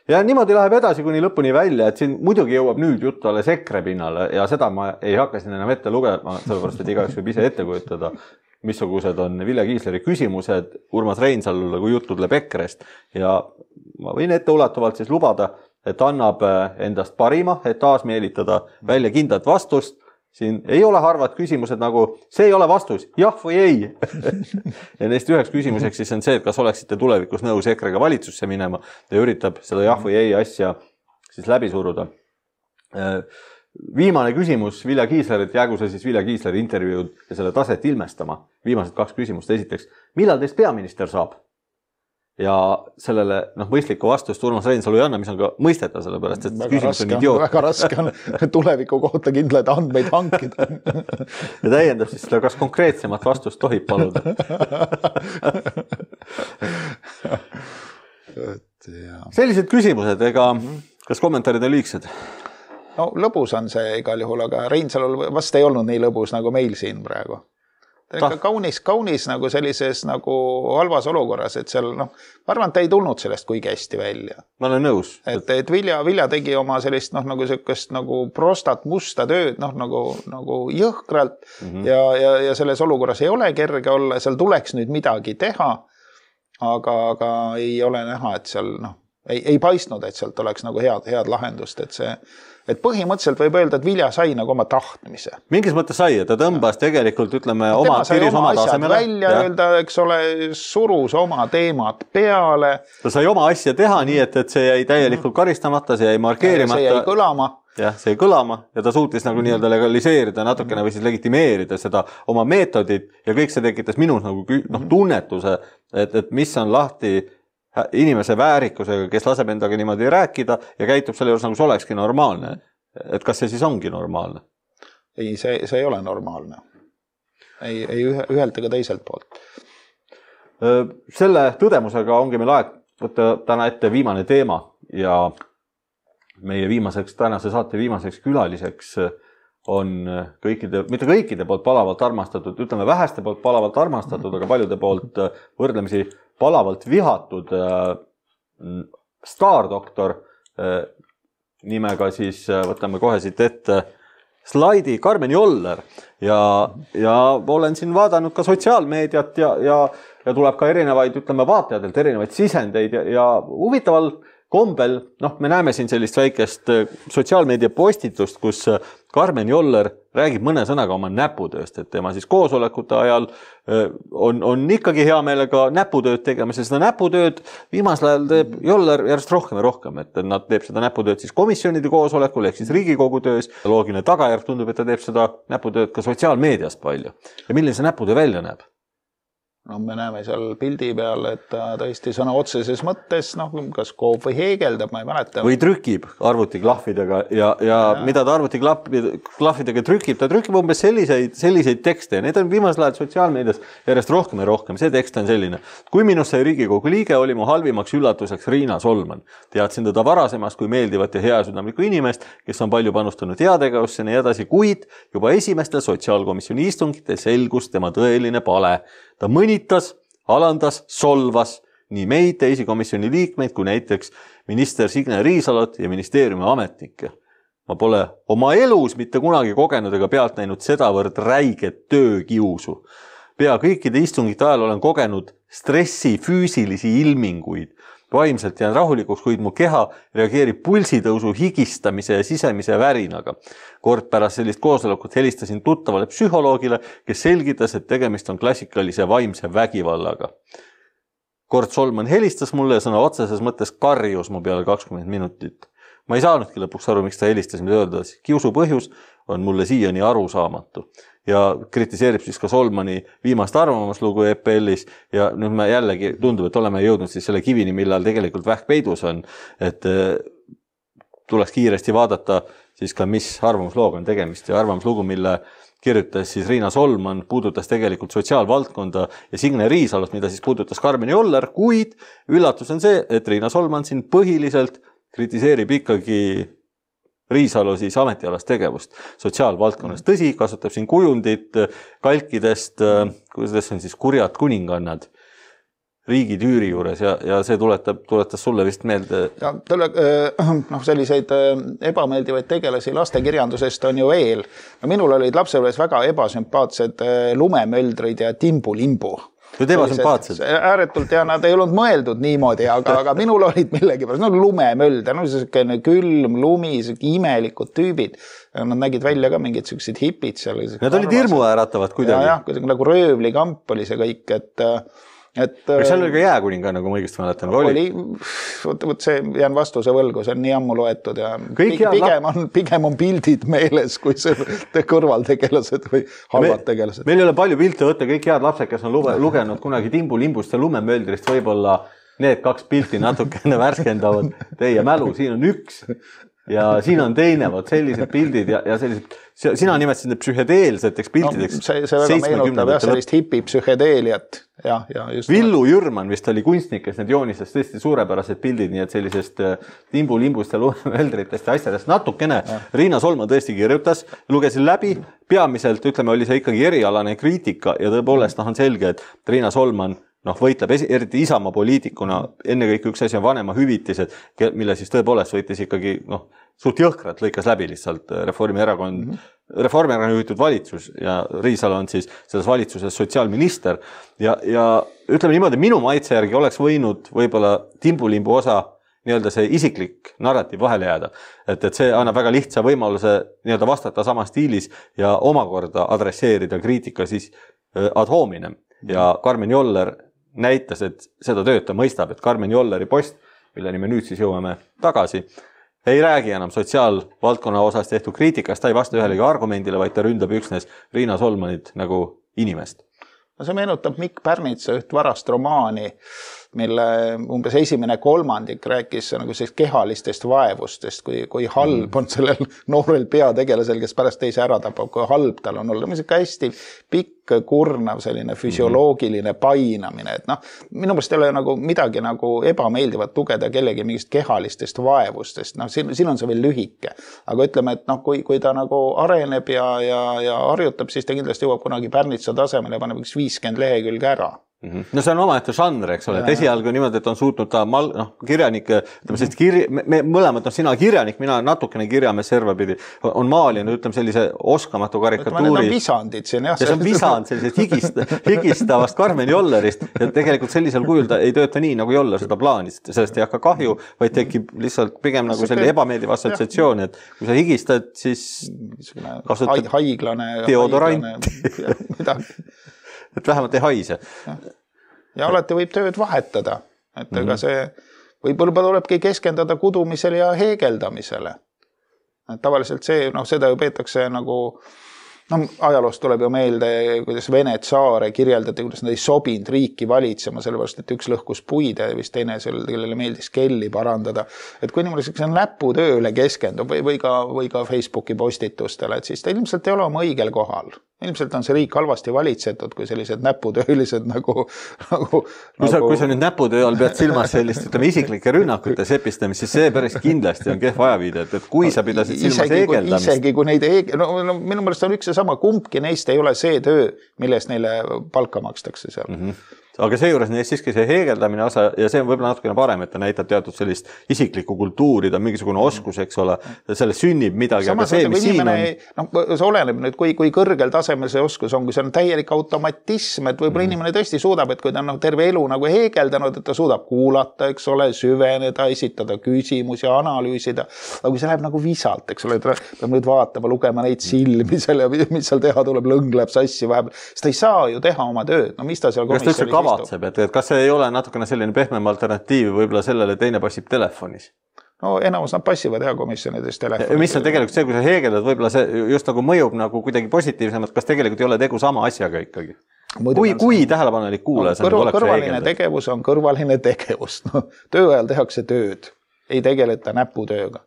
Ja niimoodi läheb edasi kuni lõpuni välja, et siin muidugi jõuab nüüd jutt alles EKRE pinnale ja seda ma ei hakka siin enam ette lugema, sellepärast, et igaüks võib ise ette kujutada, missugused on Vilja Kiisleri küsimused Urmas Reinsalule, kui jutt tuleb EKREst ja ma võin ette ulatuvalt siis lubada, et annab endast parima, et taas meelitada välja kindlat vastust siin ei ole harvad küsimused nagu, see ei ole vastus, jah või ei. Ja neist üheks küsimuseks siis on see, et kas oleksite tulevikus nõus EKRE-ga valitsusse minema ja üritab seda jah või ei asja siis läbi suruda. Viimane küsimus Vilja Kiislerilt, jäägu see siis Vilja Kiisleri intervjuud ja selle taset ilmestama. Viimased kaks küsimust. Esiteks, millal teist peaminister saab? Ja sellele noh, mõistlikku vastust Urmas Reinsalu ei anna, mis on ka mõistetav, sellepärast, et väga küsimus raske, on idioot. Väga raske on tuleviku kohta kindlaid andmeid hankida. Ja täiendab siis seda, kas konkreetsemat vastust tohib paluda. Sellised küsimused, ega kas kommentaarid on liigsed? No lõbus on see igal juhul, aga Reinsalul vast ei olnud nii lõbus nagu meil siin praegu. Ta kaunis, kaunis nagu sellises nagu halvas olukorras, et seal, noh, ma arvan, et ta ei tulnud sellest kuigi hästi välja. Ma olen nõus. Et, et Vilja, Vilja tegi oma sellist, noh, nagu sellist nagu prostat musta tööd, noh, nagu, nagu jõhkralt mm -hmm. ja, ja, ja selles olukorras ei ole kerge olla, seal tuleks nüüd midagi teha, aga, aga ei ole näha, et seal, noh, ei, ei paistnud, et sealt oleks nagu head, head lahendust, et see et põhimõtteliselt võib öelda, et Vilja sai nagu oma tahtmise. Mingis mõttes sai, et ta tõmbas tegelikult, ütleme, oma piris oma tasemele. Välja ja. Öelda, eks ole, surus oma teemad peale. Ta sai oma asja teha nii, et, et see jäi täielikult karistamata, see jäi markeerimata. See jäi kõlama. Jah, see jäi kõlama ja ta suutis nagu nii-öelda legaliseerida natukene või siis legitimeerida seda oma meetodit ja kõik see tekitas minus nagu noh, tunnetuse, et, et mis on lahti inimese väärikusega, kes laseb endaga niimoodi rääkida ja käitub selle juures nagu see olekski normaalne. Et kas see siis ongi normaalne? Ei, see, see ei ole normaalne. Ei, ei ühelt ega teiselt poolt. Selle tõdemusega ongi meil aeg võtta täna ette viimane teema ja meie viimaseks, tänase saate viimaseks külaliseks on kõikide, mitte kõikide poolt palavalt armastatud, ütleme väheste poolt palavalt armastatud, aga paljude poolt võrdlemisi palavalt vihatud äh, staardoktor äh, nimega siis äh, võtame kohe siit ette slaidi Karmen Joller ja, ja olen siin vaadanud ka sotsiaalmeediat ja, ja, ja tuleb ka erinevaid, ütleme vaatajatelt erinevaid sisendeid ja, ja huvitaval kombel, noh, me näeme siin sellist väikest sotsiaalmeedia postitust, kus Karmen Joller räägib mõne sõnaga oma näputööst, et tema siis koosolekute ajal on, on ikkagi hea meelega näputööd tegemas ja seda näputööd viimasel ajal teeb Joller järjest rohkem ja rohkem, et nad teeb seda näputööd siis komisjonide koosolekul ehk siis Riigikogu töös. Loogiline tagajärg tundub, et ta teeb seda näputööd ka sotsiaalmeedias palju. Ja milline see näputöö välja näeb? No me näeme seal pildi peal, et ta tõesti sõna otseses mõttes, noh, kas koob või heegeldab, ma ei mäleta. Või trükib arvutiklahvidega ja, ja, ja mida ta arvutiklahvidega trükib, ta trükib umbes selliseid, selliseid tekste ja need on viimasel ajal sotsiaalmeedias järjest rohkem ja rohkem. See tekst on selline. Kui minust sai Riigikogu liige, oli mu halvimaks üllatuseks Riina Solman. Teadsin teda varasemast kui meeldivat ja heasüdamlikku inimest, kes on palju panustanud heategevusse ja nii edasi, kuid juba esimestel sotsiaalkomisjoni istungitel selgus tema tõeline pale. Ta mõnitas, alandas, solvas nii meid, teisi komisjoni liikmeid, kui näiteks minister Signe Riisalot ja ministeeriumi ametnikke. Ma pole oma elus mitte kunagi kogenud ega pealt näinud sedavõrd räiget töökiusu. Pea kõikide istungite ajal olen kogenud stressi füüsilisi ilminguid. Vaimselt jään rahulikuks, kuid mu keha reageerib pulsitõusu higistamise ja sisemise värinaga. Kord pärast sellist koosolekut helistasin tuttavale psühholoogile, kes selgitas, et tegemist on klassikalise vaimse vägivallaga. Kord Solman helistas mulle ja sõna otseses mõttes karjus mu peale kakskümmend minutit. Ma ei saanudki lõpuks aru, miks ta helistas, mida öelda. Kiusu põhjus on mulle siiani arusaamatu. Ja kritiseerib siis ka Solmani viimast arvamuslugu E P L-is ja nüüd me jällegi tundub, et oleme jõudnud siis selle kivini, millal tegelikult vähk peidus on, et tuleks kiiresti vaadata siis ka, mis arvamuslooga on tegemist ja arvamuslugu, mille kirjutas siis Riina Solman, puudutas tegelikult sotsiaalvaldkonda ja Signe Riisalot, mida siis puudutas Karmen Joller, kuid üllatus on see, et Riina Solman siin põhiliselt kritiseerib ikkagi Riisalo siis ametialast tegevust sotsiaalvaldkonnas. Tõsi, kasutab siin kujundit kalkidest, kuidas on siis kurjad kuningannad riigi tüüri juures ja, ja see tuletab, tuletas sulle vist meelde. Ja tule, noh, selliseid ebameeldivaid tegelasi lastekirjandusest on ju veel. No minul olid lapsepõlves väga ebasümpaatsed lumemöldrid ja timbu-limbu. Need ebasümpaatsed. Ääretult ja nad ei olnud mõeldud niimoodi, aga, aga minul olid millegi pärast, no lumemölder, no selline külm, lumi, imelikud tüübid. Nad nägid välja ka mingid sellised hipid seal. Nad olid hirmu äratavad kuidagi. Ja, jah, nagu röövlikamp oli see kõik, et, et aga seal oli ka jääkuninga, nagu ma õigesti mäletan. Oli, võt, võt see jään vastuse võlgu, see on nii ammu loetud ja pigem on, pigem on pildid meeles, kui see kõrvaltegelased või halvad tegelased. Meil ei ole palju pilte võtta, kõik head lapsed, kes on lugenud kunagi Timbu limbust ja lumemöldrist, võib-olla need kaks pilti natukene värskendavad teie mälu, siin on üks ja siin on teine, võt sellised pildid ja, ja sellised, sina nimetasid need psühhedeelseteks pildideks. No, see, see väga meenutab jah, sellist hipi psühhedeeliat. Ja, ja just Villu Jürman vist oli kunstnik, kes need joonistas tõesti suurepärased pildid, nii et sellisest Timbu limbust ja lumemöldritest ja asjadest natukene. Ja. Riina Solman tõesti kirjutas, lugesin läbi, peamiselt ütleme, oli see ikkagi erialane kriitika ja tõepoolest noh, on selge, et Riina Solman noh, võitleb eriti Isamaa poliitikuna, enne kõik üks asi on vanema hüvitised, mille siis tõepoolest võitis ikkagi noh, suht jõhkrat lõikas läbi lihtsalt Reformierakond, mm -hmm. Reformierakond juhitud valitsus ja Riisalo on siis selles valitsuses sotsiaalminister ja, ja ütleme niimoodi, minu maitse järgi oleks võinud võib-olla Timbulimbu osa nii-öelda see isiklik narratiiv vahele jääda, et, et see annab väga lihtsa võimaluse nii-öelda vastata sama stiilis ja omakorda adresseerida kriitika siis ad hominem ja Karmen Joller näitas, et seda tööd ta mõistab, et Karmen Jolleri post, milleni me nüüd siis jõuame tagasi, ei räägi enam sotsiaalvaldkonna osas tehtud kriitikast, ta ei vasta ühelegi argumendile, vaid ta ründab üksnes Riina Solmanit nagu inimest. No see meenutab Mikk Pärnitsa üht varast romaani, mille umbes esimene kolmandik rääkis nagu sellist kehalistest vaevustest, kui, kui halb on sellel noorel peategelasel, kes pärast teise ära tapab, kui halb tal on olla. See on hästi pikk, kurnav, selline füsioloogiline painamine. Et noh, minu mõelest ei ole nagu midagi nagu ebameeldivat tugeda kellegi mingist kehalistest vaevustest. No, siin, siin on see veel lühike. Aga ütleme, et noh, kui, kui ta nagu areneb ja, ja, ja harjutab, siis ta kindlasti jõuab kunagi Pärnitsa tasemele ja paneb üks viiskümmend lehekülge ära. No see on omaette žanr, eks ole, et esialgu niimoodi, et on suutnud ta mal, no, kirjanik, ütleme sellist kirja, me, me mõlemad, no sina kirjanik, mina natukene kirjamees servapidi, on maalinud, ütleme sellise oskamatu karikatuuri. Need on visandid siin, jah. Ja see on visand sellisest higist, higistavast Karmen Jollerist ja tegelikult sellisel kujul ta ei tööta nii, nagu Joller seda plaanis, sellest ei hakka kahju, vaid tekib lihtsalt pigem nagu selline ebameeldiv assotsiatsioon, et kui sa higistad, siis kasutad haiglane, deodorant, et vähemalt ei haise. Ja, ja alati võib tööd vahetada. Et mm-hmm. ega see võib-olla tulebki keskendada kudumisele ja heegeldamisele. Et tavaliselt see, noh, seda ju peetakse nagu, no ajaloost tuleb ju meelde, kuidas Vene tsaare kirjeldati, kuidas nad ei sobinud riiki valitsema, sellepärast, et üks lõhkus puide ja vist teine sellele, kellele meeldis kelli parandada. Et kui niimoodi see näputööle keskendub või, või, ka, või ka Facebooki postitustele, et siis ta ilmselt ei ole oma õigel kohal. Ilmselt on see riik halvasti valitsetud, kui sellised näputöölised nagu... nagu kui, sa, kui sa nüüd näputöö all pead silmas sellist, ütleme, isiklike rünnakute sepistamist, siis see päris kindlasti on kehv ajaviide, et, et kui sa pidasid silmas isegi, heegeldamist... Isegi kui neid heeg... no, no, minu mõelest on üks ja sama, kumbki neist ei ole see töö, millest neile palka makstakse seal. Mm-hmm. Aga seejuures neist siiski see heegeldamine osa ja see on võib-olla natukene parem, et ta näitab teatud sellist isiklikku kultuuri, ta on mingisugune oskus, eks ole, sellest sünnib midagi, samas, aga see, mis siin on... No, see oleneb nüüd, kui, kui kõrgel tasemel see oskus on, kui see on täielik automatism, et võib-olla mm. inimene tõesti suudab, et kui ta on no, terve elu nagu heegeldanud, et ta suudab kuulata, eks ole, süveneda, esitada küsimusi ja analüüsida, aga kui see läheb nagu visalt, eks ole, et peab nüüd vaatama, lugema neid silmi seal ja mis seal teha tuleb, lõng läheb sassi vahepeal, siis ta ei saa ju teha oma tööd, no mis ta seal komisjonis Vatseb, et, et kas see ei ole natukene selline pehmem alternatiiv võib-olla sellele teine passib telefonis? No enamus nad passivad hea komisjonides telefonis. Mis on tegelikult see, kui sa heegeldad, võib-olla see just nagu mõjub nagu kuidagi positiivsemalt, kas tegelikult ei ole tegu sama asjaga ikkagi? Muidu kui, kui tähelepanelik kuulaja no, kõrval, kõrvaline tegevus on kõrvaline tegevus. No, töö ajal tehakse tööd, ei tegeleta näputööga.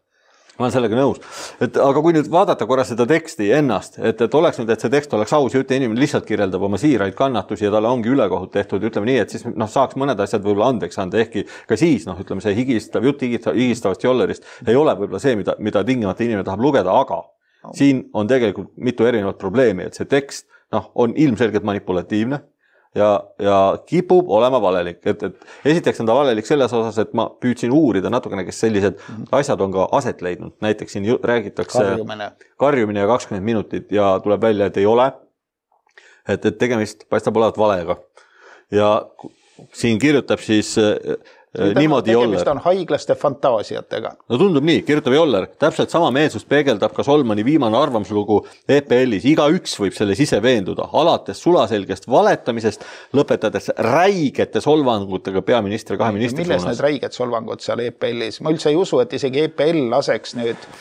Ma olen sellega nõus. Et, aga kui nüüd vaadata korra seda teksti ennast, et, et oleks nüüd, et see tekst oleks aus ja ütle inimene lihtsalt kirjeldab oma siiraid kannatusi ja talle ongi ülekohut tehtud, ütleme nii, et siis no, saaks mõned asjad võib-olla andeks anda, ehkki ka siis, noh, ütleme see higistav, jutt higistavast Jollerist ei ole võib-olla see, mida, mida tingimata inimene tahab lugeda, aga no. Siin on tegelikult mitu erinevat probleemi, et see tekst noh, on ilmselgelt manipulatiivne ja, ja kipub olema valelik. Et, et esiteks on ta valelik selles osas, et ma püüdsin uurida natukene, kes sellised mm-hmm. asjad on ka aset leidnud. Näiteks siin räägitakse karjumine, karjumine ja kakskümmend minutit ja tuleb välja, et ei ole. Et, et tegemist paistab olevat valega. ja siin kirjutab siis niimoodi Joller. Tegemist on haiglaste fantaasiatega. No tundub nii, kirjutab Joller. Täpselt sama meelsust peegeldab ka Solmani viimane arvamuslugu E P L-is. Iga üks võib selles ise veenduda. Alates sulaselgest valetamisest, lõpetades räigete solvangutega peaministri kahe ministri Milles suunas. need räiged solvangud seal E P L-is? Ma üldse ei usu, et isegi E P L laseks nüüd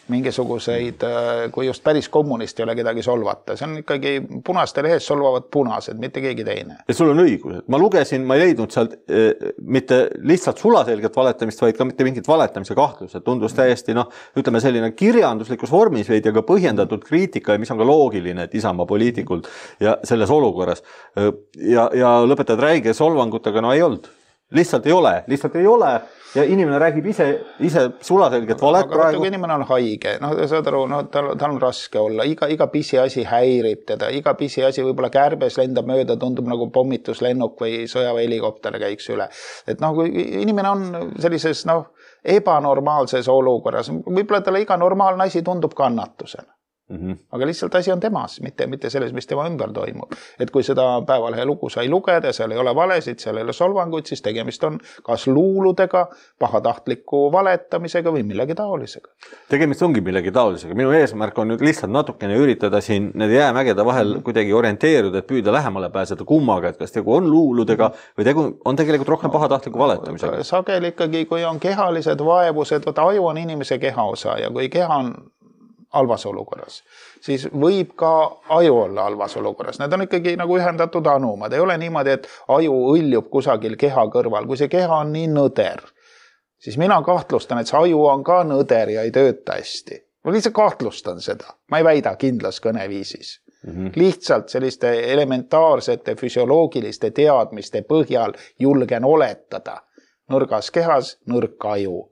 mingisuguseid, kui just päris kommunist ei ole kedagi solvata. See on ikkagi punaste lehes solvavad punased, mitte keegi teine. Ja sul on õigus. Ma lugesin, ma ei leidnud sealt e, mitte lihtsalt sulaselget valetamist, vaid ka mitte mingit valetamise kahtlus. Tundus täiesti, noh, ütleme selline kirjanduslikus vormis veidi, aga põhjendatud kriitika, mis on ka loogiline, et Isamaa poliitikult ja selles olukorras. Ja, ja lõpetad räige solvangutega, no ei olnud. Lihtsalt ei ole, lihtsalt ei ole. Ja inimene räägib ise, ise sulaselget valet aga praegu. Aga inimene on haige, no saad aru, no, tal, tal on raske olla, iga, iga pisi asi häirib teda, iga pisi asi võib-olla kärbes lendab mööda, tundub nagu pommituslennuk või sõjaväehelikopter käiks üle. Et noh, kui inimene on sellises noh, ebanormaalses olukorras, võib-olla talle iga normaalne asi tundub kannatusena. Mm-hmm. Aga lihtsalt asi on temas, mitte, mitte selles, mis tema ümber toimub. Et kui seda päevalehe lugu sai lugeda, seal ei ole valesid, seal ei ole solvanguid, siis tegemist on kas luuludega, pahatahtliku valetamisega või millegi taolisega. Tegemist ongi millegi taolisega. Minu eesmärk on nüüd lihtsalt natukene üritada siin need jäämägede vahel mm-hmm. kuidagi orienteeruda, et püüda lähemale pääseda kummaga, et kas tegu on luuludega või tegu on tegelikult rohkem pahatahtliku valetamisega. Sageli ikkagi, kui on kehalised vaevused, võta aju on inimese kehaosa ja kui keha on halvas olukorras, siis võib ka aju olla halvas olukorras. Need on ikkagi nagu ühendatud anumad. Ei ole niimoodi, et aju õljub kusagil keha kõrval. Kui see keha on nii nõder, siis mina kahtlustan, et see aju on ka nõder ja ei tööta hästi. Ma lihtsalt kahtlustan seda. Ma ei väida kindlas kõneviisis. Mm-hmm. Lihtsalt selliste elementaarsete füsioloogiliste teadmiste põhjal julgen oletada. Nõrgas kehas, nõrk aju.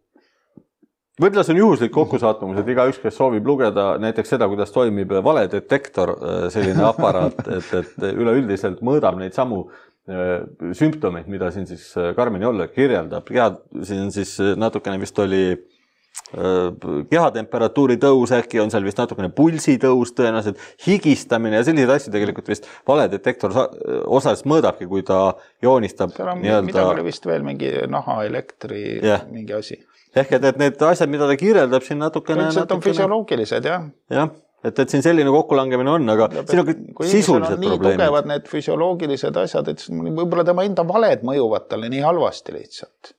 Võib-olla see on juhuslik kokkusaattumus, et iga üks, kes soovib lugeda näiteks seda, kuidas toimib valedetektor, selline aparaat, et, et üleüldiselt mõõdab neid samu sümptomeid, mida siin siis Karmen Joller kirjeldab. Ja siin siis natukene vist oli kehatemperatuuri tõus, äkki on seal vist natukene pulsi tõus tõenäoliselt, higistamine ja sellised asju tegelikult vist valedetektor osas mõõdabki, kui ta joonistab. Seal on midagi oli vist veel mingi naha elektri yeah. mingi asi. Ehk et, et need asjad, mida ta kirjeldab siin natukene... Üldiselt on füsioloogilised, jah. Jah, et, et siin selline kokkulangemine on, aga ja, siin on kui sisulised on nii probleemid. Tugevad need füsioloogilised asjad, et võib-olla tema enda valed mõjuvad talle nii halvasti lihtsalt.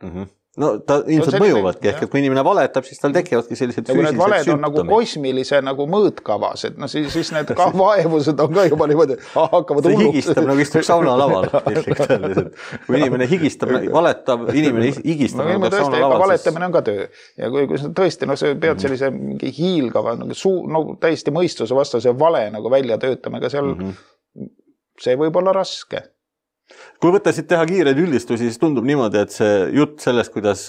Mhm. No ta ilmselt no, mõjuvadki, ehk et kui inimene valetab, siis tal tekivadki sellised ja füüsilised sümptomid. On nagu kosmilise nagu mõõtkavas, et no siis, siis need ka vaevused on ka juba niimoodi, ah, hakkavad hulluks. See higistab nagu istub sauna laval. Kui inimene higistab, valetav inimene higistab no, nagu sauna laval. Valetamine on ka töö. Ja kui, kui tõesti, no see pead sellise mingi hiilgava, nagu suu, no täiesti mõistuse vastase vale nagu välja töötama, aga seal mm-hmm. see võib olla raske. Kui võtta siit teha kiireid üldistusi, siis tundub niimoodi, et see jutt sellest, kuidas,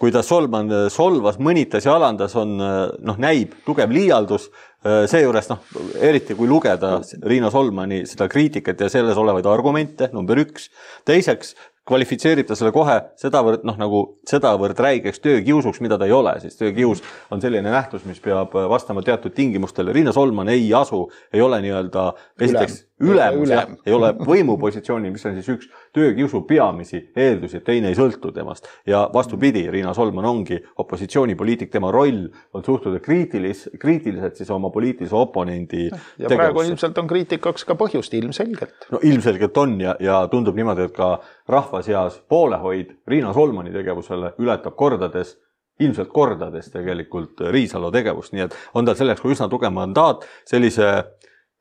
kuidas Solman solvas, mõnitas ja alandas, on, noh, näib tugev liialdus. Seejuures, noh, eriti kui lugeda Riina Solmani seda kriitikat ja selles olevaid argumente, number üks. Teiseks, kvalifitseerib ta selle kohe sedavõrd, noh, nagu sedavõrd räigeks töökiusuks, mida ta ei ole, siis töökius on selline nähtus, mis peab vastama teatud tingimustele. Riina Solman ei asu, ei ole nii-öelda esiteks ülemus, ülem. Ei ole võimupositsiooni, mis on siis üks töökiusu peamisi eeldusi, et teine ei sõltu temast. Ja vastupidi, Riina Solman ongi opositsioonipoliitik, tema roll on suhtuda kriitilis, kriitiliselt siis oma poliitilise oponendi ja tegevusse. Praegu ilmselt on kriitikaks ka põhjust, ilmselgelt. No ilmselgelt on ja, ja tundub niimoodi, et ka rahva seas poolehoid Riina Solmani tegevusele ületab kordades, ilmselt kordades tegelikult Riisalo tegevust, nii et on tal selleks kui üsna tugev mandaat, sellise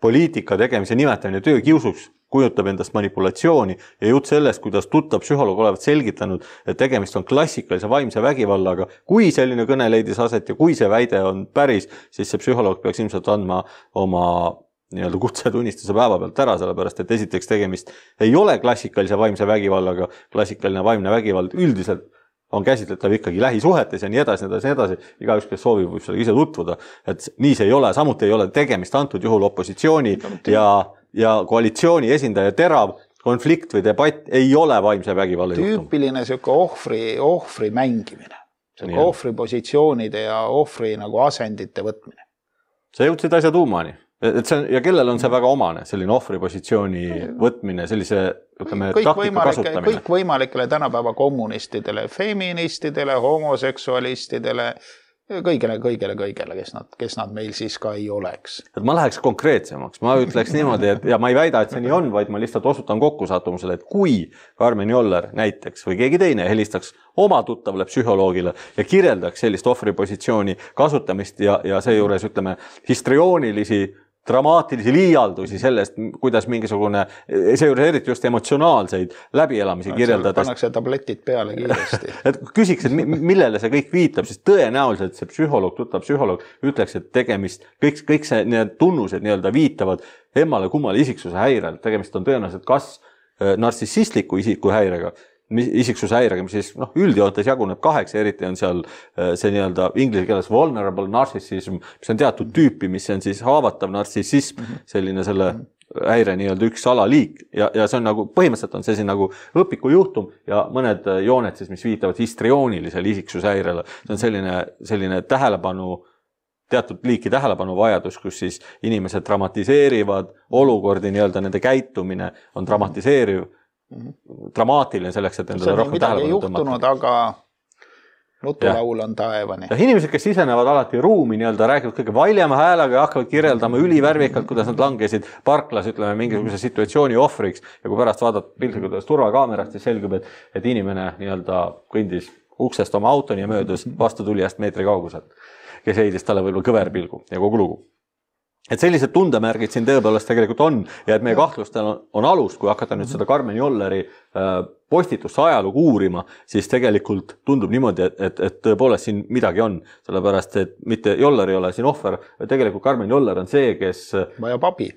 poliitika tegemise nimetamine töökiusuks kujutab endast manipulatsiooni ja jutt sellest, kuidas tuttav psühholoog olevat selgitanud, et tegemist on klassikalise vaimse vägivallaga. Kui selline kõne leidis aset ja kui see väide on päris, siis see psühholoog peaks ilmselt andma oma nii-öelda kutsetunnistuse päeva pealt ära, sellepärast, et esiteks tegemist ei ole klassikalise vaimse vägivallaga, klassikaline vaimne vägivald üldiselt on käsitletav ikkagi lähisuhetes ja nii edasi, nii edasi, nii edasi. Iga üks, kes soovib, võib sellega ise tutvuda. Et nii see ei ole, samuti ei ole tegemist antud juhul opositsiooni ja, ja koalitsiooni esindaja terav konflikt või debatt ei ole vaimse vägivalla juhtum. Tüüpiline selline ohvri, ohvri mängimine. Selline ohvri positsioonide ja ohvri nagu asendite võtmine. Sa jõudsid asja tuumani. et see on, ja kellel on see väga omane, selline ohvripositsiooni võtmine, sellise ütleme, kõik taktika kasutamine? Kõik võimalikele tänapäeva kommunistidele, feministidele, homoseksualistidele, kõigele, kõigele, kõigele, kes nad, kes nad meil siis ka ei oleks. Et ma läheks konkreetsemaks, ma ütleks niimoodi, et ja ma ei väida, et see nii on, vaid ma lihtsalt osutan kokkusattumusele, et kui Karmen Joller näiteks või keegi teine helistaks oma tuttavale psühholoogile ja kirjeldaks sellist ohvripositsiooni kasutamist ja, ja seejuures ütleme histrioonilisi dramaatilisi liialdusi sellest, kuidas mingisugune, seejuures eriti just emotsionaalseid läbielamisi no, kirjeldades. Pannakse tabletid peale kiiresti. et küsiks, et millele see kõik viitab, siis tõenäoliselt see psühholoog, tuttav psühholoog ütleks, et tegemist, kõik, kõik see need tunnused nii-öelda viitavad emmale kummale isiksuse häirel. Tegemist on tõenäoliselt kas narsissistliku isiku häirega, isiksuse häirega, mis siis noh, üldjoontes jaguneb kaheks, eriti on seal see nii-öelda inglise keeles vulnerable narcissism, mis on teatud tüüpi, mis on siis haavatav narcissism, selline selle häire nii-öelda üks alaliik ja, ja see on nagu, põhimõtteliselt on see siin nagu õpiku juhtum ja mõned jooned siis, mis viitavad histrioonilisele isiksuse häirele. See on selline, selline tähelepanu, teatud liiki tähelepanu vajadus, kus siis inimesed dramatiseerivad olukordi, nii-öelda nende käitumine on dramatiseeriv, dramaatiline selleks, et endale rohkem tähelepanu juhtunud, aga nutulaul on taevani. Ja inimesed, kes sisenevad alati ruumi, nii-öelda räägivad kõige valjema häälega ja hakkavad kirjeldama ülivärvikalt, kuidas nad langesid parklas, ütleme, mingisuguse situatsiooni ohvriks ja kui pärast vaadata piltlikult turvakaamerast, siis selgub, et, et inimene nii-öelda kõndis uksest oma autoni ja möödus vastu tulijast meetri kauguselt, kes heidis talle võib-olla kõverpilgu ja kogu lugu. Et sellised tundemärgid siin tõepoolest tegelikult on ja et meie kahtlustel on, on alus, kui hakata nüüd seda Karmen Jolleri postitusse ajalugu uurima, siis tegelikult tundub niimoodi, et, et, et tõepoolest siin midagi on, sellepärast et mitte Joller ei ole siin ohver, tegelikult Karmen Joller on see, kes vajab abi.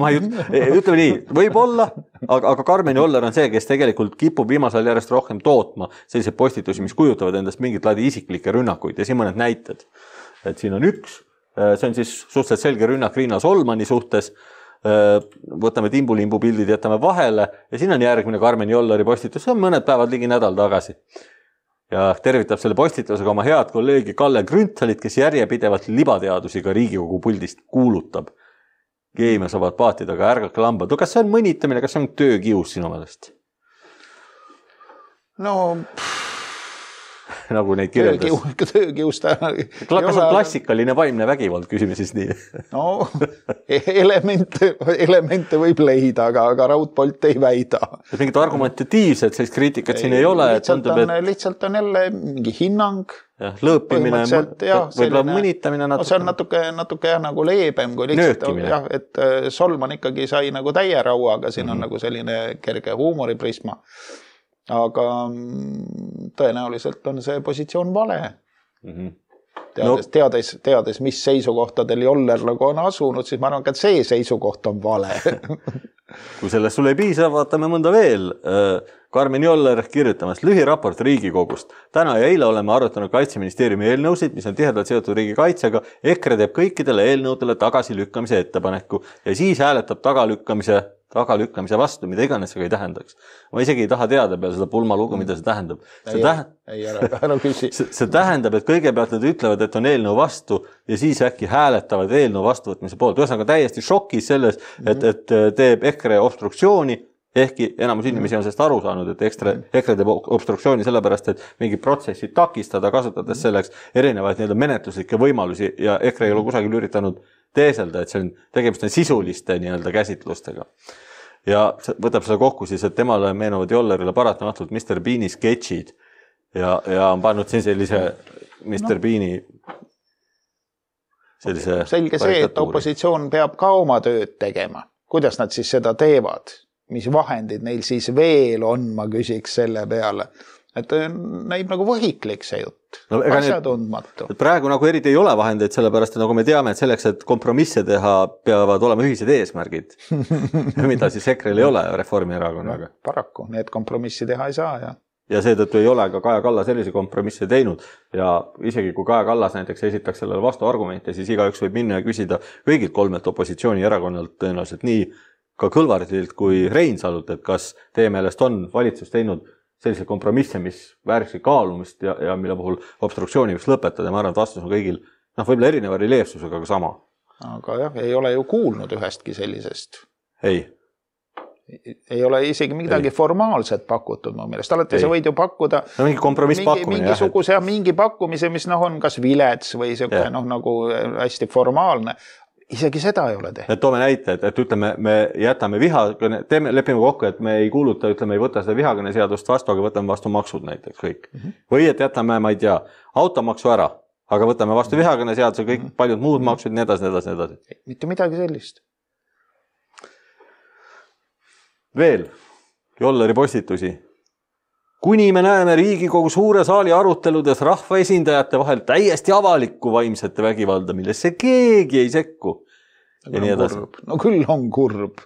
ma ei ütleme nii, võib olla, aga, aga Karmen Joller on see, kes tegelikult kipub viimasel järjest rohkem tootma selliseid postitusi, mis kujutavad endast mingit laadi isiklikke rünnakuid ja siin mõned näited. Et siin on üks, see on siis suhteliselt selge rünnak Riina Solmani suhtes, võtame timbulimbu pildid, jätame vahele ja siin on järgmine Karmen Jolleri postitus, see on mõned päevad ligi nädal tagasi. Ja tervitab selle postitusega oma head kolleegi Kalle Grünthalit, kes järjepidevalt libateadusi ka Riigikogu puldist kuulutab. Keemia saavad paatida ka ärgake lambad. No kas see on mõnitamine, kas see on töökius sinu meelest? No... nagu neid kirjeldas. Töökius ta... Kas on klassikaline vaimne vägivald, küsime siis nii? No, elemente, elemente võib leida, aga, aga Raudpolt ei väida. Mingit argumentatiivset, sellist kriitikat siin ei ole. Lihtsalt, tundub, on, et... lihtsalt on jälle mingi hinnang. Ja, lõõpimine, võib-olla mõnitamine natuke. No, see on natuke, natuke jah, nagu leebem, kui lihtsalt, jah, et Solman ikkagi sai nagu täie rauaga, siin on mm-hmm. nagu selline kerge huumoriprisma. Aga tõenäoliselt on see positsioon vale. Mm-hmm. Teades, no. teades, teades, mis seisukohtadel Joller nagu on asunud, siis ma arvan, et see seisukoht on vale. Kui sellest sulle ei piisa, vaatame mõnda veel. Karmen Joller kirjutamas lühiraport Riigikogust. Täna ja eile oleme arutanud Kaitseministeeriumi eelnõusid, mis on tihedalt seotud riigikaitsega. EKRE teeb kõikidele eelnõudele tagasilükkamise ettepaneku ja siis hääletab tagalükkamise tagalükkamise vastu, mida iganes see ei tähendaks. Ma isegi ei taha teada peale seda pulmalugu, mida see tähendab. See, ei, tähend... ei, ära, ära küsi. see, see tähendab, et kõigepealt nad ütlevad, et on eelnõu vastu ja siis äkki hääletavad eelnõu vastuvõtmise poolt. Ühesõnaga täiesti šokis selles, et, et teeb EKRE obstruktsiooni, ehkki enamus inimesi on sellest aru saanud, et EKRE, EKRE teeb obstruktsiooni sellepärast, et mingi protsessi takistada, kasutades selleks erinevaid nii-öelda menetluslikke võimalusi ja EKRE ei ole kusagil üritanud teeselda, et see on, tegemist on sisuliste nii-öelda käsitlustega. Ja võtab selle kokku siis, et temale meenuvad Jollerile paratamatult mister Beani sketšid ja, ja on pannud siin sellise mister No. Beani sellise... Selge see, et opositsioon peab ka oma tööd tegema. Kuidas nad siis seda teevad? Mis vahendid neil siis veel on, ma küsiks selle peale. Et näib nagu võhiklik see jutt, no, asja tundmatu. Praegu nagu eriti ei ole vahendeid, sellepärast et nagu me teame, et selleks, et kompromisse teha, peavad olema ühised eesmärgid, mida siis EKRE-l ei ole Reformierakonnaga. No, paraku, need kompromissi teha ei saa. Ja, ja seetõttu ei ole ka Kaja Kallas sellise kompromisse teinud ja isegi kui Kaja Kallas näiteks esitaks sellele vastu argumente, siis igaüks võib minna ja küsida kõigilt kolmelt opositsioonierakonnalt tõenäoliselt nii ka Kõlvartilt kui Reinsalult, et kas teie meelest on valitsus teinud sellise kompromisse, mis vääriksid kaalumist ja, ja mille puhul obstruktsiooni võiks lõpetada. Ma arvan, et vastus on kõigil, noh, võib-olla erineva reljeefsusega, aga sama. aga jah, ei ole ju kuulnud ühestki sellisest. Ei. Ei ole isegi midagi ei. formaalset pakutud mu meelest. Alati sa võid ju pakkuda no, mingi kompromiss mingi, pakkumine. Mingisuguse jah, mingi pakkumise, mis noh, on kas vilets või selline noh, nagu hästi formaalne. Isegi seda ei ole tehtud. Et toome näite, et, et ütleme, me jätame vihakõne, teeme, lepime kokku, et me ei kuuluta, ütleme, ei võta seda vihakõne seadust vastu, aga võtame vastu maksud näiteks kõik. Mm -hmm. Või et jätame, ma ei tea, automaksu ära, aga võtame vastu vihakõne seaduse, kõik mm -hmm. paljud muud maksud, nii edasi, nii edasi, nii edasi. Mitte midagi sellist. Veel, Jolleri postitusi. Kuni me näeme Riigikogu suure saali aruteludes rahvaesindajate vahel täiesti avalikku vaimsete vägivalda, millesse keegi ei sekku. Ja nii edasi. No küll on kurb.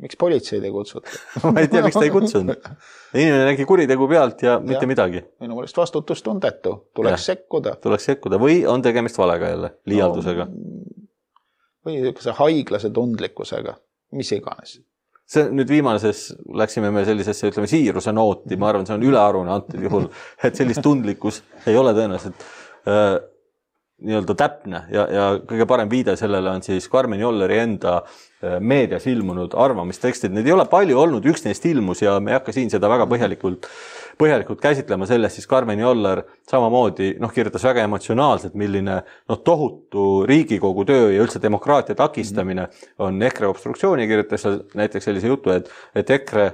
Miks politseid ei kutsuta? Ma ei tea, miks ta ei kutsunud. Inimene nägi kuritegu pealt ja mitte ja, midagi. Minu mõelest vastutustundetu. Tuleks ja, sekkuda. Tuleks sekkuda. Või on tegemist valega jälle, liialdusega. No, või haiglase tundlikkusega. Mis iganes. See nüüd viimases läksime me sellisesse, ütleme, siiruse nooti, ma arvan, see on ülearune antud juhul, et sellist tundlikkus ei ole tõenäoliselt äh, nii-öelda täpne ja, ja kõige parem viide sellele on siis Karmen Jolleri enda äh, meedias ilmunud arvamistekstid. Need ei ole palju olnud, üks neist ilmus ja me ei hakka siin seda väga põhjalikult, põhjalikult käsitlema sellest, siis Karmen Joller samamoodi noh, kirjutas väga emotsionaalselt, milline noh, tohutu Riigikogu töö ja üldse demokraatia takistamine on EKRE obstruktsiooni, kirjutas näiteks sellise jutu, et, et EKRE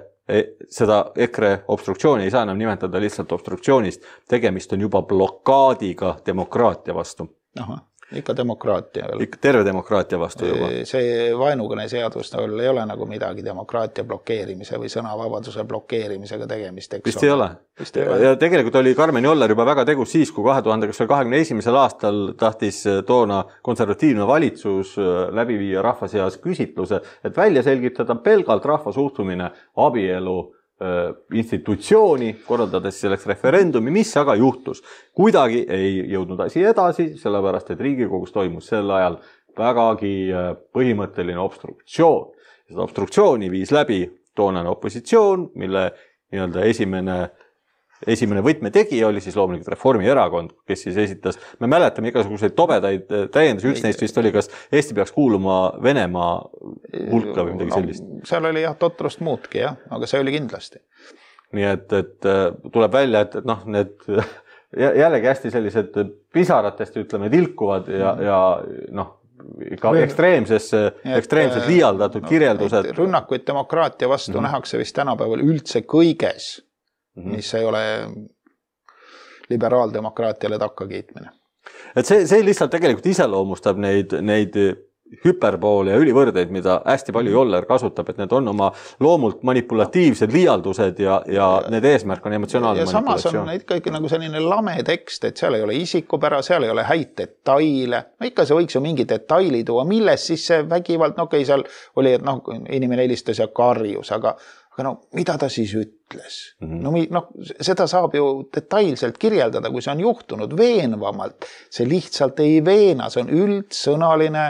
seda EKRE obstruktsiooni ei saa enam nimetada lihtsalt obstruktsioonist, tegemist on juba blokaadiga demokraatia vastu. Aha, ikka demokraatia. Ikka terve demokraatia vastu juba. See vaenukõne seadus ei ole nagu midagi demokraatia blokeerimise või sõnavabaduse blokeerimisega tegemist. Vist ei ole. Vist ei ole. Ja tegelikult oli Karmen Joller juba väga tegus siis, kui kahe tuhande kahekümne esimesel aastal tahtis toona konservatiivne valitsus läbi viia rahva seas küsitluse, et välja selgitada pelgalt rahva suhtumine abielu institutsiooni, korraldades selleks referendumi, mis aga juhtus. Kuidagi ei jõudnud asi edasi, sellepärast, et Riigikogus toimus sel ajal vägagi põhimõtteline obstruktsioon. Seda obstruktsiooni viis läbi toonane opositsioon, mille nii-öelda esimene Esimene võtmetegi oli siis loomulikult Reformierakond, kes siis esitas, me mäletame igasuguseid tobedaid täiendus, üks neist vist oli, kas Eesti peaks kuuluma Venemaa hulka või midagi sellist. No, seal oli jah totrust muudki, jah, aga see oli kindlasti. Nii et, et tuleb välja, et noh, need jällegi hästi sellised pisaratest, ütleme, tilkuvad ja, ja noh, ka ekstreemsesse, ekstreemselt liialdatud no, kirjeldused. Rünnakuid demokraatia vastu mm-hmm. nähakse vist tänapäeval üldse kõiges, mis ei ole liberaaldemokraatiale takka kiitmine. Et see, see lihtsalt tegelikult iseloomustab neid, neid hüperboole ja ülivõrdeid, mida hästi palju Joller kasutab, et need on oma loomult manipulatiivsed liialdused ja, ja need eesmärk on emotsionaalne ja manipulatsioon. Ja samas on ikkagi nagu selline lame tekst, et seal ei ole isikupära, seal ei ole häid detaile. No ikka see võiks ju mingi detaili tuua, milles siis see vägivald, no okei, seal oli, et noh, inimene helistas ja karjus, aga aga no mida ta siis ütles? Mm-hmm. No, no seda saab ju detailselt kirjeldada, kui see on juhtunud veenvamalt. See lihtsalt ei veena, see on üldsõnaline,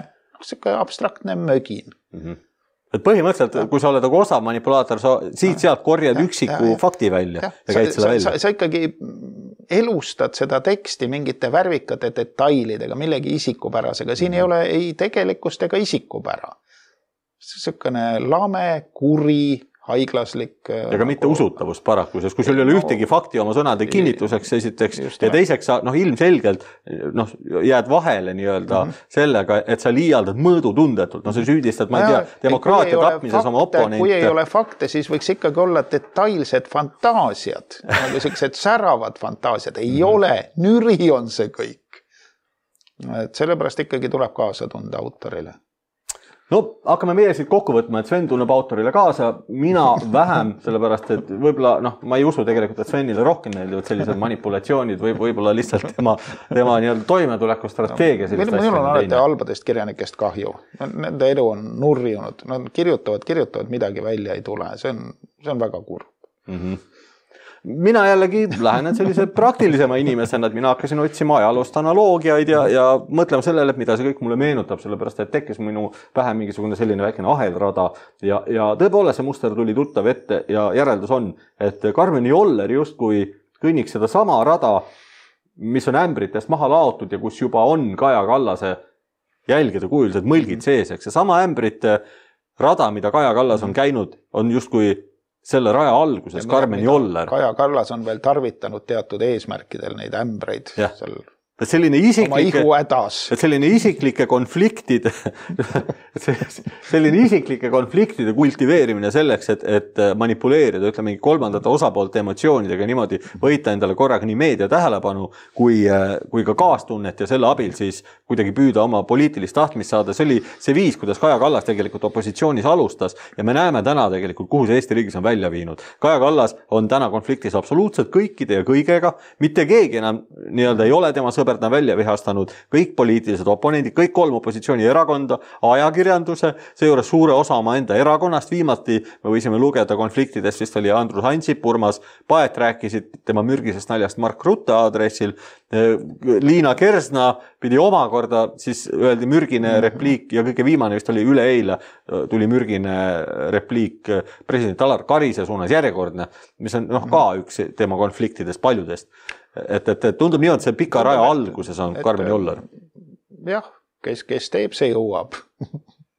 selline abstraktne mögin. Mm-hmm. Et põhimõtteliselt, kui sa oled nagu osav manipulaator, sa siit sealt korjad üksiku ja, ja, fakti välja ja, ja käid sa, selle välja. Sa, sa ikkagi elustad seda teksti mingite värvikate detailidega, millegi isikupärasega. Siin mm-hmm. ei ole ei tegelikkust ega isikupära. Selline lame, kuri, haiglaslik. Ja ka mitte usutavust paraku, sest kui sul ei ole ühtegi fakti oma sõnade kinnituseks esiteks ja teiseks sa noh, ilmselgelt noh, jääd vahele nii-öelda mm-hmm. sellega, et sa liialdad mõõdutundetult. No sa süüdistad, ma ei tea, demokraatia tapmises oma oponente. Kui ei ole fakte, siis võiks ikkagi olla detailsed fantaasiad, nagu sellised säravad fantaasiad. Ei mm-hmm. ole, nüri on see kõik. Et sellepärast ikkagi tuleb kaasa tunda autorile. No, hakkame meie siit kokku võtma, et Sven tunneb autorile kaasa, mina vähem, sellepärast, et võib-olla, noh, ma ei usu tegelikult, et Svenile rohkem meeldivad sellised manipulatsioonid või võib-olla lihtsalt tema, tema nii-öelda toimetuleku strateegia. Meil on alati halbadest kirjanikest kahju. Nende elu on nurjunud. Nad kirjutavad, kirjutavad, midagi välja ei tule. See on, see on väga kurb. Mhm. Mina jällegi lähenen sellise praktilisema inimesena, et mina hakkasin otsima ajaloost analoogiaid ja, ja mõtlema sellele, mida see kõik mulle meenutab, sellepärast, et tekkis minu pähe mingisugune selline väikene ahelrada ja, ja tõepoolest see muster tuli tuttav ette ja järeldus on, et Karmen Joller justkui kõnniks seda sama rada, mis on ämbritest maha laotud ja kus juba on Kaja Kallase jälgida kujulised mõlgid sees, eks. Ja sama ämbrite rada, mida Kaja Kallas on käinud, on justkui selle raja alguses Karmen Joller. Kaja Kallas on veel tarvitanud teatud eesmärkidel neid ämbreid seal et selline isiklike, et selline isiklike konfliktide selline isiklike konfliktide kultiveerimine selleks, et, et manipuleerida, ütleme, kolmandate osapoolte emotsioonidega niimoodi võita endale korraga nii meedia tähelepanu kui, kui ka kaastunnet ja selle abil siis kuidagi püüda oma poliitilist tahtmist saada. See oli see viis, kuidas Kaja Kallas tegelikult opositsioonis alustas ja me näeme täna tegelikult, kuhu see Eesti riigis on välja viinud. Kaja Kallas on täna konfliktis absoluutselt kõikide ja kõigega, mitte keegi enam nii-öelda ei ole tema sõber, ta välja vihastanud kõik poliitilised oponendid, kõik kolm opositsiooni erakonda, ajakirjanduse, seejuures suure osa oma enda erakonnast. Viimati me võisime lugeda konfliktidest, vist oli Andrus Ansip, Urmas Paet rääkisid tema mürgisest naljast Mark Rutte aadressil. Liina Kersna pidi omakorda, siis öeldi mürgine repliik ja kõige viimane vist oli üleeile, tuli mürgine repliik president Alar Karise suunas järjekordne, mis on noh, ka üks tema konfliktidest paljudest. Et, et, et tundub nii, et see pika raja alguses on Karmen Joller. Jah, kes, kes teeb, see jõuab.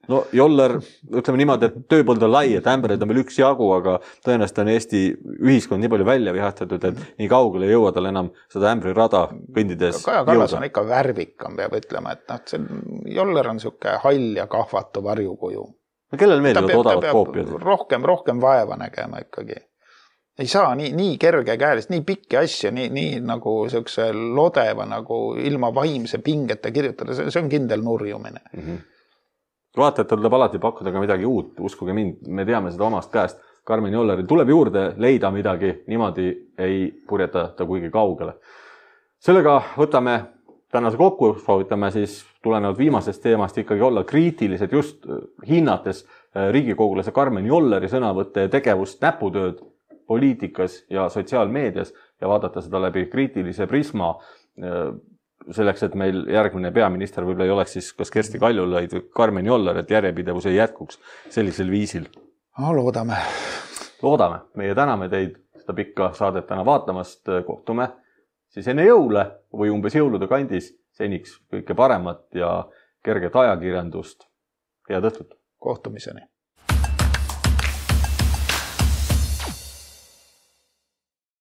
No Joller, ütleme niimoodi, et tööpõld on lai, et ämbreid on veel üks jagu, aga tõenäoliselt on Eesti ühiskond nii palju välja vihastatud, et nii kaugele ei jõua tal enam seda ämbri rada kõndides Kaja Kallas on ikka värvikam, peab ütlema, et noh, see Joller on siuke hall ja kahvatu varjukuju. No kellel meeldivad odavad koopiad? Rohkem, rohkem vaeva nägema ikkagi. Ei saa nii, nii kerge käelist, nii pikki asja, nii, nii nagu siukse lodeva, nagu ilma vaimse pingeta kirjutada, see, see on kindel nurjumine. Mm -hmm. Vaata, et tuleb alati pakkuda ka midagi uut, uskuge mind, me teame seda omast käest. Karmen Jolleril tuleb juurde leida midagi, niimoodi ei purjeta ta kuigi kaugele. Sellega võtame tänase kokku, soovitame siis tulenevalt viimasest teemast ikkagi olla kriitilised just hinnates riigikogulase Karmen Jolleri sõnavõtte ja tegevust, näputööd poliitikas ja sotsiaalmeedias ja vaadata seda läbi kriitilise prisma selleks, et meil järgmine peaminister võib-olla ei oleks siis kas Kersti Kaljulaid või Karmen Joller, et järjepidevus ei jätkuks sellisel viisil. No, loodame. Loodame. Meie täname teid seda pikka saadet täna vaatamast. Kohtume siis enne jõule või umbes jõulude kandis seniks kõike paremat ja kerget ajakirjandust. Head õhtut. Kohtumiseni.